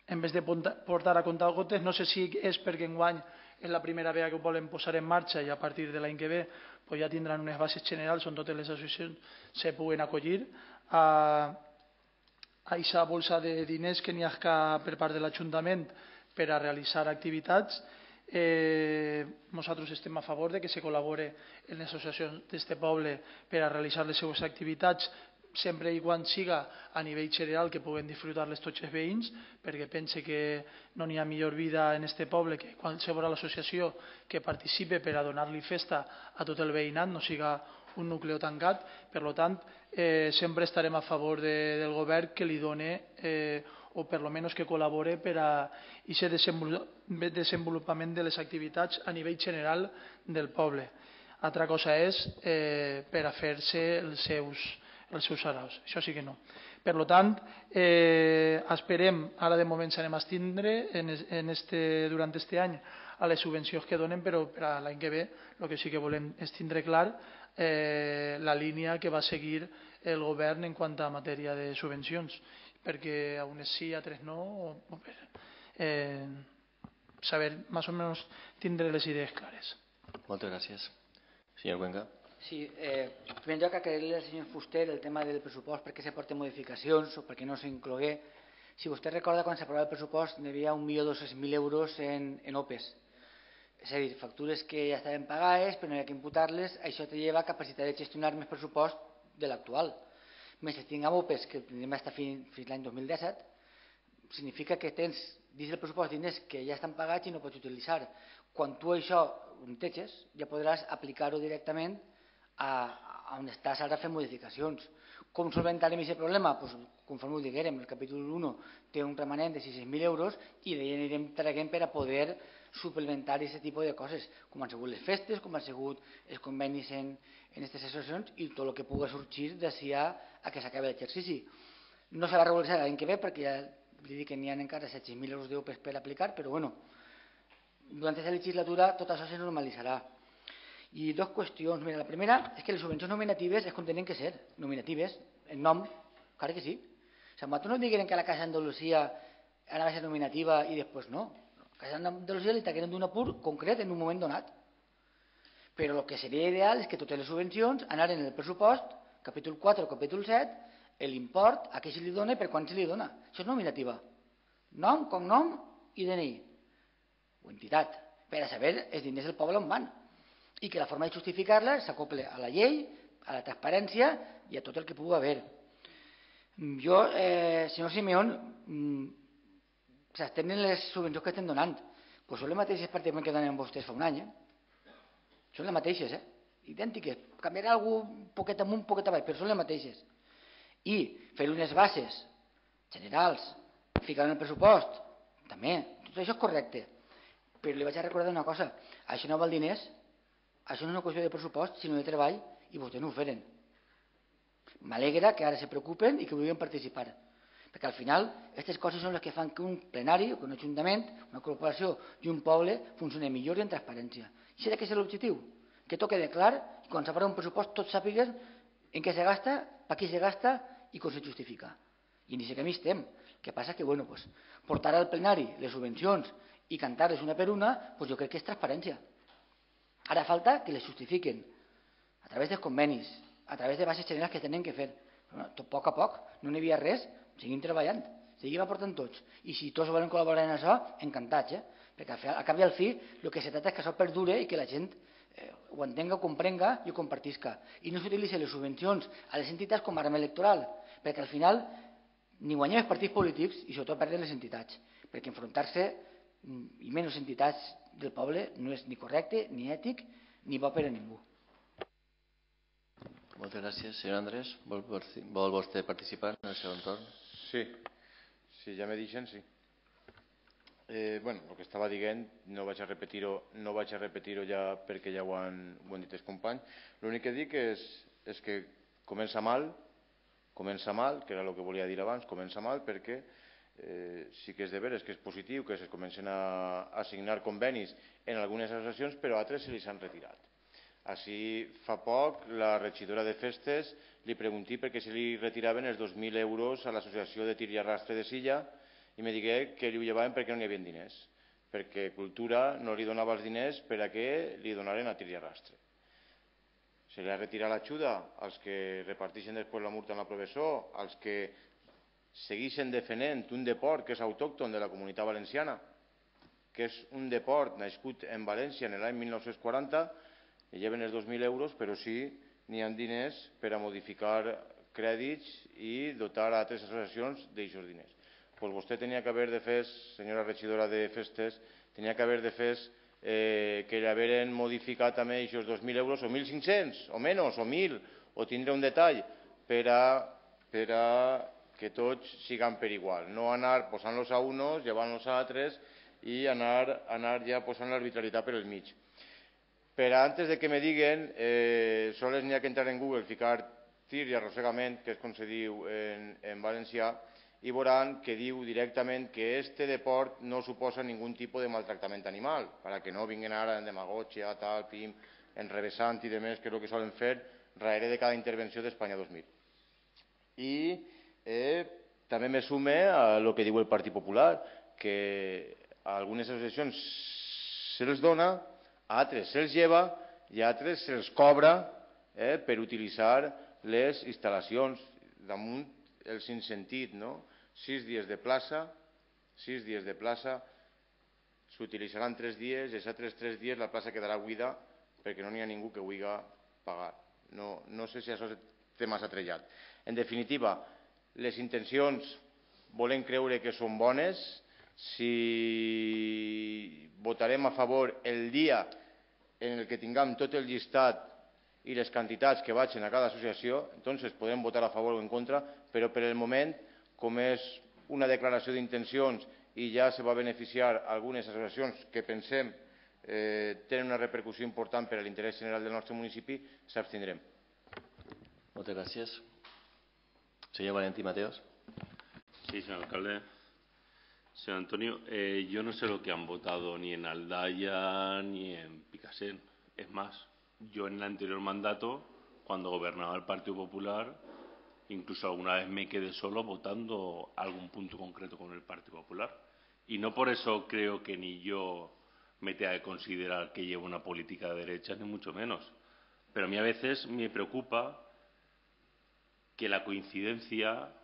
en vez de portar a comptar gotes, no sé si és perquè enguany és la primera vegada que ho volen posar en marxa i a partir de l'any que ve pues ja tindran unes bases generals on totes les associacions se puguen acollir a aquesta bolsa de diners que n'hi ha per part de l'Ajuntament per a realitzar activitats. Eh, nosaltres estem a favor de que se col·labore en les associacions d'este poble per a realitzar les seues activitats sempre i quan siga a nivell general que puguen disfrutar-les tots els veïns, perquè pense que no n'hi ha millor vida en este poble que qualsevol associació que participe per a donar-li festa a tot el veïnat, no siga un nucleu tancat. Per tant, eh, sempre estarem a favor de, del govern que li done eh, o per lo menos que col·labore per a aquest desenvolupament de les activitats a nivell general del poble. Altra cosa és eh, per a fer-se els seus els seus saraus, això sí que no. Per tant, eh, esperem, ara de moment s'anem a estendre en, en este, durant aquest any a les subvencions que donen, però per a l'any que ve el que sí que volem és tindre clar eh, la línia que va seguir el govern en quant a matèria de subvencions, perquè a unes sí, a tres no, o, o per eh, saber més o menys tindre les idees clares. Moltes gràcies. Senyor Cuenca. Sí, eh, en primer lloc, aclarir-li al senyor Fuster el tema del pressupost, perquè se porten modificacions o perquè no s'inclogué. Si vostè recorda, quan s'aprovava el pressupost, hi havia un milió dos-cents mil euros en, en O P E S. És a dir, factures que ja estaven pagades, però no hi ha que imputar-les, això te lleva capacitat de gestionar més pressupost de l'actual. Més si tinguem O P E S, que tindrem fins, fins l'any dos mil disset, significa que tens dins del pressupost diners que ja estan pagats i no pots utilitzar. Quan tu això ho enteges, ja podràs aplicar-ho directament a, a on estàs ara fent modificacions. Com solventarem aquest problema? Pues, conforme ho diguérem, el capítol u té un remanent de sis-cents mil euros i d'ahir anirem traguent per a poder suplementar aquest tipus de coses, com han sigut les festes, com han sigut els convenis en aquestes associacions i tot el que pugui sorgir d'ací a, a que s'acabi l'exercici. No se va regularitzar l'any que ve perquè ja li dic que n'hi ha encara set-cents mil euros d'O P E S per aplicar, però bueno, durant aquesta legislatura tot això se normalitzarà. I dues qüestions. Mira, la primera és que les subvencions nominatives és com tenen que ser, nominatives, en nom, clar que sí. O sigui, nosaltres no diguem que la Casa d'Andalusia anava a ser nominativa i després no. La Casa d'Andalusia li tragueren d'un apur concret en un moment donat. Però el que seria ideal és que totes les subvencions anaren en el pressupost, capítol quatre o capítol set, l'import, a què se li dona i per quan se li dona. Això és nominativa. Nom, cognom i D N I. O entitat. Per a saber els diners del poble on van. I que la forma de justificar-la s'acople a la llei, a la transparència i a tot el que pugui haver. Jo, eh, senyor Simeón, s'estem en les subvencions que estem donant. Doncs són les mateixes pràcticament que donen vostès fa un any. Eh? Són les mateixes, eh? idèntiques. Canviarà algú un poquet amunt, un poquet avall, però són les mateixes. I fer unes bases generals, ficar en el pressupost, també, tot això és correcte. Però li vaig a recordar una cosa, això no val diners. Això no és una qüestió de pressupost, sinó de treball, i vostès no ho feren. M'alegra que ara se preocupen i que vulguin participar. Perquè al final, aquestes coses són les que fan que un plenari, que un ajuntament, una corporació i un poble funcioni millor i en transparència. I això ha de ser l'objectiu, que tot quede clar i quan s'aprova un pressupost tots sàpiguen en què se gasta, per qui se gasta i com se justifica. I en aquest camí estem. El que passa és que bueno, pues, portar al plenari les subvencions i cantar-les una per una, pues jo crec que és transparència. Ara falta que les justifiquen a través dels convenis, a través de bases generals que tenen que fer. Però, a poc a poc, no n'hi havia res, seguim treballant, seguim aportant tots. I si tots volen col·laborar en això, encantats, eh? Perquè al cap i al fi el que se tracta és que això perdure i que la gent eh, ho entenga, ho comprenga i ho compartisca. I no s'utilitzen les subvencions a les entitats com a arma electoral, perquè al final ni guanyem els partits polítics i sobretot perden les entitats, perquè enfrontar-se i menys entitats del poble no és ni correcte, ni ètic, ni bo per a ningú. Moltes gràcies. Senyor Andrés, vol, vol vostè participar en el segon torn? Sí, si ja me deixen, sí. Eh, bueno, el que estava dient no vaig a repetir-ho no vaig a repetir-ho ja perquè ja ho han, ho han dit els companys. L'únic que dic és, és que comença mal, comença mal, que era el que volia dir abans, comença mal perquè Eh, sí que és de veres que és positiu que es comencen a, a signar convenis en algunes associacions, però altres se li s'han retirat. Així fa poc la regidora de festes li pregunté per què se li retiraven els dos mil euros a l'associació de tir i arrastre de Silla i me digué que li ho llevaven perquè no hi havia diners, perquè Cultura no li donava els diners per a que li donaren a tir i arrastre. Se li ha retirat l'ajuda als que reparteixen després la multa en la professor, als que segueixen defendent un deport que és autòcton de la Comunitat Valenciana, que és un deport nascut en València en l'any mil nou-cents quaranta, i lleven els dos mil euros, però sí n'hi ha diners per a modificar crèdits i dotar a altres associacions d'aixos diners. Pues vostè tenia que haver de fer, senyora regidora de festes, tenia que haver de fer eh, que l'haveren modificat també aquests dos mil euros, o mil cinc-cents, o menys, o mil, o tindre un detall per a, per a que tots siguen per igual, no anar posant-los a unos, llevant-los a altres i anar, anar ja posant l'arbitrarietat per el mig. Però antes de que me diguen, eh, sols n'hi ha que entrar en Google, ficar tir i arrossegament, que és com se diu en, en valencià, i veuran que diu directament que este deport no suposa ningú tipus de maltractament animal, perquè no vinguin ara en demagògia, tal, pim, enrevessant i demés, que és el que solen fer darrere de cada intervenció d'Espanya dos mil. I eh, també me sume a el que diu el Partit Popular, que a algunes associacions se'ls dona, a altres se'ls lleva i a altres se'ls cobra eh, per utilitzar les instal·lacions damunt el sinssentit, no? Sis dies de plaça, sis dies de plaça, s'utilitzaran tres dies i els altres tres dies la plaça quedarà buida perquè no n'hi ha ningú que vulgui pagar. No, no sé si això té massa trellat. En definitiva, les intencions volem creure que són bones. Si votarem a favor el dia en el que tinguem tot el llistat i les quantitats que vagin a cada associació, doncs podem votar a favor o en contra, però per el moment, com és una declaració d'intencions i ja se va beneficiar algunes associacions que pensem eh, tenen una repercussió important per a l'interès general del nostre municipi, s'abstindrem. Moltes gràcies. Senyor Valentí Mateos. Sí, señor alcalde. Señor Antonio, eh, yo no sé lo que han votado ni en Aldaya ni en Picasen. Es más, yo en el anterior mandato, cuando gobernaba el Partido Popular, incluso alguna vez me quedé solo votando algún punto concreto con el Partido Popular. Y no por eso creo que ni yo me tenga que considerar que llevo una política de derecha, ni mucho menos. Pero a mí a veces me preocupa que la coincidencia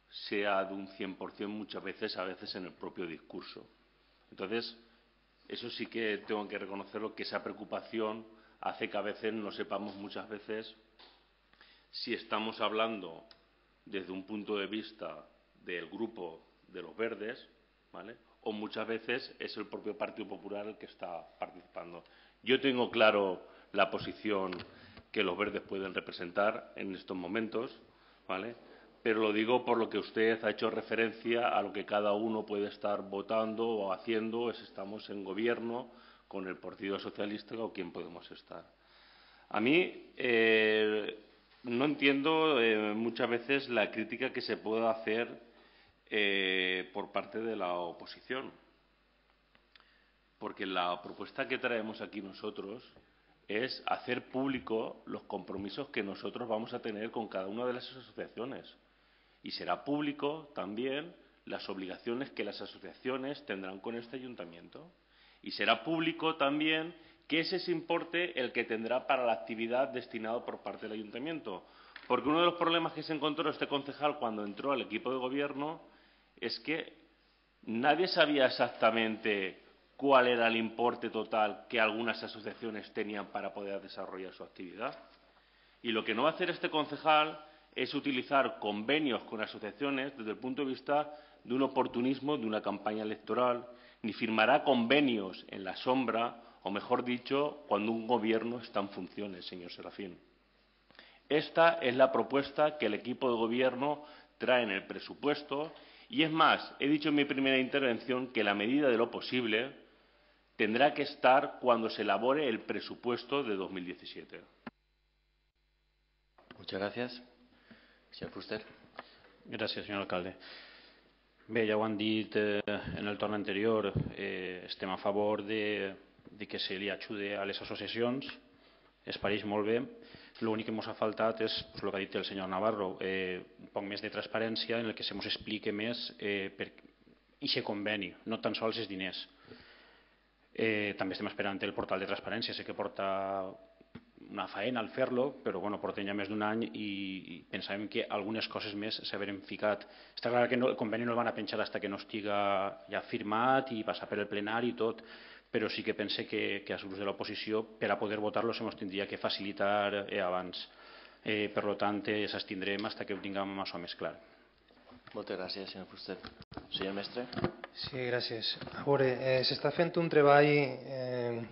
sea de un cien por cien muchas veces, a veces en el propio discurso. Entonces, eso sí que tengo que reconocerlo, que esa preocupación hace que a veces no sepamos muchas veces si estamos hablando desde un punto de vista del grupo de los verdes, ¿vale? O muchas veces es el propio Partido Popular el que está participando. Yo tengo claro la posición que los verdes pueden representar en estos momentos, ¿vale? Pero lo digo por lo que usted ha hecho referencia a lo que cada uno puede estar votando o haciendo, si estamos en gobierno con el Partido Socialista o quién podemos estar. A mí eh, no entiendo eh, muchas veces la crítica que se pueda hacer eh, por parte de la oposición, porque la propuesta que traemos aquí nosotros es hacer público los compromisos que nosotros vamos a tener con cada una de las asociaciones. Y será público también las obligaciones que las asociaciones tendrán con este ayuntamiento. Y será público también que ese es importe el que tendrá para la actividad destinado por parte del ayuntamiento. Porque uno de los problemas que se encontró este concejal cuando entró al equipo de gobierno es que nadie sabía exactamente cuál era el importe total que algunas asociaciones tenían para poder desarrollar su actividad. Y lo que no va a hacer este concejal es utilizar convenios con asociaciones desde el punto de vista de un oportunismo, de una campaña electoral, ni firmará convenios en la sombra, o mejor dicho, cuando un gobierno está en funciones, señor Serafín. Esta es la propuesta que el equipo de gobierno trae en el presupuesto y, es más, he dicho en mi primera intervención que la medida de lo posible tendrá que estar cuando se elabore el presupuesto de dos mil diecisiete. Muchas gracias. Senyor Fuster. Gràcies, senyor alcalde. Bé, ja ho han dit eh, en el torn anterior, eh, estem a favor de, de que se li ajude a les associacions, es pareix molt bé. L'únic que ens ha faltat és pues, el que ha dit el senyor Navarro, eh, un poc més de transparència en el que se ens explique més eh, per aquest conveni, no tan sols els diners. Eh, també estem esperant el portal de transparència, sé que porta una faena al fer-lo, però bueno, portem ja més d'un any i, i pensàvem que algunes coses més s'haveren ficat. Està clar que no, el conveni no el van a penjar fins que no estiga ja firmat i passar per el plenari i tot, però sí que pense que, que als grups de l'oposició per a poder votar-lo se ens tindria que facilitar eh, abans. Eh, per tant, eh, s'estindrem fins que ho tinguem això més clar. Moltes gràcies, senyor Fuster. Senyor Mestre. Sí, gràcies. A veure, eh, s'està fent un treball eh,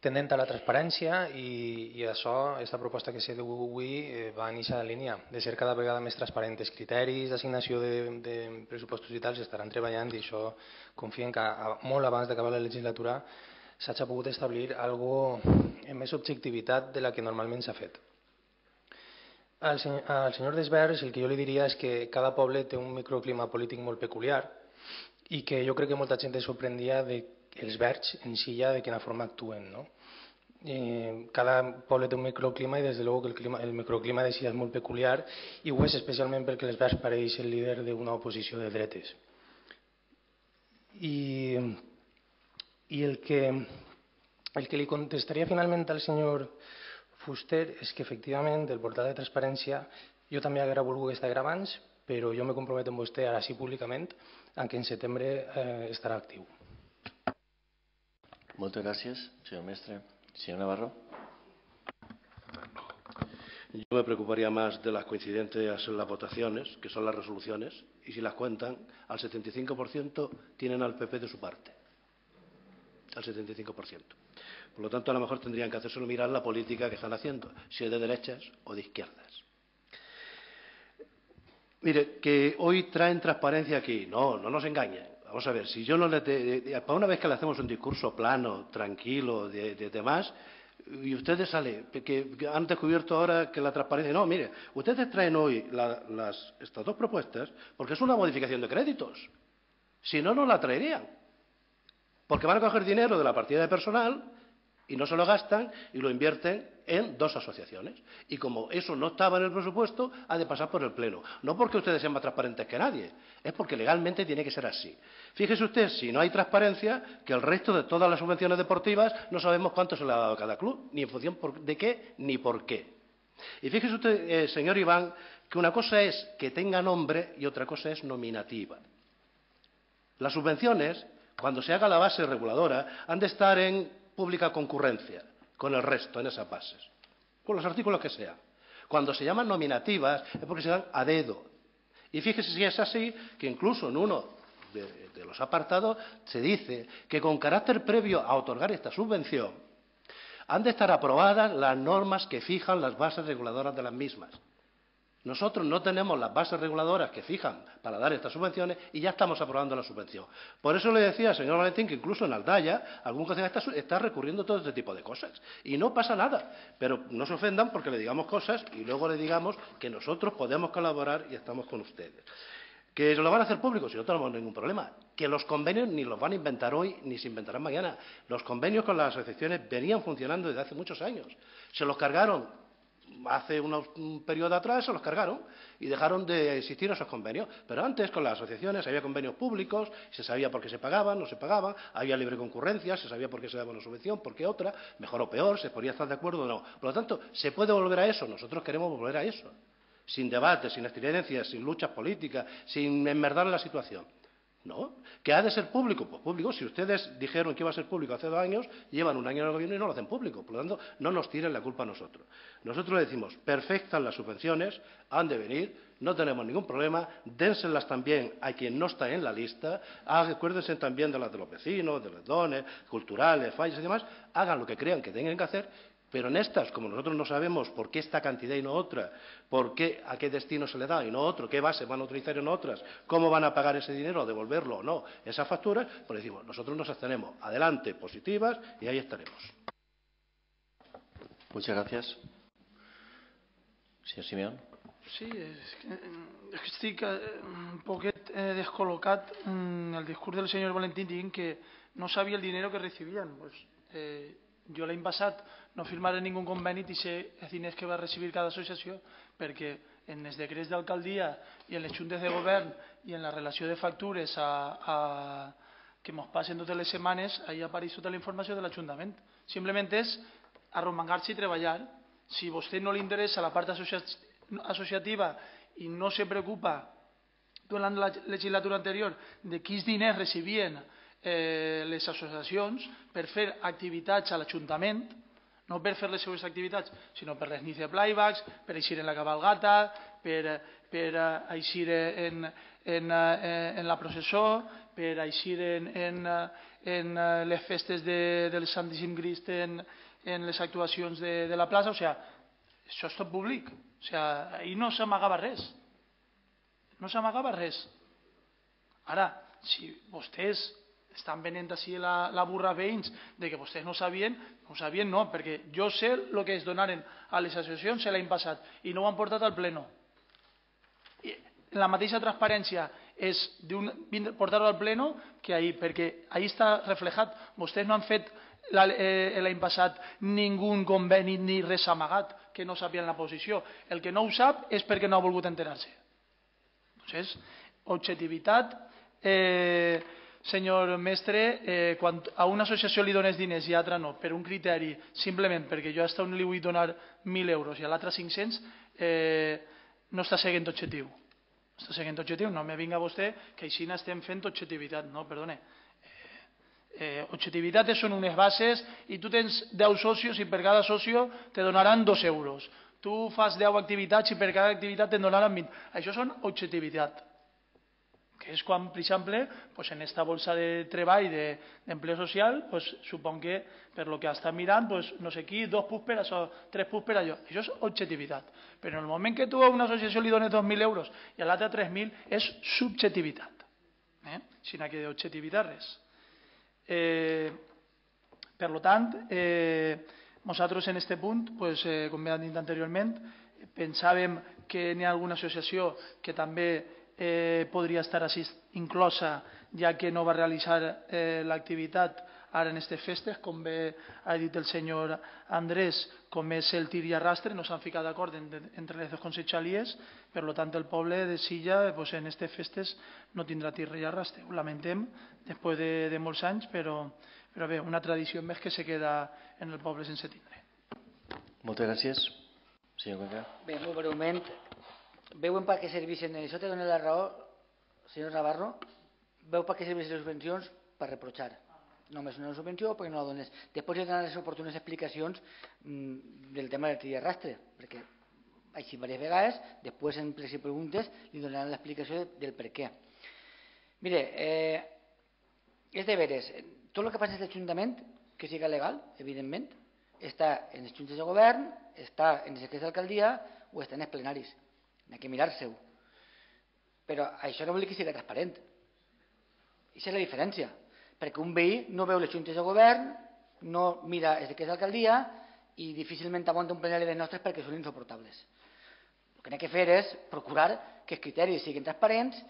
tendent a la transparència i, i això, aquesta proposta que s'ha diu avui eh, va en aquesta línia de ser cada vegada més transparent. Els criteris d'assignació de, de pressupostos i tal s'estaran treballant i això confiem que a, molt abans d'acabar la legislatura s'hagi pogut establir algo amb més objectivitat de la que normalment s'ha fet. Al, sen al senyor Desvers el que jo li diria és que cada poble té un microclima polític molt peculiar i que jo crec que molta gent es sorprendia dels verds en si ja de quina forma actuen, no? Eh, cada poble té un microclima i des de luego que el, clima, el microclima de si és molt peculiar i ho és especialment perquè les verds pareix el líder d'una oposició de dretes. I, i el, que, el que li contestaria finalment al senyor Fuster és que efectivament el portal de transparència jo també haguera volgut estar abans, però jo me comprometo amb vostè ara sí públicament en que en setembre eh, estarà actiu. Moltes gràcies, senyor mestre. Señor Navarro. Yo me preocuparía más de las coincidencias en las votaciones, que son las resoluciones, y si las cuentan, al setenta y cinco por ciento tienen al P P de su parte. Al setenta y cinco por ciento. Por lo tanto, a lo mejor tendrían que hacérselo mirar la política que están haciendo, si es de derechas o de izquierdas. Mire, que hoy traen transparencia aquí. No, no nos engañen. Vamos a ver, si yo no le... Te, para una vez que le hacemos un discurso plano, tranquilo, de, de demás, y ustedes salen, que, que han descubierto ahora que la transparencia... No, mire, ustedes traen hoy la, las, estas dos propuestas porque es una modificación de créditos. Si no, no la traerían. Porque van a coger dinero de la partida de personal y no se lo gastan y lo invierten en dos asociaciones. Y como eso no estaba en el presupuesto, ha de pasar por el Pleno. No porque ustedes sean más transparentes que nadie, es porque legalmente tiene que ser así. Fíjese usted, si no hay transparencia, que el resto de todas las subvenciones deportivas no sabemos cuánto se le ha dado a cada club, ni en función de qué, ni por qué. Y fíjese usted, eh, señor Iván, que una cosa es que tenga nombre y otra cosa es nominativa. Las subvenciones, cuando se haga la base reguladora, han de estar en pública concurrencia con el resto en esas bases, con los artículos que sean. Cuando se llaman nominativas es porque se dan a dedo. Y fíjese si es así, que incluso en uno de, de los apartados se dice que con carácter previo a otorgar esta subvención han de estar aprobadas las normas que fijan las bases reguladoras de las mismas. Nosotros no tenemos las bases reguladoras que fijan para dar estas subvenciones y ya estamos aprobando la subvención. Por eso le decía al señor Valentín que incluso en Aldaya algún concejal está, está recurriendo a todo este tipo de cosas. Y no pasa nada. Pero no se ofendan porque le digamos cosas y luego le digamos que nosotros podemos colaborar y estamos con ustedes. ¿Que se lo van a hacer público? Si no tenemos ningún problema. Que los convenios ni los van a inventar hoy ni se inventarán mañana. Los convenios con las asociaciones venían funcionando desde hace muchos años. Se los cargaron hace unos, un periodo atrás, se los cargaron y dejaron de existir esos convenios. Pero antes con las asociaciones había convenios públicos, se sabía por qué se pagaban, no se pagaban, había libre concurrencia, se sabía por qué se daba una subvención, por qué otra, mejor o peor, se podía estar de acuerdo o no. Por lo tanto, ¿se puede volver a eso? Nosotros queremos volver a eso. Sin debate, sin estridencias, sin luchas políticas, sin enmerdar la situación. ¿No? ¿Que ha de ser público? Pues público. Si ustedes dijeron que iba a ser público hace dos años, llevan un año en el gobierno y no lo hacen público. Por lo tanto, no nos tiren la culpa a nosotros. Nosotros le decimos, perfectas las subvenciones, han de venir, no tenemos ningún problema, dénselas también a quien no está en la lista, acuérdense también de las de los vecinos, de los dones, culturales, fallas y demás, hagan lo que crean que tengan que hacer. Pero en estas, como nosotros no sabemos por qué esta cantidad y no otra, por qué, a qué destino se le da y no otro, qué base van a utilizar en otras, cómo van a pagar ese dinero, devolverlo o no, esas facturas, pues decimos, nosotros nos abstenemos. Adelante, positivas, y ahí estaremos. Muchas gracias. Señor Simeón. Sí, és que, és que estic un poquet eh, descol·locat en el discurs del senyor Valentín dient que no sabia el dinero que recibien. Pues, eh, jo l'any passat no firmaré ningú conveni i sé els diners que va recibir cada associació perquè en els decrets d'alcaldia i en les juntes de govern i en la relació de factures a, a, que ens passen totes les setmanes, ahí apareix tota la informació de l'Ajuntament. Simplement és arromangar-se i treballar. Si a vostè no li interessa la part associativa i no se preocupa durant la legislatura anterior de quins diners recibien Eh, les associacions per fer activitats a l'Ajuntament, no per fer les seues activitats, sinó per les nits de playbacks, per eixir en la cabalgata, per, per eixir en, en, en la processó, per eixir en, en, en les festes de, del Santíssim Crist, en, en les actuacions de, de la plaça. O sigui, això és tot públic. O sigui, ahir no s'amagava res. No s'amagava res. Ara, si vostès estan venent així la, la burra veïns de que vostès no sabien, no sabien no, perquè jo sé el que es donaren a les associacions l'any passat i no ho han portat al pleno. I la mateixa transparència és portar-ho al pleno que ahir, perquè ahir està reflejat. Vostès no han fet l'any passat ningú conveni ni res amagat que no sabien la posició. El que no ho sap és perquè no ha volgut enterar-se. Entonces, objectivitat, eh, senyor mestre, eh, quan a una associació li dones diners i a l'altra no, per un criteri, simplement perquè jo a un li vull donar mil euros i a l'altre cinc-cents, eh, no està seguint objectiu. Està seguint objectiu, no me vinga vostè que així estem fent objectivitat, no, perdone. Eh, objectivitat són unes bases i tu tens deu socios i per cada socio te donaran dos euros. Tu fas deu activitats i per cada activitat te donaran vint. Això són objectivitat. Que és quan, per exemple, pues en esta bolsa de treball d'empleo social, pues, supon que per lo que està mirant, pues, no sé qui, dos punts per això, tres punts per allò. Això és objectivitat. Però en el moment que tu a una associació li dones dos mil euros i a l'altra tres mil, és subjectivitat. Eh? Sinó que d'objectivitat res. Eh, per tant, eh, nosaltres en aquest punt, pues, eh, com he dit anteriorment, pensàvem que n'hi ha alguna associació que també eh, podria estar així inclosa, ja que no va realitzar eh, l'activitat ara en aquestes festes, com bé ha dit el senyor Andrés, com és el tir i arrastre, no s'han ficat d'acord entre les dues conselleries, per tant el poble de Silla pues, en aquestes festes no tindrà tir i arrastre. Ho lamentem després de, de molts anys, però, però bé, una tradició més que se queda en el poble sense tindre. Moltes gràcies. Senyor Cuenca. Bé, molt breument, veuen per què serveixen, això te dona la raó, senyor Navarro, veu per què serveixen les subvencions per reprochar. Només una subvenció perquè no la dones. Després hi ha les oportunes explicacions mmm, del tema del tir i arrastre, perquè així diverses vegades, després en les preguntes li donaran l'explicació del per què. Mire, eh, és de veres, tot el que passa en l'Ajuntament, que siga legal, evidentment, està en les juntes de govern, està en les secretaries d'alcaldia o està en els plenaris. N'hi ha que mirar-se-ho. Però això no vol dir que sigui transparent. Aquesta és la diferència. Perquè un veí no veu les juntes de govern, no mira les secretaries d'alcaldia i difícilment aguanta un plenari de nostres perquè són insoportables. El que n'hi ha que fer és procurar que els criteris siguin transparents,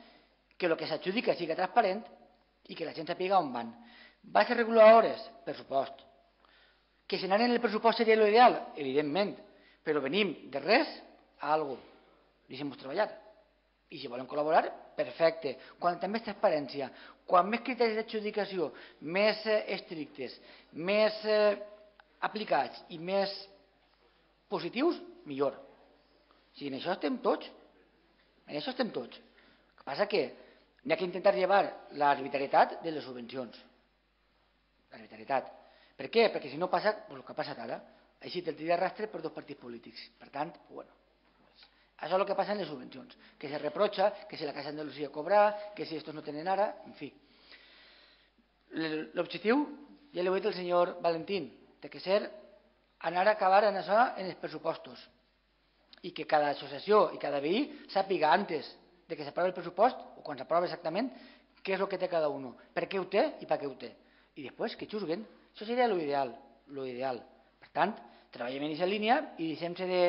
que el que s'adjudica sigui transparent i que la gent sàpiga on van. Bases reguladores, pressupost. Que si anaren en el pressupost seria l'ideal, evidentment, però venim de res a alguna cosa. Deixem-nos treballar. I si volen col·laborar, perfecte. Quan també és transparència, quan més criteris d'adjudicació, més estrictes, més aplicats i més positius, millor. Si en això estem tots, en això estem tots. El que passa que n'hi ha que intentar llevar l'arbitrarietat de les subvencions. L'arbitrarietat. Per què? Perquè si no passa el que ha passat ara. Així te'l tira arrastre per dos partits polítics. Per tant, bueno, això és el que passa en les subvencions. Que se reprocha, que si la Casa Andalusia cobra, que si estos no tenen ara, en fi. L'objectiu, ja l'he dit el senyor Valentín, té que ser anar a acabar en això en els pressupostos. I que cada associació i cada veí sàpiga antes de que s'aprovi el pressupost, o quan s'aprova exactament, què és el que té cada un, per què ho té i per què ho té. I després que xusguen. Això seria l'ideal. l'ideal. Per tant, treballem en aquesta línia i deixem-se de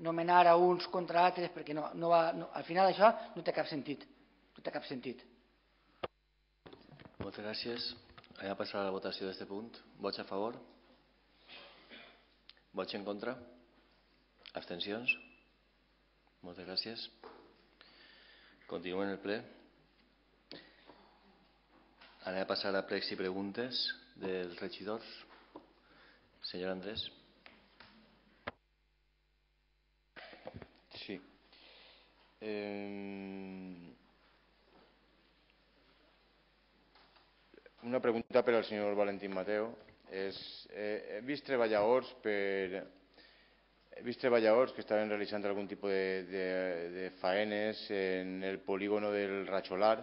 nomenar a uns contra altres perquè no, no va, no, al final això no té cap sentit. No té cap sentit. Moltes gràcies. Anem a passar a la votació d'aquest punt. Vots a favor? Vots en contra? Abstencions? Moltes gràcies. Continuem el ple. Anem a passar a pregs i preguntes dels regidors. Senyor Andrés. Sí. Eh, una pregunta per al senyor Valentín Mateo. És, eh, he vist treballadors per... He vist treballadors que estaven realitzant algun tipus de, de, de faenes en el polígono del Racholar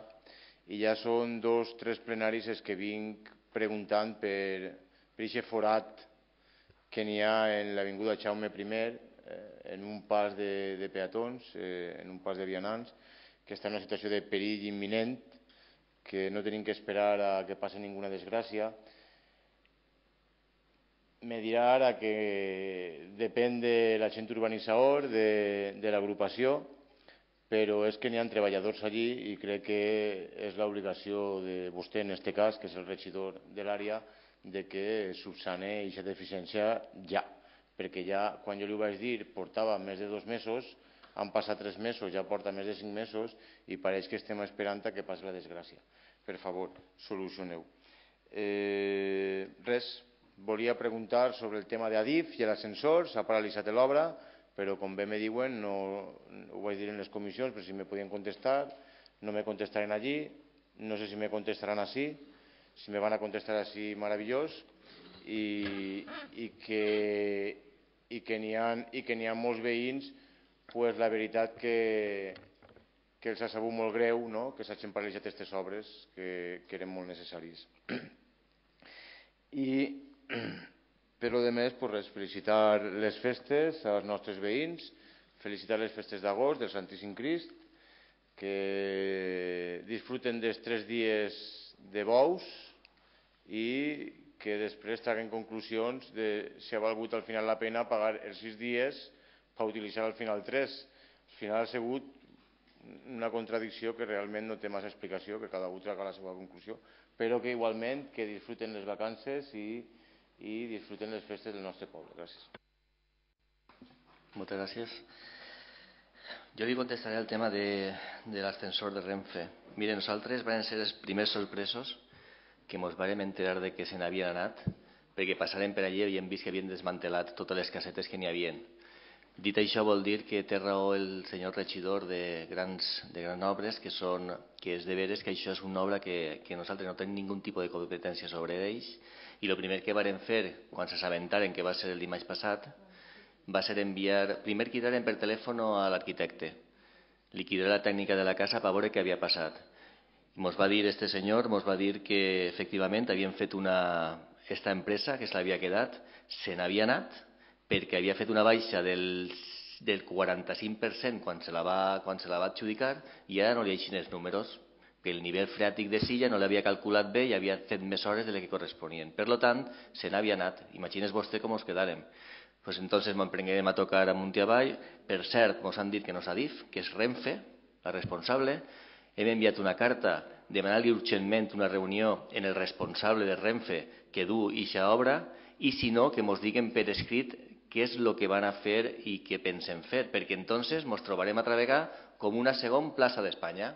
i ja són dos, tres plenaris els que vinc preguntant per aquest forat que n'hi ha en l'avinguda Jaume primer, eh, en un pas de, de peatons, eh, en un pas de vianants, que està en una situació de perill imminent, que no tenim que esperar a que passi ninguna desgràcia. Me dirà ara que depèn de l'agent urbanitzador, de, de l'agrupació, però és que n'hi ha treballadors allí i crec que és l'obligació de vostè, en aquest cas, que és el regidor de l'àrea, de que subsane aquesta deficiència ja. Perquè ja, quan jo li ho vaig dir, portava més de dos mesos, han passat tres mesos, ja porta més de cinc mesos i pareix que estem esperant a que passi la desgràcia. Per favor, solucioneu. Eh, res, volia preguntar sobre el tema d'Adif i l'ascensor. S'ha paralitzat l'obra, però com bé me diuen, no, ho vaig dir en les comissions, però si me podien contestar, no me contestaran allí, no sé si me contestaran així, si me van a contestar així, meravellós, i, i que, i que n'hi ha, i que n'hi ha molts veïns, pues, la veritat que, que els ha sabut molt greu, no?, que s'hagin paralitzat aquestes obres que, que eren molt necessàries. I per lo de més, pues res, felicitar les festes als nostres veïns, felicitar les festes d'agost del Santíssim Crist, que disfruten dels tres dies de bous i que després traguen conclusions de si ha valgut al final la pena pagar els sis dies per utilitzar al final tres. Al final ha sigut una contradicció que realment no té massa explicació, que cada un traga la seva conclusió, però que igualment que disfruten les vacances i, i disfruten les festes del nostre poble. Gràcies. Moltes gràcies. Jo li contestaré el tema de, de l'ascensor de Renfe. Mire, nosaltres vam ser els primers sorpresos que ens vam enterar de que se n'havien anat, perquè passàrem per allí i hem vist que havien desmantelat totes les casetes que n'hi havien. Dit això, vol dir que té raó el senyor regidor de grans, de grans obres, que, són, que és de veres que això és una obra que, que nosaltres no tenim ningun tipus de competència sobre ells, i el primer que varen fer, quan s'assabentaren, que va ser el dimarts passat, va ser enviar, primer cridaren per telèfon a l'arquitecte, liquidar la tècnica de la casa per veure què havia passat. Ens va dir este senyor, ens va dir que efectivament havien fet una, esta empresa que se l'havia quedat, se n'havia anat perquè havia fet una baixa del, del quaranta-cinc per cent quan se la va, quan se la va adjudicar i ara no li eixin els números, que el nivell freàtic de silla no l'havia calculat bé i havia fet més hores de les que corresponien. Per tant, se n'havia anat. Imagines vostè com ens quedàrem. Pues entonces ens emprenguem a tocar amunt i avall. Per cert, ens han dit que no és Adif, que és Renfe, la responsable. Hem enviat una carta demanant-li urgentment una reunió en el responsable de Renfe que du eixa obra i si no, que ens diguen per escrit què és el que van a fer i què pensen fer, perquè entonces ens trobarem a treballar com una segona plaça d'Espanya.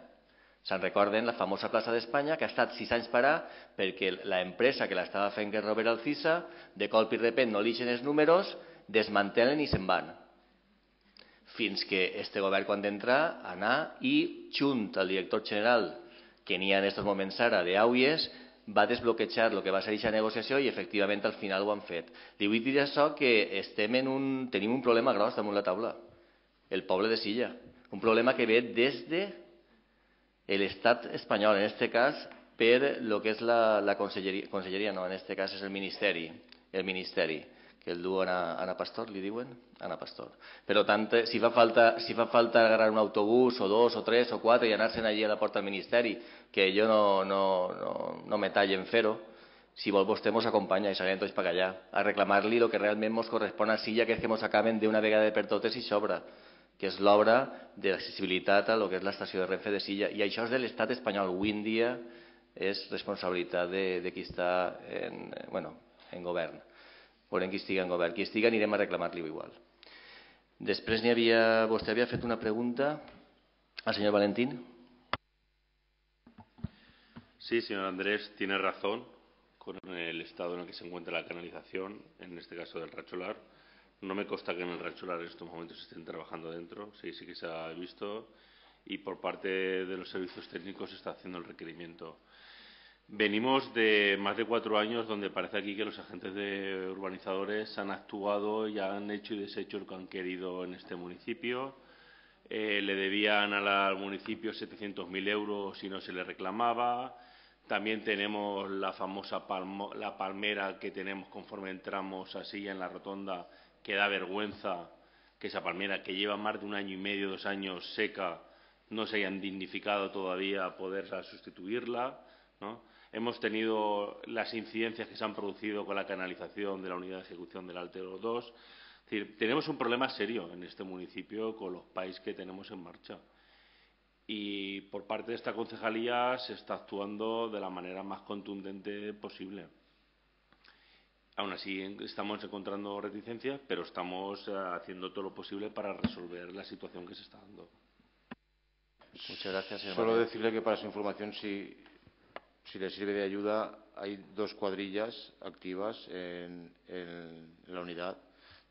Se'n recorden la famosa plaça d'Espanya que ha estat sis anys parar perquè l'empresa que l'estava fent, que és Robert Alcisa, de colp i repent no li ixen els números, desmantelen i se'n van. Fins que este govern, quan d'entrar, anar i, junt al director general, que n'hi ha en aquests moments ara, d'Auies, va desbloquejar el que va ser aquesta negociació i efectivament al final ho han fet. Li vull dir això que estem en un, tenim un problema gros damunt la taula, el poble de Silla. Un problema que ve des de l'estat espanyol, en aquest cas per lo que és la, la conselleria, conselleria no, en aquest cas és el ministeri, el ministeri, que el du Ana, Ana Pastor, li diuen? Ana Pastor. Per tant, si fa falta, si fa falta agarrar un autobús o dos o tres o quatre i anar-se'n allí a la porta del ministeri, que jo no, no, no, no me tallo en fer-ho, si vol vostè ens acompanya i s'anem tots per allà a reclamar-li el que realment ens correspon a Silla, que és que ens acaben d'una vegada per totes i s'obra, que és l'obra de l'accessibilitat a lo que és l'estació de Renfe de Silla. I això és de l'estat espanyol. Avui en dia és responsabilitat de, de qui està en, bueno, en govern. Veurem qui estiga en govern. Qui estiga anirem a reclamar-li igual. Després n'hi havia, vostè havia fet una pregunta al senyor Valentín. Sí, señor Andrés, tiene razón con el estado en el que se encuentra la canalización, en este caso del Racholar. No me consta que en el Racholar en estos momentos estén trabajando dentro, sí, sí que se ha visto, y por parte de los servicios técnicos se está haciendo el requerimiento. Venimos de más de cuatro años donde parece aquí que los agentes de urbanizadores han actuado y han hecho y deshecho lo que han querido en este municipio. Eh, le debían al municipio setecientos mil euros y no se le reclamaba. También tenemos la famosa palmo, la palmera que tenemos conforme entramos así en la rotonda, que da vergüenza que esa palmera que lleva más de un año y medio, dos años seca, no se hayan dignificado todavía poder sustituirla, ¿no? Hemos tenido las incidencias que se han producido con la canalización de la unidad de ejecución del Altero dos. Es decir, tenemos un problema serio en este municipio con los P A Is que tenemos en marcha. Y por parte de esta concejalía se está actuando de la manera más contundente posible. Aún así, estamos encontrando reticencias, pero estamos haciendo todo lo posible para resolver la situación que se está dando. Muchas gracias, señor Solo María. decirle que para su información, si, si le sirve de ayuda, hay dos cuadrillas activas en, en la unidad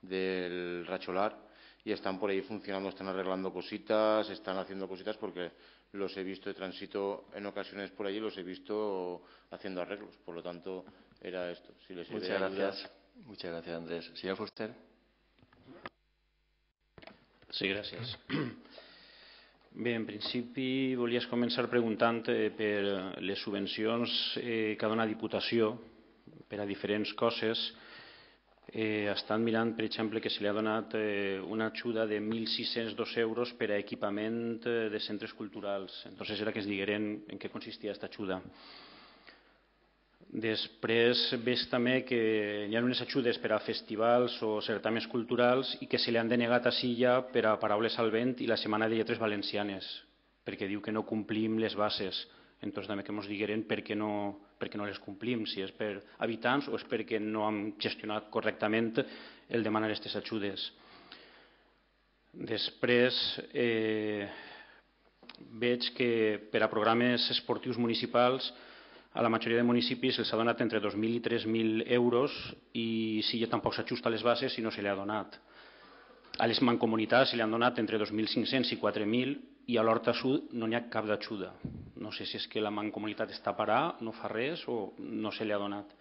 del Racholar y están por ahí funcionando, están arreglando cositas, están haciendo cositas porque los he visto de tránsito en ocasiones por allí, los he visto haciendo arreglos. Por lo tanto, era esto. Si le sirve Muchas de ayuda. gracias. Muchas gracias, Andrés. Señor Fuster. Sí, gràcies. Bé, en principi volies començar preguntant eh, per les subvencions eh, que ha donat Diputació per a diferents coses. Eh, estan mirant, per exemple, que se li ha donat eh, una ajuda de mil sis-cents dos euros per a equipament eh, de centres culturals. Entonces era que es digueren en què consistia aquesta ajuda. Després veig també que hi ha unes ajudes per a festivals o certaments culturals i que se li han denegat a Silla per a Paraules al vent i la Setmana de Lletres Valencianes, perquè diu que no complim les bases. Entonces també que ens digueren per què no, per què no les complim, si és per habitants o és perquè no hem gestionat correctament el demanar aquestes ajudes. Després eh, veig que per a programes esportius municipals a la majoria de municipis se'ls ha donat entre dos mil i tres mil euros i si ja tampoc s'ajusta a les bases i no se li ha donat. A les mancomunitats se li han donat entre dos mil cinc-cents i quatre mil i a l'Horta Sud no n'hi ha cap d'ajuda. No sé si és que la mancomunitat està a parar, no fa res o no se li ha donat.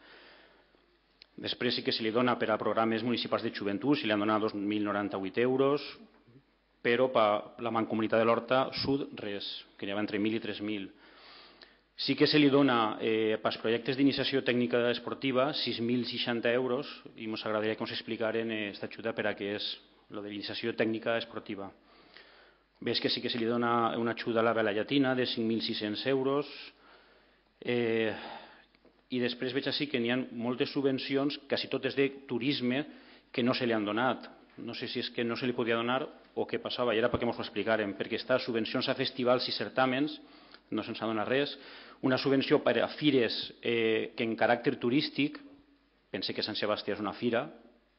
Després sí que se li dona per a programes municipals de joventut, se li han donat dos mil noranta-vuit euros, però per la mancomunitat de l'Horta Sud res, que n'hi ha entre mil i tres mil. Sí que se li dona eh, pels projectes d'iniciació tècnica esportiva sis mil seixanta euros i ens agradaria que ens explicaren aquesta eh, ajuda per a què és lo de l'iniciació tècnica esportiva. Ves que sí que se li dona una ajuda a la vela llatina de cinc mil sis-cents euros eh, i després veig així que n'hi ha moltes subvencions, quasi totes de turisme, que no se li han donat. No sé si és que no se li podia donar o què passava, i era perquè ens ho explicaren, perquè està subvencions a festivals i certàmens, no se'ns ha donat res, una subvenció per a fires eh, que en caràcter turístic, pense que Sant Sebastià és una fira,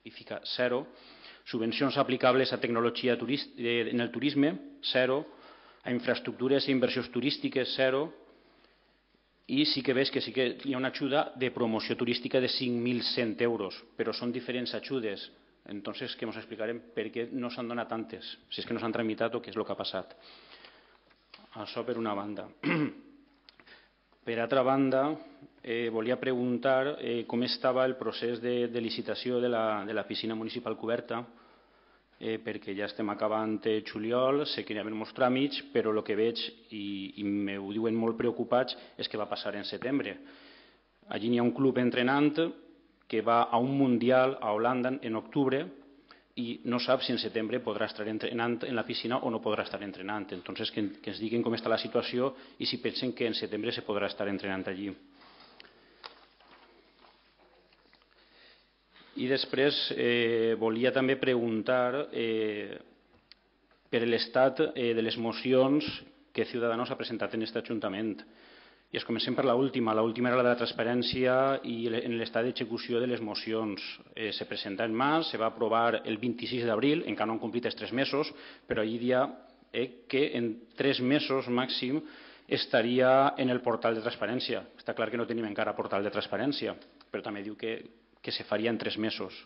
i fica zero, subvencions aplicables a tecnologia eh, en el turisme, zero, a infraestructures i inversions turístiques, zero, i sí que veig que sí que hi ha una ajuda de promoció turística de cinc mil cent euros, però són diferents ajudes, entonces que ens explicarem per què no s'han donat tantes, si és que no s'han tramitat o què és el que ha passat. Això per una banda. Per altra banda, eh, volia preguntar eh, com estava el procés de, de licitació de la, de la piscina municipal coberta, eh, perquè ja estem acabant el juliol, sé que hi ha molts tràmits, però el que veig, i, i m'ho diuen molt preocupats, és que va passar en setembre. Allí hi ha un club entrenant que va a un mundial a Holanda en octubre i no sap si en setembre podrà estar entrenant en la piscina o no podrà estar entrenant. Entonces, que, que ens diguin com està la situació i si pensen que en setembre se podrà estar entrenant allí. I després eh, volia també preguntar eh, per l'estat eh, de les mocions que Ciudadanos ha presentat en aquest Ajuntament. I es comencem per l'última. L'última era la de la transparència i en l'estat d'execució de les mocions. Eh, se presenta en març, se va aprovar el vint-i-sis d'abril, encara no han complit els tres mesos, però allí dia eh, que en tres mesos màxim estaria en el portal de transparència. Està clar que no tenim encara portal de transparència, però també diu que, que se faria en tres mesos.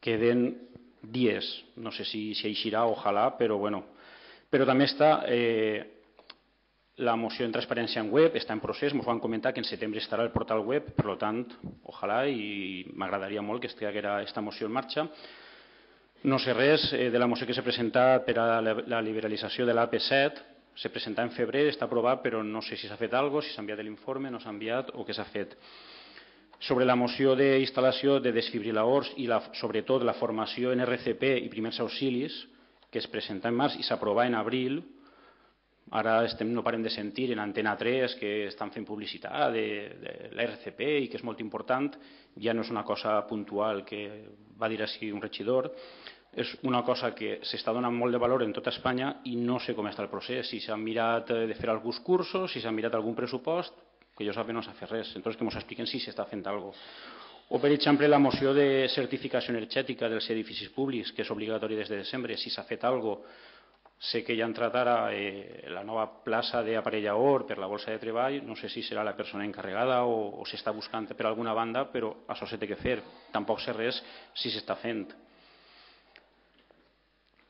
Queden dies, no sé si, si eixirà, ojalà, però bueno. Però també està... Eh, La moció en transparència en web està en procés, ens van comentar que en setembre estarà el portal web, per tant, ojalà, i m'agradaria molt que estigués aquesta moció en marxa. No sé res de la moció que s'ha presentat per a la liberalització de l'A P set, se presenta en febrer, està aprovat, però no sé si s'ha fet alguna cosa, si s'ha enviat l'informe, no s'ha enviat o què s'ha fet. Sobre la moció d'instal·lació de desfibriladors i la, sobretot la formació en R C P i primers auxilis, que es presenta en març i s'aprova en abril, Ara estem, no parem de sentir en Antena tres que estan fent publicitat de, de l'R C P i que és molt important. Ja no és una cosa puntual que va dir així un regidor, és una cosa que s'està donant molt de valor en tota Espanya i no sé com està el procés, si s'han mirat de fer alguns cursos, si s'han mirat algun pressupost, que jo sàpiga no s'ha fet res, entonces que ens expliquen si s'està fent alguna cosa. O, per exemple, la moció de certificació energètica dels edificis públics, que és obligatori des de desembre, si s'ha fet alguna cosa. Sé que ja ha entrat ara eh, la nova plaça d'aparellador per la Borsa de Treball, no sé si serà la persona encarregada o, o s'està buscant per alguna banda, però això s'ha de fer. Tampoc sé res si s'està fent.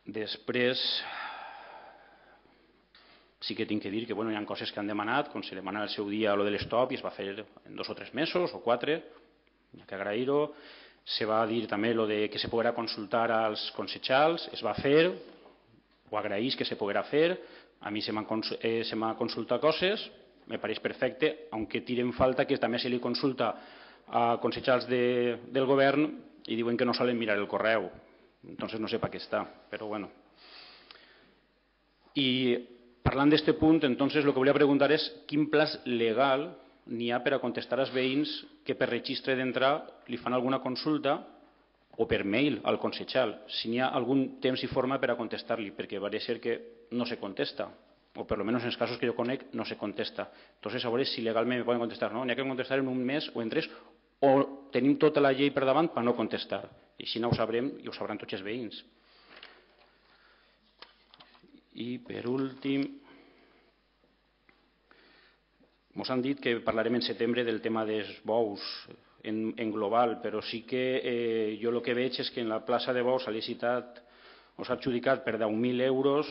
Després, sí que tinc que dir que bueno, hi ha coses que han demanat, com se demana al seu dia lo de l'estop i es va fer en dos o tres mesos o quatre, hi ha que agrair-ho. Se va dir també lo de que se podrà consultar als consellers, es va fer, ho agraïs que se poguera fer, a mi se m'han eh, consultat coses, me pareix perfecte, aunque tiren falta que també se li consulta a consellers de, del govern i diuen que no solen mirar el correu, entonces no sé per què està, però bueno. I parlant d'aquest punt, entonces el que volia preguntar és quin pla legal n'hi ha per a contestar als veïns que per registre d'entrar li fan alguna consulta o per mail al consellal, si n'hi ha algun temps i forma per a contestar-li, perquè va ser que no se contesta, o per almenys en els casos que jo conec no se contesta. Entonces, a veure si legalment me poden contestar, no, n'hi ha que contestar en un mes o en tres, o tenim tota la llei per davant per no contestar. I així no ho sabrem i ho sabran tots els veïns. I per últim, ens han dit que parlarem en setembre del tema dels bous, En, en global, però sí que eh, jo el que veig és que en la plaça de bous s'ha licitat o s'ha adjudicat per deu mil euros.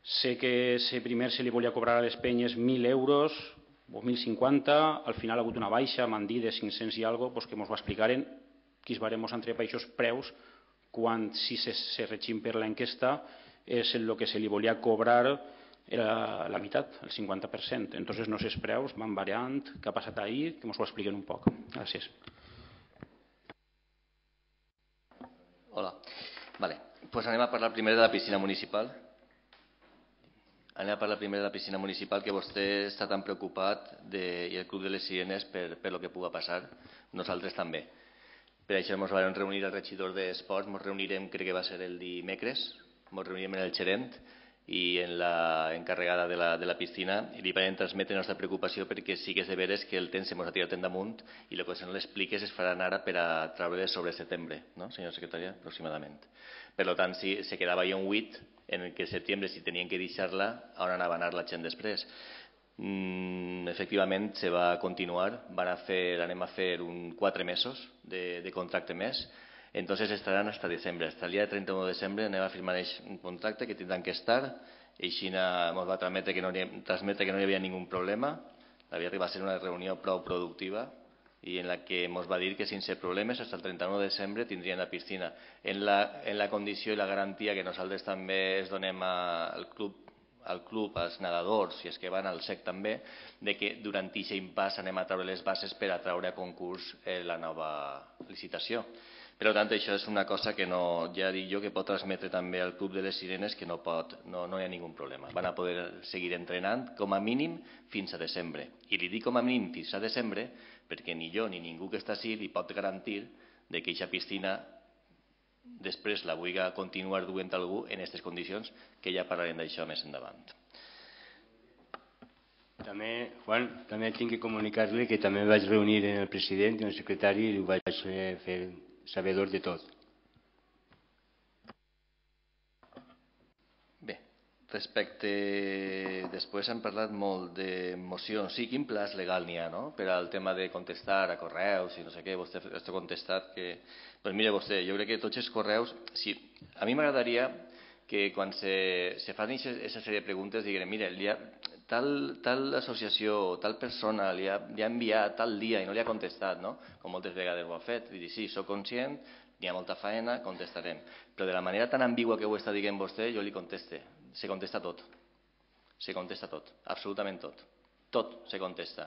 Sé que se primer se li volia cobrar a les penyes mil euros o mil cinquanta, al final ha hagut una baixa, m'han dit de cinc-cents i alguna cosa, pues que ens ho explicaren, que es barem entre països preus, quan si se, se regim per l'enquesta és el que se li volia cobrar era la meitat, el cinquanta per cent. Entonces no sé els preus, van variant, què ha passat ahir, que ens ho expliquen un poc. Gràcies. Hola. Vale. Pues anem a parlar primer de la piscina municipal. Anem a parlar primer de la piscina municipal, que vostè està tan preocupat de, i el Club de les Sirenes per, per lo que pugui passar. Nosaltres també. Per això ens vam reunir al regidor d'Esports, ens reunirem, crec que va ser el dimecres, ens reunirem en el gerent i en la encarregada de la, de la piscina i li van transmetre la nostra preocupació perquè sí que és de veres que el temps se ens ha tirat damunt i el que no l'expliques es faran ara per a treure sobre setembre, no, senyor secretari, aproximadament. Per tant, si se quedava ja un huit en el que setembre si tenien que deixar-la, on anava a anar la gent després. Mm, efectivament, se va continuar, van a fer, anem a fer un quatre mesos de, de contracte més. Entonces estarán hasta diciembre. Hasta el día trenta-u de desembre anem a firmar un contracte que tindran que estar. I Xina ens va transmetre que no hi, transmetre que no hi havia ningú problema. Havia arribat a ser una reunió prou productiva i en la que ens va dir que sense problemes fins al trenta-u de desembre tindrien la piscina. En la, en la condició i la garantia que nosaltres també es donem a, al club al club, als nedadors i els que van al S E C també, de que durant aquest impàs anem a treure les bases per a treure a concurs eh, la nova licitació. Per tant, això és una cosa que no, ja dic jo que pot transmetre també al Club de les Sirenes que no, pot, no, no hi ha ningú problema. Van a poder seguir entrenant com a mínim fins a desembre. I li dic com a mínim fins a desembre perquè ni jo ni ningú que està així li pot garantir de que aquesta piscina després la vulgui continuar duent algú en aquestes condicions, que ja parlarem d'això més endavant. També, Juan, també tinc que comunicar-li que també vaig reunir en el president i el secretari i ho vaig fer sabedor de tot. Bé, respecte... Després hem parlat molt de mocions. Sí, quin pla legal n'hi ha, no?, per al tema de contestar a correus i no sé què. Vostè ha contestat que... Doncs mira, vostè, jo crec que tots els correus... Sí, a mi m'agradaria que quan se, se fan aquesta sèrie de preguntes diguin, mira, ha, tal, tal associació, tal persona li ha, li ha enviat tal dia i no li ha contestat, no?, com moltes vegades ho ha fet. I dir, sí, soc conscient, n'hi ha molta feina, contestarem. Però de la manera tan ambigua que ho està dient vostè, jo li conteste. Se contesta tot. Se contesta tot, absolutament tot. Tot se contesta.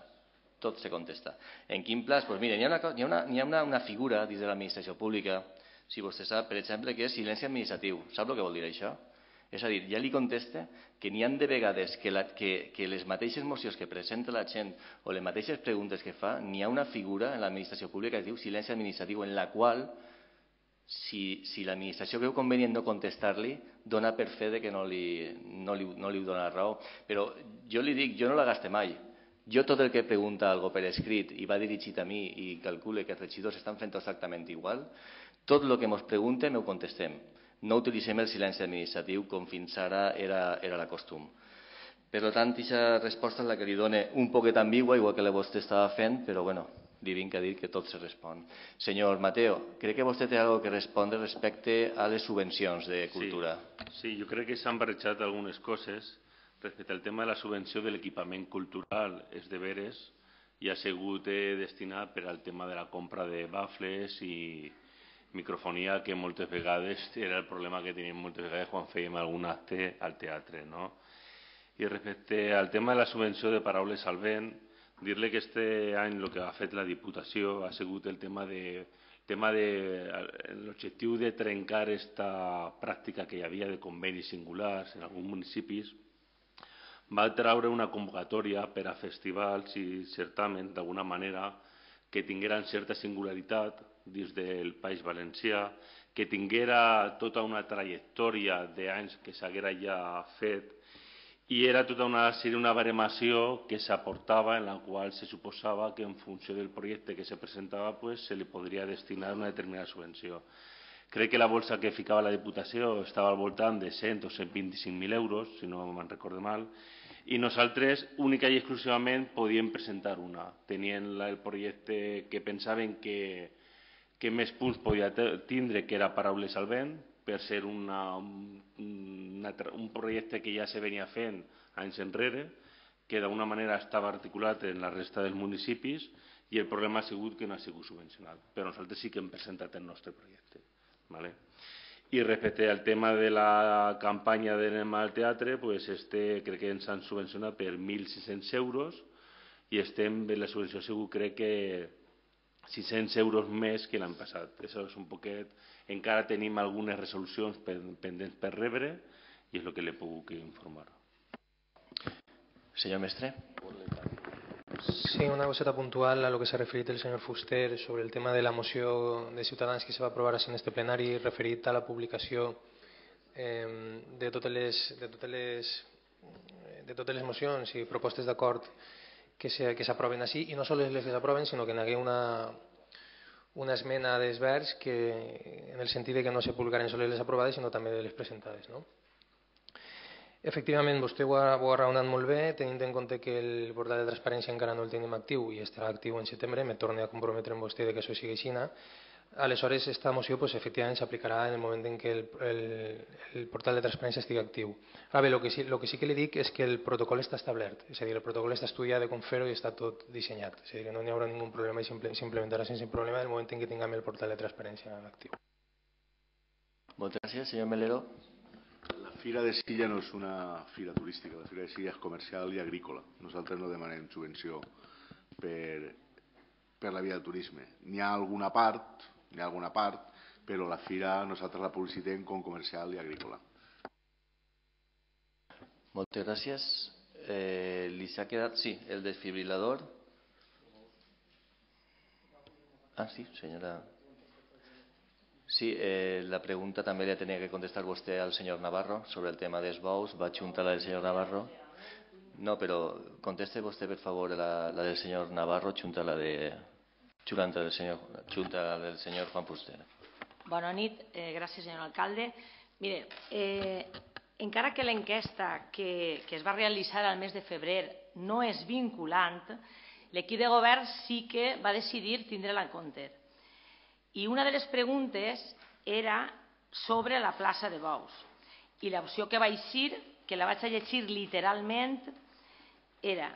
Tot se contesta. En quin pla? Doncs mira, n'hi ha, una, hi ha, una, hi ha una, una figura dins de l'administració pública, si vostè sap, per exemple, que és silenci administratiu. Sap el que vol dir això? És a dir, ja li contesta que n'hi ha de vegades que, la, que, que les mateixes mocions que presenta la gent o les mateixes preguntes que fa, n'hi ha una figura en l'administració pública que es diu silenci administratiu, en la qual, si, si l'administració veu convenient no contestar-li, dona per fe de que no li, no li, no li dona raó. Però jo li dic, jo no la gaste mai. Jo tot el que pregunta algú per escrit i va dirigit a mi i calcule que els regidors estan fent exactament igual, tot el que ens pregunten ho contestem. No utilitzem el silenci administratiu com fins ara era, era la costum. Per tant, aquesta resposta és la que li dona un poquet ambigua, igual que la vostè estava fent, però bueno, li vinc a dir que tot se respon. Senyor Mateo, crec que vostè té alguna cosa que respondre respecte a les subvencions de cultura. Sí, sí, jo crec que s'han barrejat algunes coses. Respecte al tema de la subvenció de l'equipament cultural, és de veres, i ha sigut destinat per al tema de la compra de bafles i microfonia, que moltes vegades era el problema que teníem moltes vegades quan fèiem algun acte al teatre, no? I respecte al tema de la subvenció de Paraules al Vent, dir-li que este any el que ha fet la Diputació ha sigut el tema de tema de l'objectiu de trencar aquesta pràctica que hi havia de convenis singulars en alguns municipis. Va treure una convocatòria per a festivals i certamen, d'alguna manera, que tingueren certa singularitat dins del País Valencià, que tinguera tota una trajectòria d'anys que s'haguera ja fet, i era tota una, seria una baremació que s'aportava en la qual se suposava que en funció del projecte que se presentava pues, se li podria destinar una determinada subvenció. Crec que la bolsa que ficava la Diputació estava al voltant de cent o cent vint-i-cinc mil euros, si no me'n recordo mal, i nosaltres única i exclusivament podíem presentar una. Tenien el projecte que pensaven que, que més punts podia tindre, que era Paraules al Vent, per ser una, una, un projecte que ja se venia fent anys enrere, que d'alguna manera estava articulat en la resta dels municipis, i el problema ha sigut que no ha sigut subvencionat. Però nosaltres sí que hem presentat el nostre projecte. ¿Vale? I respecte al tema de la campanya d'Anem al Teatre, pues este crec que ens han subvencionat per mil sis-cents euros i estem en la subvenció segur crec que sis-cents euros més que l'any passat. Això és un poquet. Encara tenim algunes resolucions pendents per rebre i és el que li puc informar. Senyor Mestre. Sí, una coseta puntual a lo que s'ha referit el senyor Fuster sobre el tema de la moció de Ciutadans que se va aprovar en este plenari referit a la publicació eh, de totes les, de totes les, de totes les mocions i propostes d'acord que s'aproven així, i no sols les que s'aproven, sinó que n'hi hagué una, una esmena d'esvers que, en el sentit de que no se publicaren sols les aprovades, sinó també de les presentades, no? Efectivament, vostè ho ha, ho ha raonat molt bé, tenint en compte que el portal de transparència encara no el tenim actiu i estarà actiu en setembre, me torno a comprometre amb vostè que això sigui així. Aleshores, aquesta moció pues, efectivament s'aplicarà en el moment en què el, el, el portal de transparència estigui actiu. Ara bé, el que, sí, el que sí que li dic és que el protocol està establert, és a dir, el protocol està estudiat de com fer-ho i està tot dissenyat, és a dir, que no hi haurà ningú problema i s'implementarà sense problema en el moment en què tinguem el portal de transparència actiu. Moltes gràcies, senyor Melero. La Fira de Silla no és una fira turística, la Fira de Silla és comercial i agrícola. Nosaltres no demanem subvenció per, per la via de turisme. N'hi ha alguna part, n'hi ha alguna part, però la fira nosaltres la publicitem com comercial i agrícola. Moltes gràcies. Eh, li s'ha quedat, sí, el desfibrilador. Ah, sí, senyora. Sí, eh, la pregunta també la tenia que contestar vostè al senyor Navarro sobre el tema dels bous. Va juntar la del senyor Navarro. No, però conteste vostè, per favor, la, la del senyor Navarro, junta la de... Junta del senyor, junta la del senyor Juan Fuster. Bona nit, eh, gràcies, senyor alcalde. Mire, eh, encara que l'enquesta que, que es va realitzar al mes de febrer no és vinculant, l'equip de govern sí que va decidir tindre-la en compte. I una de les preguntes era sobre la plaça de bous. I l'opció que vaig dir, que la vaig a llegir literalment, era: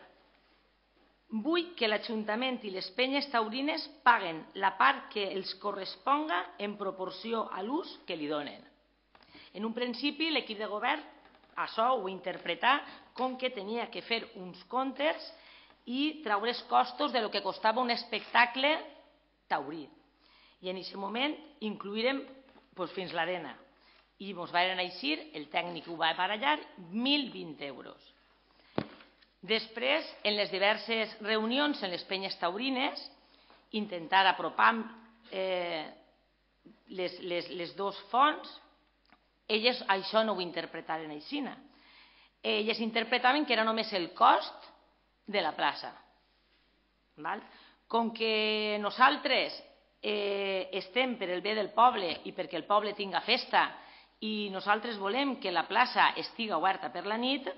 vull que l'Ajuntament i les penyes taurines paguen la part que els corresponga en proporció a l'ús que li donen. En un principi, l'equip de govern això ho interpretà com que tenia que fer uns comptes i treure els costos de lo que costava un espectacle taurí. I en aquest moment incloïrem pues, fins l'arena. i ens van eixir, el tècnic ho va barallar, mil vint euros. Després, en les diverses reunions en les penyes taurines, intentar apropar eh, les, les, les dos fonts, elles això no ho interpretaven així. Elles interpretaven que era només el cost de la plaça. Val? Com que nosaltres eh, estem per el bé del poble i perquè el poble tinga festa i nosaltres volem que la plaça estigui oberta per la nit,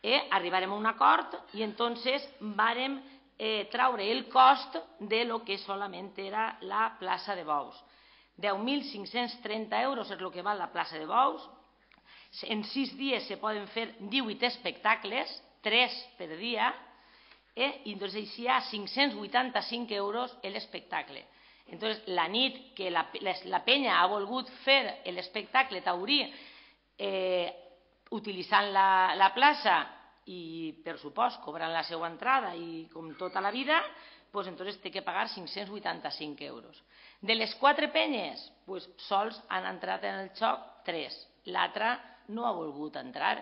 eh, arribarem a un acord i entonces vàrem eh, traure el cost de lo que solament era la plaça de bous. deu mil cinc-cents trenta euros és el que val la plaça de bous. En sis dies se poden fer divuit espectacles, tres per dia, eh, i doncs així hi ha cinc-cents vuitanta-cinc euros l'espectacle. Entonces, la nit que la, la, la penya ha volgut fer l'espectacle taurí eh, utilitzant la, la plaça i, per supost, cobrant la seva entrada i com tota la vida, pues, entonces té que pagar cinc-cents vuitanta-cinc euros. De les quatre penyes, pues, sols han entrat en el joc tres. L'altra no ha volgut entrar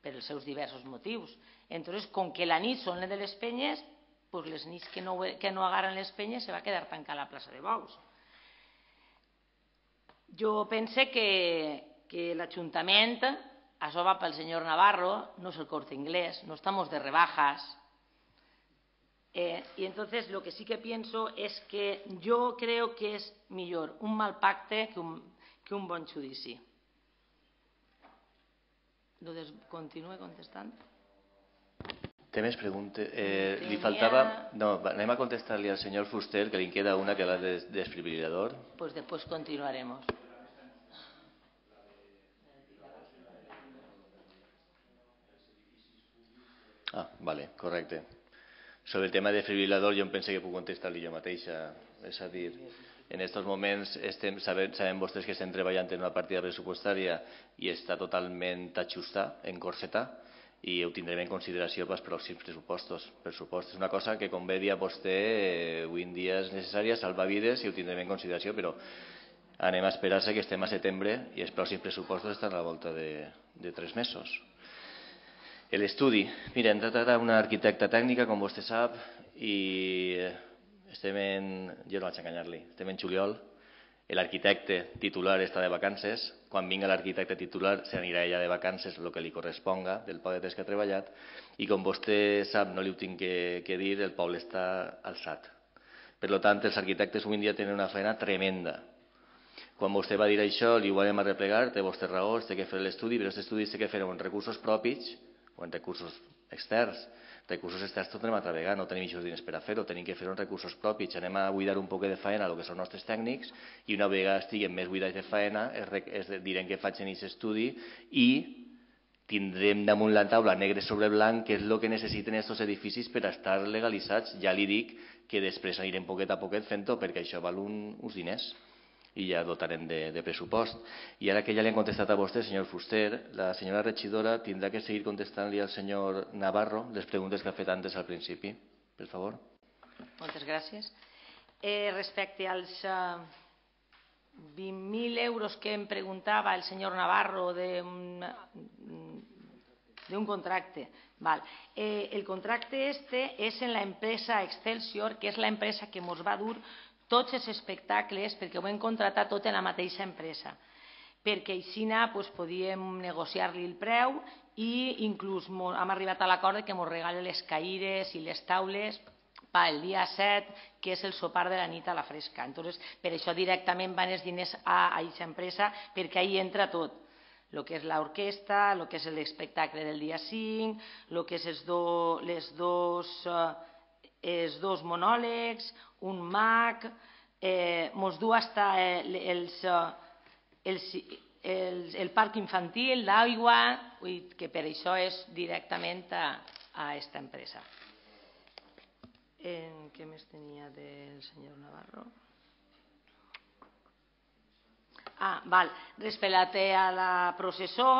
per els seus diversos motius. Entonces, com que la nit són de les penyes, pues les nits que no, que no agarren les penyes se va quedar tancada la plaça de bous. Jo pense que, que l'Ajuntament, això va pel senyor Navarro, no és el Corte Inglés, no estamos de rebajas. Eh, y entonces lo que sí que pienso es que yo creo que es millor un mal pacte que un, que un bon judici. Continue contestant. Té més preguntes? Eh, li faltava... No, anem a contestar-li al senyor Fuster, que li queda una que és la de desfibrilador. Pues después continuaremos. Ah, vale, correcte. Sobre el tema de desfibrilador jo em pense que puc contestar-li jo mateixa. És a dir, en aquests moments estem, sabem, sabem vostès que estem treballant en una partida pressupostària i està totalment ajustada, encorsetada, i ho tindrem en consideració pels pròxims pressupostos. Pressupost és una cosa que, com bé dia vostè, avui en dia és necessària, salvar vides i ho tindrem en consideració, però anem a esperar-se que estem a setembre i els pròxims pressupostos estan a la volta de, de tres mesos. L'estudi. Mira, hem tratat una arquitecta tècnica, com vostè sap, i estem en... Jo no vaig enganyar-li. Estem en juliol. L'arquitecte titular està de vacances. Quan vinga l'arquitecte titular s'anirà ella de vacances, el que li corresponga del poc de temps que ha treballat. I com vostè sap, no li ho tinc que, que dir, el poble està alçat. Per tant, els arquitectes avui en dia tenen una feina tremenda. Quan vostè va dir això, li ho vam arreplegar, té vostè raó, té que fer l'estudi, però aquest estudi té que fer amb recursos propis o en recursos externs. Recursos externs tot anem a treballar, no tenim aquests diners per a fer-ho, tenim que fer-ho en recursos propis. Anem a buidar un poc de faena el que són els nostres tècnics i una vegada estiguem més buidats de faena es direm que facin aquest estudi i tindrem damunt la taula negre sobre blanc què és el que necessiten aquests edificis per estar legalitzats. Ja li dic que després anirem poquet a poquet fent-ho perquè això val un, uns diners i ja dotarem de, de pressupost. I ara que ja li han contestat a vostè, senyor Fuster, la senyora regidora tindrà que seguir contestant-li al senyor Navarro les preguntes que ha fet antes al principi. Per favor. Moltes gràcies. Eh, respecte als eh, vint mil euros que em preguntava el senyor Navarro d'un un contracte. Val. Eh, el contracte este és en la empresa Excelsior, que és la empresa que ens va dur tots els espectacles, perquè ho hem contratat tot en la mateixa empresa, perquè així pues, podíem negociar-li el preu i inclús hem arribat a l'acord que ens regalen les caires i les taules pel dia set, que és el sopar de la nit a la fresca. Entonces, per això directament van els diners a aquesta empresa, perquè ahí entra tot, el que és l'orquestra, el que és l'espectacle del dia cinc, el que és els, do, les dos... Eh, els dos monòlegs, un mag, eh, mos du hasta el, els, els, els, el parc infantil, l'aigua, que per això és directament a, a esta empresa. Eh, què més tenia del senyor Navarro? Ah, val. Respecte a la processó,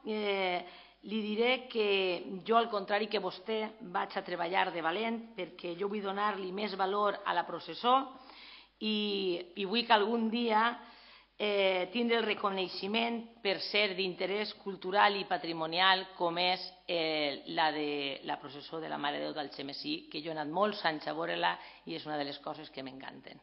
eh, li diré que jo, al contrari que vostè, vaig a treballar de valent perquè jo vull donar-li més valor a la processó i, i vull que algun dia eh, tindre el reconeixement per ser d'interès cultural i patrimonial com és eh, la de la processó de la Mare de Déu d'Algemesí, que jo he anat molts anys a veure-la i és una de les coses que m'encanten.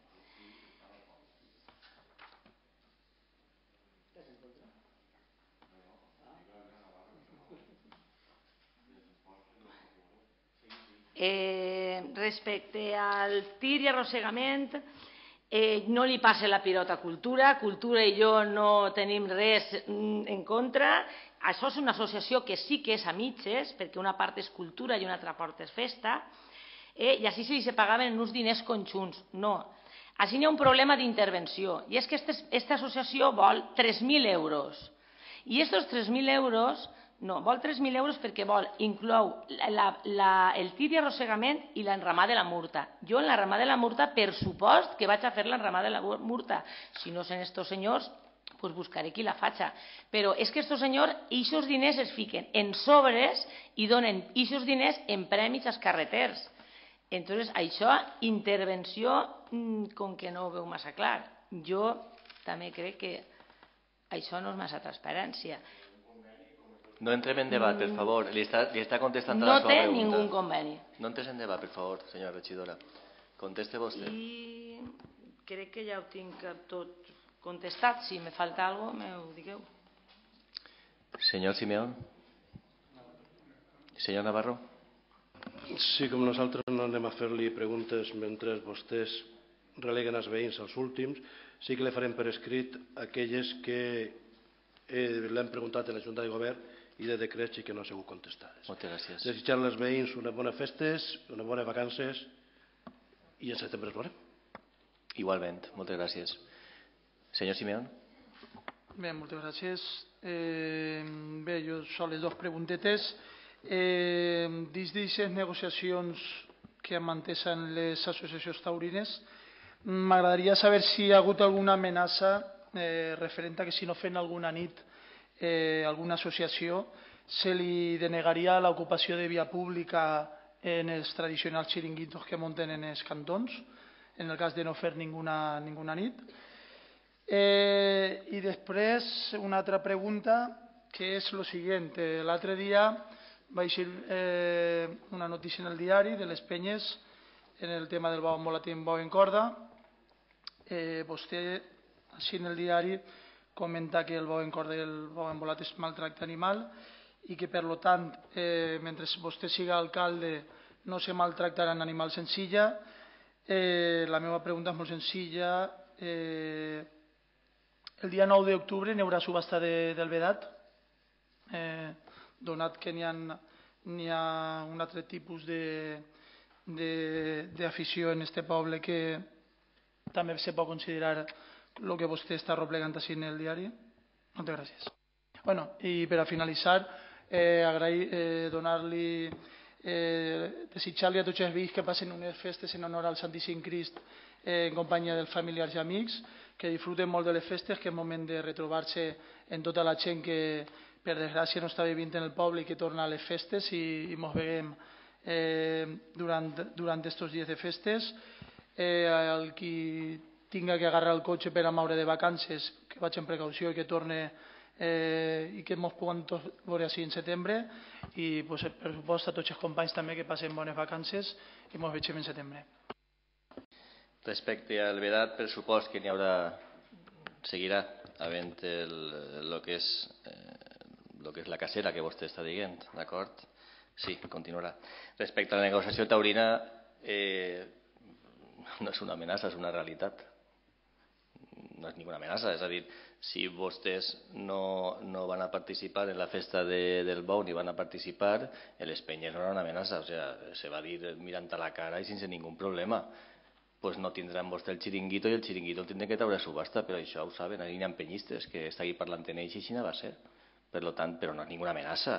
Eh, respecte al tir i arrossegament, eh, no li passa la pilota a Cultura. Cultura i jo no tenim res en contra. Això és una associació que sí que és a mitges, perquè una part és cultura i una altra part és festa, eh, i així se pagaven en uns diners conjunts. No. Així hi ha un problema d'intervenció, i és que aquesta associació vol tres mil euros. I aquests tres mil euros no, vol tres mil euros perquè vol, inclou la, la, el tir i arrossegament i l'enramar de la murta. Jo en l'enramar de la murta, per supost que vaig a fer l'enramar de la murta. Si no són estos senyors, pues buscaré qui la faça. Però és que estos senyors, aquests diners es fiquen en sobres i donen aquests diners en premis als carreters. Entonces, això, intervenció, com que no ho veu massa clar. Jo també crec que això no és massa transparència. No entrem en debat, per favor. Li està, li està contestant a no la seva pregunta. No té ningú conveni. No entres en debat, per favor, senyora regidora. Conteste vostè. I crec que ja ho tinc tot contestat. Si me falta alguna cosa, m'ho digueu. Senyor Simeón. Senyor Navarro. Sí, com nosaltres no anem a fer-li preguntes mentre vostès releguen els veïns als últims, sí que li farem per escrit aquelles que eh, l'hem preguntat a la Junta de Govern i de decrets i que no ha sigut contestades. Moltes gràcies. Desitjar als veïns unes bones festes, unes bones vacances i en setembre es veurem. Igualment, moltes gràcies. Senyor Simeón. Bé, moltes gràcies. Eh, bé, jo són les dues preguntetes. Eh, dins d'aquestes negociacions que mantenen les associacions taurines, m'agradaria saber si hi ha hagut alguna amenaça eh, referent a que si no fem alguna nit eh, alguna associació se li denegaria l'ocupació de via pública en els tradicionals xiringuitos que munten en els cantons, en el cas de no fer ninguna, ninguna nit. Eh, I després una altra pregunta que és el següent. Eh, L'altre dia va eixir eh, una notícia en el diari de les penyes en el tema del bou envolat i bou en corda. Eh, vostè, així en el diari, comenta que el bou en corda i el bou envolat és maltracte animal i que, per tant, eh, mentre vostè siga alcalde, no se maltractaran animals en silla. Eh, la meva pregunta és molt senzilla. Eh, el dia nou d'octubre n'hi haurà subhasta de, del vedat, eh, donat que n'hi ha, n'hi ha un altre tipus d'afició en este poble que també se pot considerar el que vostè està replegant així en el diari. Moltes gràcies. Bueno, i per a finalitzar, eh, agrair, eh, donar-li, eh, desitjar-li a tots els veïns que passen unes festes en honor al Santíssim Crist eh, en companyia dels familiars i amics, que disfruten molt de les festes, que és moment de retrobar-se en tota la gent que, per desgràcia, no està vivint en el poble i que torna a les festes i, i mos veiem eh, durant, durant estos dies de festes. Eh, el qui tinga que agarrar el cotxe per a moure de vacances, que vaig en precaució i que torne eh, i que ens puguem veure així en setembre, i pues, per supost a tots els companys també que passen bones vacances i ens veiem en setembre. Respecte al vedat, per supost que n'hi haurà, seguirà havent el, el que és eh, el que és la cacera que vostè està dient, d'acord? Sí, continuarà. Respecte a la negociació taurina, eh, no és una amenaça, és una realitat. No és ninguna amenaça, és a dir, si vostès no, no van a participar en la festa de, del bou ni van a participar, les penyes no era una amenaça, o sea, se va dir mirant a la cara i sense ningú problema. Pues no tindran vostè el xiringuito i el xiringuito el tindrem que treure a subhasta, però això ho saben, hi ha penyistes que està aquí parlant en ells i així no va ser. Per tant, però no és ninguna amenaça.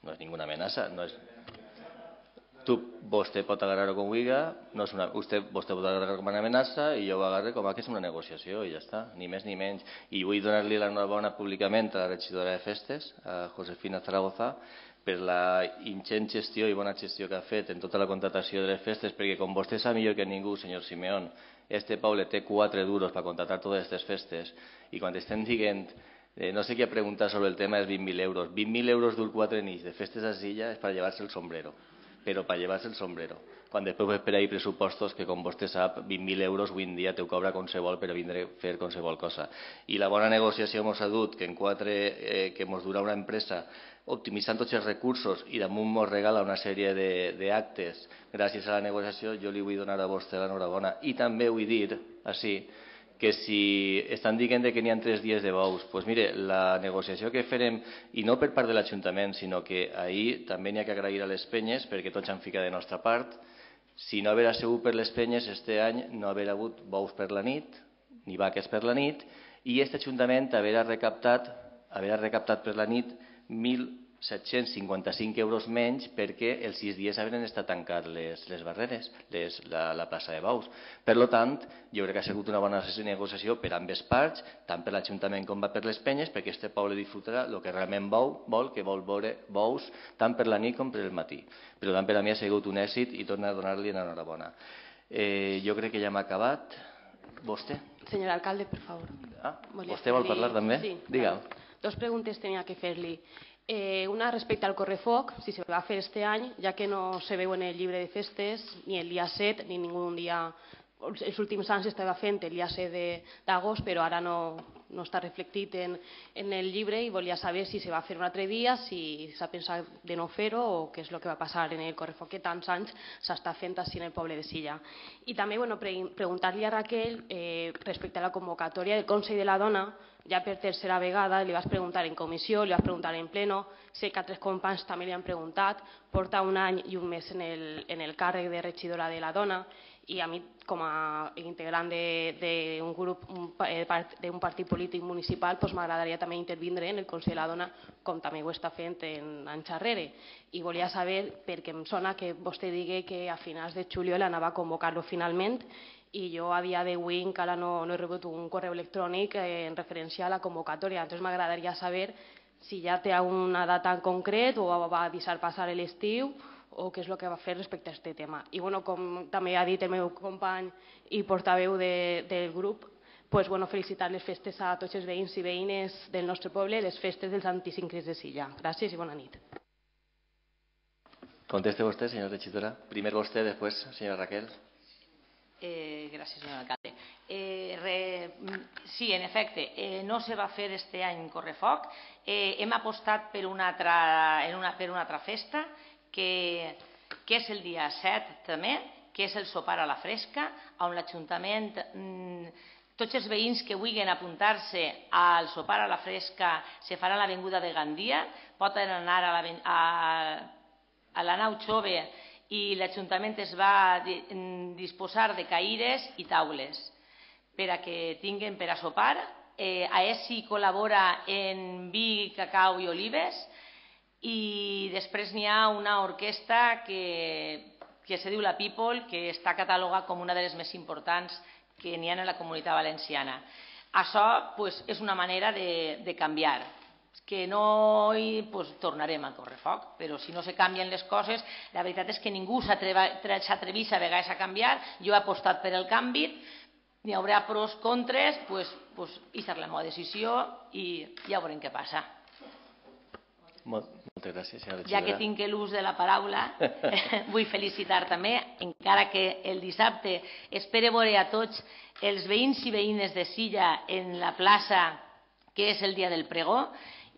No és ninguna amenaça. No és... Tu, vostè pot agarrar-ho com vulga, no és una, vostè, vostè pot agarrar-ho com una amenaça i jo ho agarre com que és una negociació i ja està, ni més ni menys. I vull donar-li l'enhorabona públicament a la regidora de festes, a Josefina Zaragoza, per la ingent gestió i bona gestió que ha fet en tota la contratació de les festes, perquè com vostè sap millor que ningú, senyor Simeón, este poble té quatre duros per contractar totes aquestes festes i quan estem dient, eh, no sé què preguntar sobre el tema dels vint mil euros, vint mil euros dur quatre nits de festes a Silla és per llevar-se el sombrero, però per llevar-se el sombrero. Quan després ves per ahí pressupostos que, com vostè sap, vint mil euros avui en dia te ho cobra qualsevol per a vindre a fer qualsevol cosa. I la bona negociació ens ha dut que en quatre, eh, que ens durà una empresa optimitzant tots els recursos i damunt ens regala una sèrie d'actes gràcies a la negociació, jo li vull donar a vostè l'enhorabona. I també vull dir, així, que si estan dient que n'hi ha tres dies de bous, doncs mire, la negociació que farem, i no per part de l'Ajuntament, sinó que ahir també n'hi ha que agrair a les penyes perquè tots han ficat de nostra part. Si no haver sigut per les penyes, este any no haver hagut bous per la nit, ni vaques per la nit, i aquest Ajuntament haver recaptat, haver recaptat per la nit mil set-cents cinquanta-cinc euros menys perquè els sis dies havien estat tancat les, les barreres, les, la, la plaça de bous. Per tant, jo crec que ha sigut una bona negociació per ambes parts, tant per l'Ajuntament com per les penyes, perquè aquest poble disfrutarà el que realment vol, vol que vol veure bous tant per la nit com per el matí. Per tant, per a mi ha sigut un èxit i torno a donar-li l'enhorabona. Eh, jo crec que ja m'ha acabat. Vostè? Señor alcalde, por favor. Ah, vostè vol parlar també? Sí. Diga. Dos preguntas tenía que hacerle. Eh, una respecte al correfoc, si se va a fer este any, ja que no se veu en el llibre de festes ni el dia set ni ningú dia. Els últims anys estava fent el dia set d'agost, però ara no, no està reflectit en, en el llibre i volia saber si se va fer un altre dia, si s'ha pensat de no fer-ho o què és el que va passar en el correfoc que tants anys s'està fent així en el poble de Silla. I també bueno, pre preguntar-li a Raquel eh, respecte a la convocatòria del Consell de la Dona, ja per tercera vegada, li vas preguntar en comissió, li vas preguntar en pleno, sé que altres companys també li han preguntat, porta un any i un mes en el, en el càrrec de regidora de la dona i a mi com a integrant d'un grup, d'un partit polític municipal, doncs m'agradaria també intervindre en el Consell de la Dona com també ho està fent en anys darrere. I volia saber, perquè em sona que vostè digui que a finals de juliol anava a convocar-lo finalment i jo a dia d'avui encara no, no he rebut un correu electrònic eh, en referència a la convocatòria. Entonces m'agradaria saber si ja té una data en concret o va deixar passar l'estiu o què és el que va fer respecte a aquest tema. I bueno, com també ha dit el meu company i portaveu de, del grup, pues, bueno, felicitar les festes a tots els veïns i veïnes del nostre poble, les festes dels anticinc Cris de Silla. Gràcies i bona nit. Conteste vostè, senyora regidora. Primer vostè, després, senyora Raquel. Eh, gràcies, senyor alcalde. Eh, re, sí, en efecte, eh, no se va fer este any correfoc. Eh, hem apostat per una altra, en una, per una altra festa, que, que és el dia set també, que és el sopar a la fresca, on l'Ajuntament, mm, tots els veïns que vulguin apuntar-se al sopar a la fresca se farà a l'avinguda de Gandia, poden anar a la, a, a la nau Xove i l'Ajuntament es va disposar de caires i taules per a que tinguin per a sopar. Eh, a ESI col·labora en vi, cacau i olives i després n'hi ha una orquestra que, que se diu la People, que està catalogada com una de les més importants que n'hi ha en la Comunitat Valenciana. Això pues, és una manera de, de canviar. Que no hi pues, tornarem al correfoc, però si no se canvien les coses, la veritat és que ningú s'atreveix a vegades a canviar. Jo he apostat per el canvi, n'hi haurà pros, contres, pues, pues, i serà la meva decisió i ja veurem què passa. Moltes gràcies, senyora regidora. Ja que tinc l'ús de la paraula, vull felicitar també, encara que el dissabte espero veure a tots els veïns i veïnes de Silla en la plaça, que és el dia del pregó,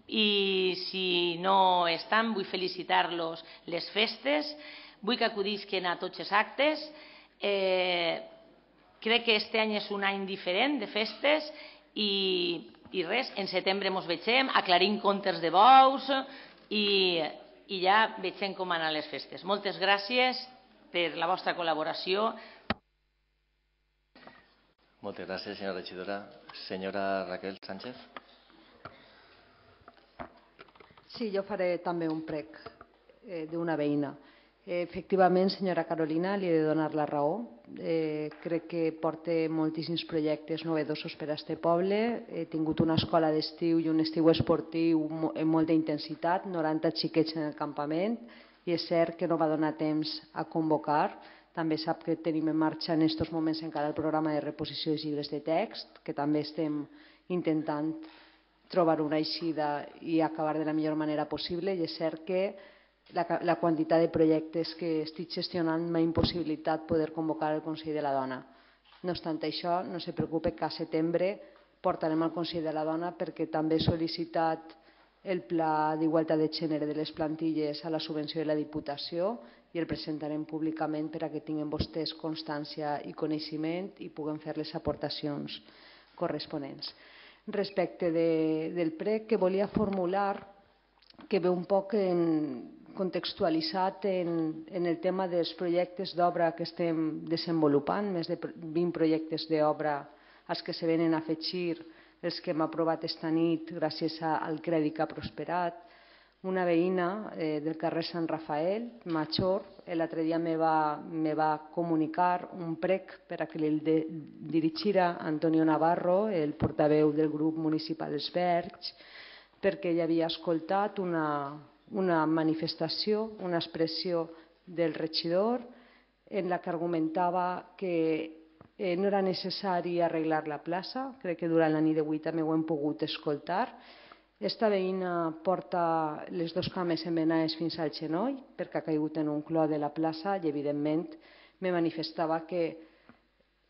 i si no estan vull felicitar-los les festes, vull que acudisquen a tots els actes. Eh, crec que aquest any és un any diferent de festes i, i res, en setembre ens vegem, aclarim comptes de bous i, i ja vegem com anar les festes. Moltes gràcies per la vostra col·laboració. Moltes gràcies, senyora regidora. Senyora Raquel Sánchez. Sí, jo faré també un prec eh, d'una veïna. Eh, efectivament, senyora Carolina, li he de donar la raó. Eh, crec que porta moltíssims projectes novedosos per a aquest poble. He tingut una escola d'estiu i un estiu esportiu amb molta intensitat, noranta xiquets en el campament, i és cert que no va donar temps a convocar. També sap que tenim en marxa en aquests moments encara el programa de reposició de llibres de text, que també estem intentant trobar una eixida i acabar de la millor manera possible, i és cert que la, la quantitat de projectes que estic gestionant m'ha impossibilitat poder convocar el Consell de la Dona. No obstant això, no se preocupe que a setembre portarem al Consell de la Dona, perquè també he sol·licitat el Pla d'Igualtat de Gènere de les plantilles a la subvenció de la Diputació i el presentarem públicament per a que tinguin vostès constància i coneixement i puguen fer les aportacions corresponents. Respecte de, del prec que volia formular, que ve un poc en, contextualitzat en, en el tema dels projectes d'obra que estem desenvolupant, més de vint projectes d'obra als que se venen a afegir els que hem aprovat esta nit gràcies al crèdit que ha prosperat. Una veïna eh, del carrer Sant Rafael, Major, l'altre dia me va, me va comunicar un prec per a que li de, dirigirà Antonio Navarro, el portaveu del grup municipal Els Verds, perquè ell havia escoltat una, una manifestació, una expressió del regidor en la que argumentava que eh, no era necessari arreglar la plaça. Crec que durant la nit d'avui també ho hem pogut escoltar. Esta veïna porta les dues cames envenenades fins al genoll perquè ha caigut en un clot de la plaça i, evidentment, me manifestava que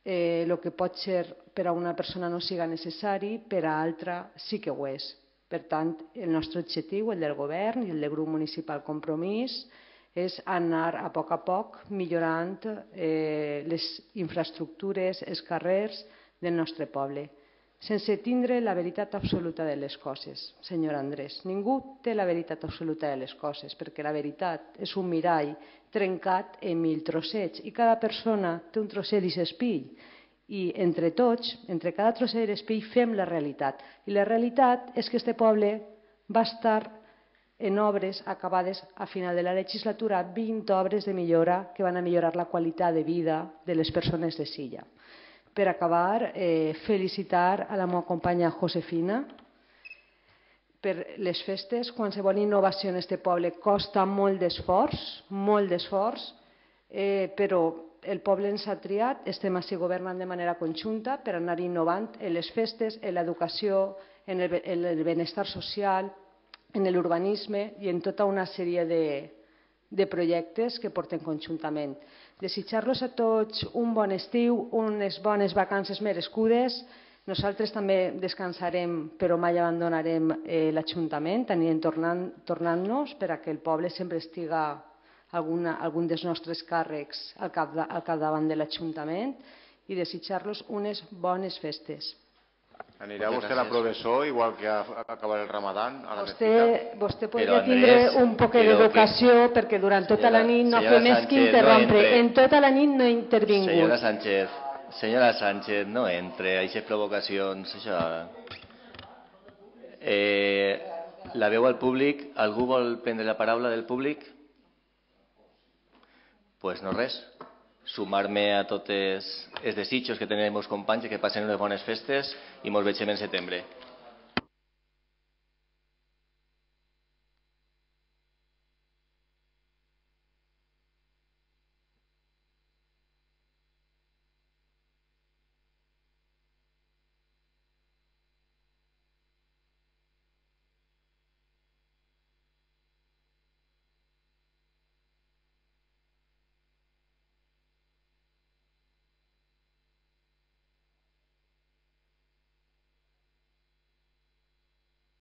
eh, el que pot ser per a una persona no siga necessari, per a altra sí que ho és. Per tant, el nostre objectiu, el del govern i el del grup municipal Compromís, és anar a poc a poc millorant eh, les infraestructures, els carrers del nostre poble, sense tindre la veritat absoluta de les coses, senyor Andrés. Ningú té la veritat absoluta de les coses, perquè la veritat és un mirall trencat en mil trossets i cada persona té un trosset d'aquest espill. I entre tots, entre cada trosset de l'espill, fem la realitat. I la realitat és que este poble va estar en obres acabades a final de la legislatura, vint obres de millora que van a millorar la qualitat de vida de les persones de Silla. Per acabar, eh, felicitar a la meva companya Josefina per les festes. Qualsevol innovació en aquest poble costa molt d'esforç, molt d'esforç, eh, però el poble ens ha triat, estem així governant de manera conjunta per anar innovant en les festes, en l'educació, en el, en el benestar social, en l'urbanisme i en tota una sèrie de, de projectes que portem conjuntament. Desitjar-los a tots un bon estiu, unes bones vacances merescudes. Nosaltres també descansarem, però mai abandonarem eh, l'Ajuntament, anirem tornant, tornant-nos per a que el poble sempre estiga alguna, algun dels nostres càrrecs al, cap, al capdavant de l'Ajuntament i desitjar-los unes bones festes. Anirà vostè a la professor, igual que ha acabat el Ramadán, a la vostè, mesquita? Vostè podria tindre un poc d'educació, que... perquè durant tota senyora, la nit no fa més que interrompre. No en tota la nit no he intervingut. Senyora Sánchez, senyora Sánchez, no entre, aquestes provocacions, això... Eh, la veu al públic, algú vol prendre la paraula del públic? Doncs pues no res. Sumar-me a tots els desitjos que tenen els meus companys, que passen unes bones festes i ens veiem en setembre.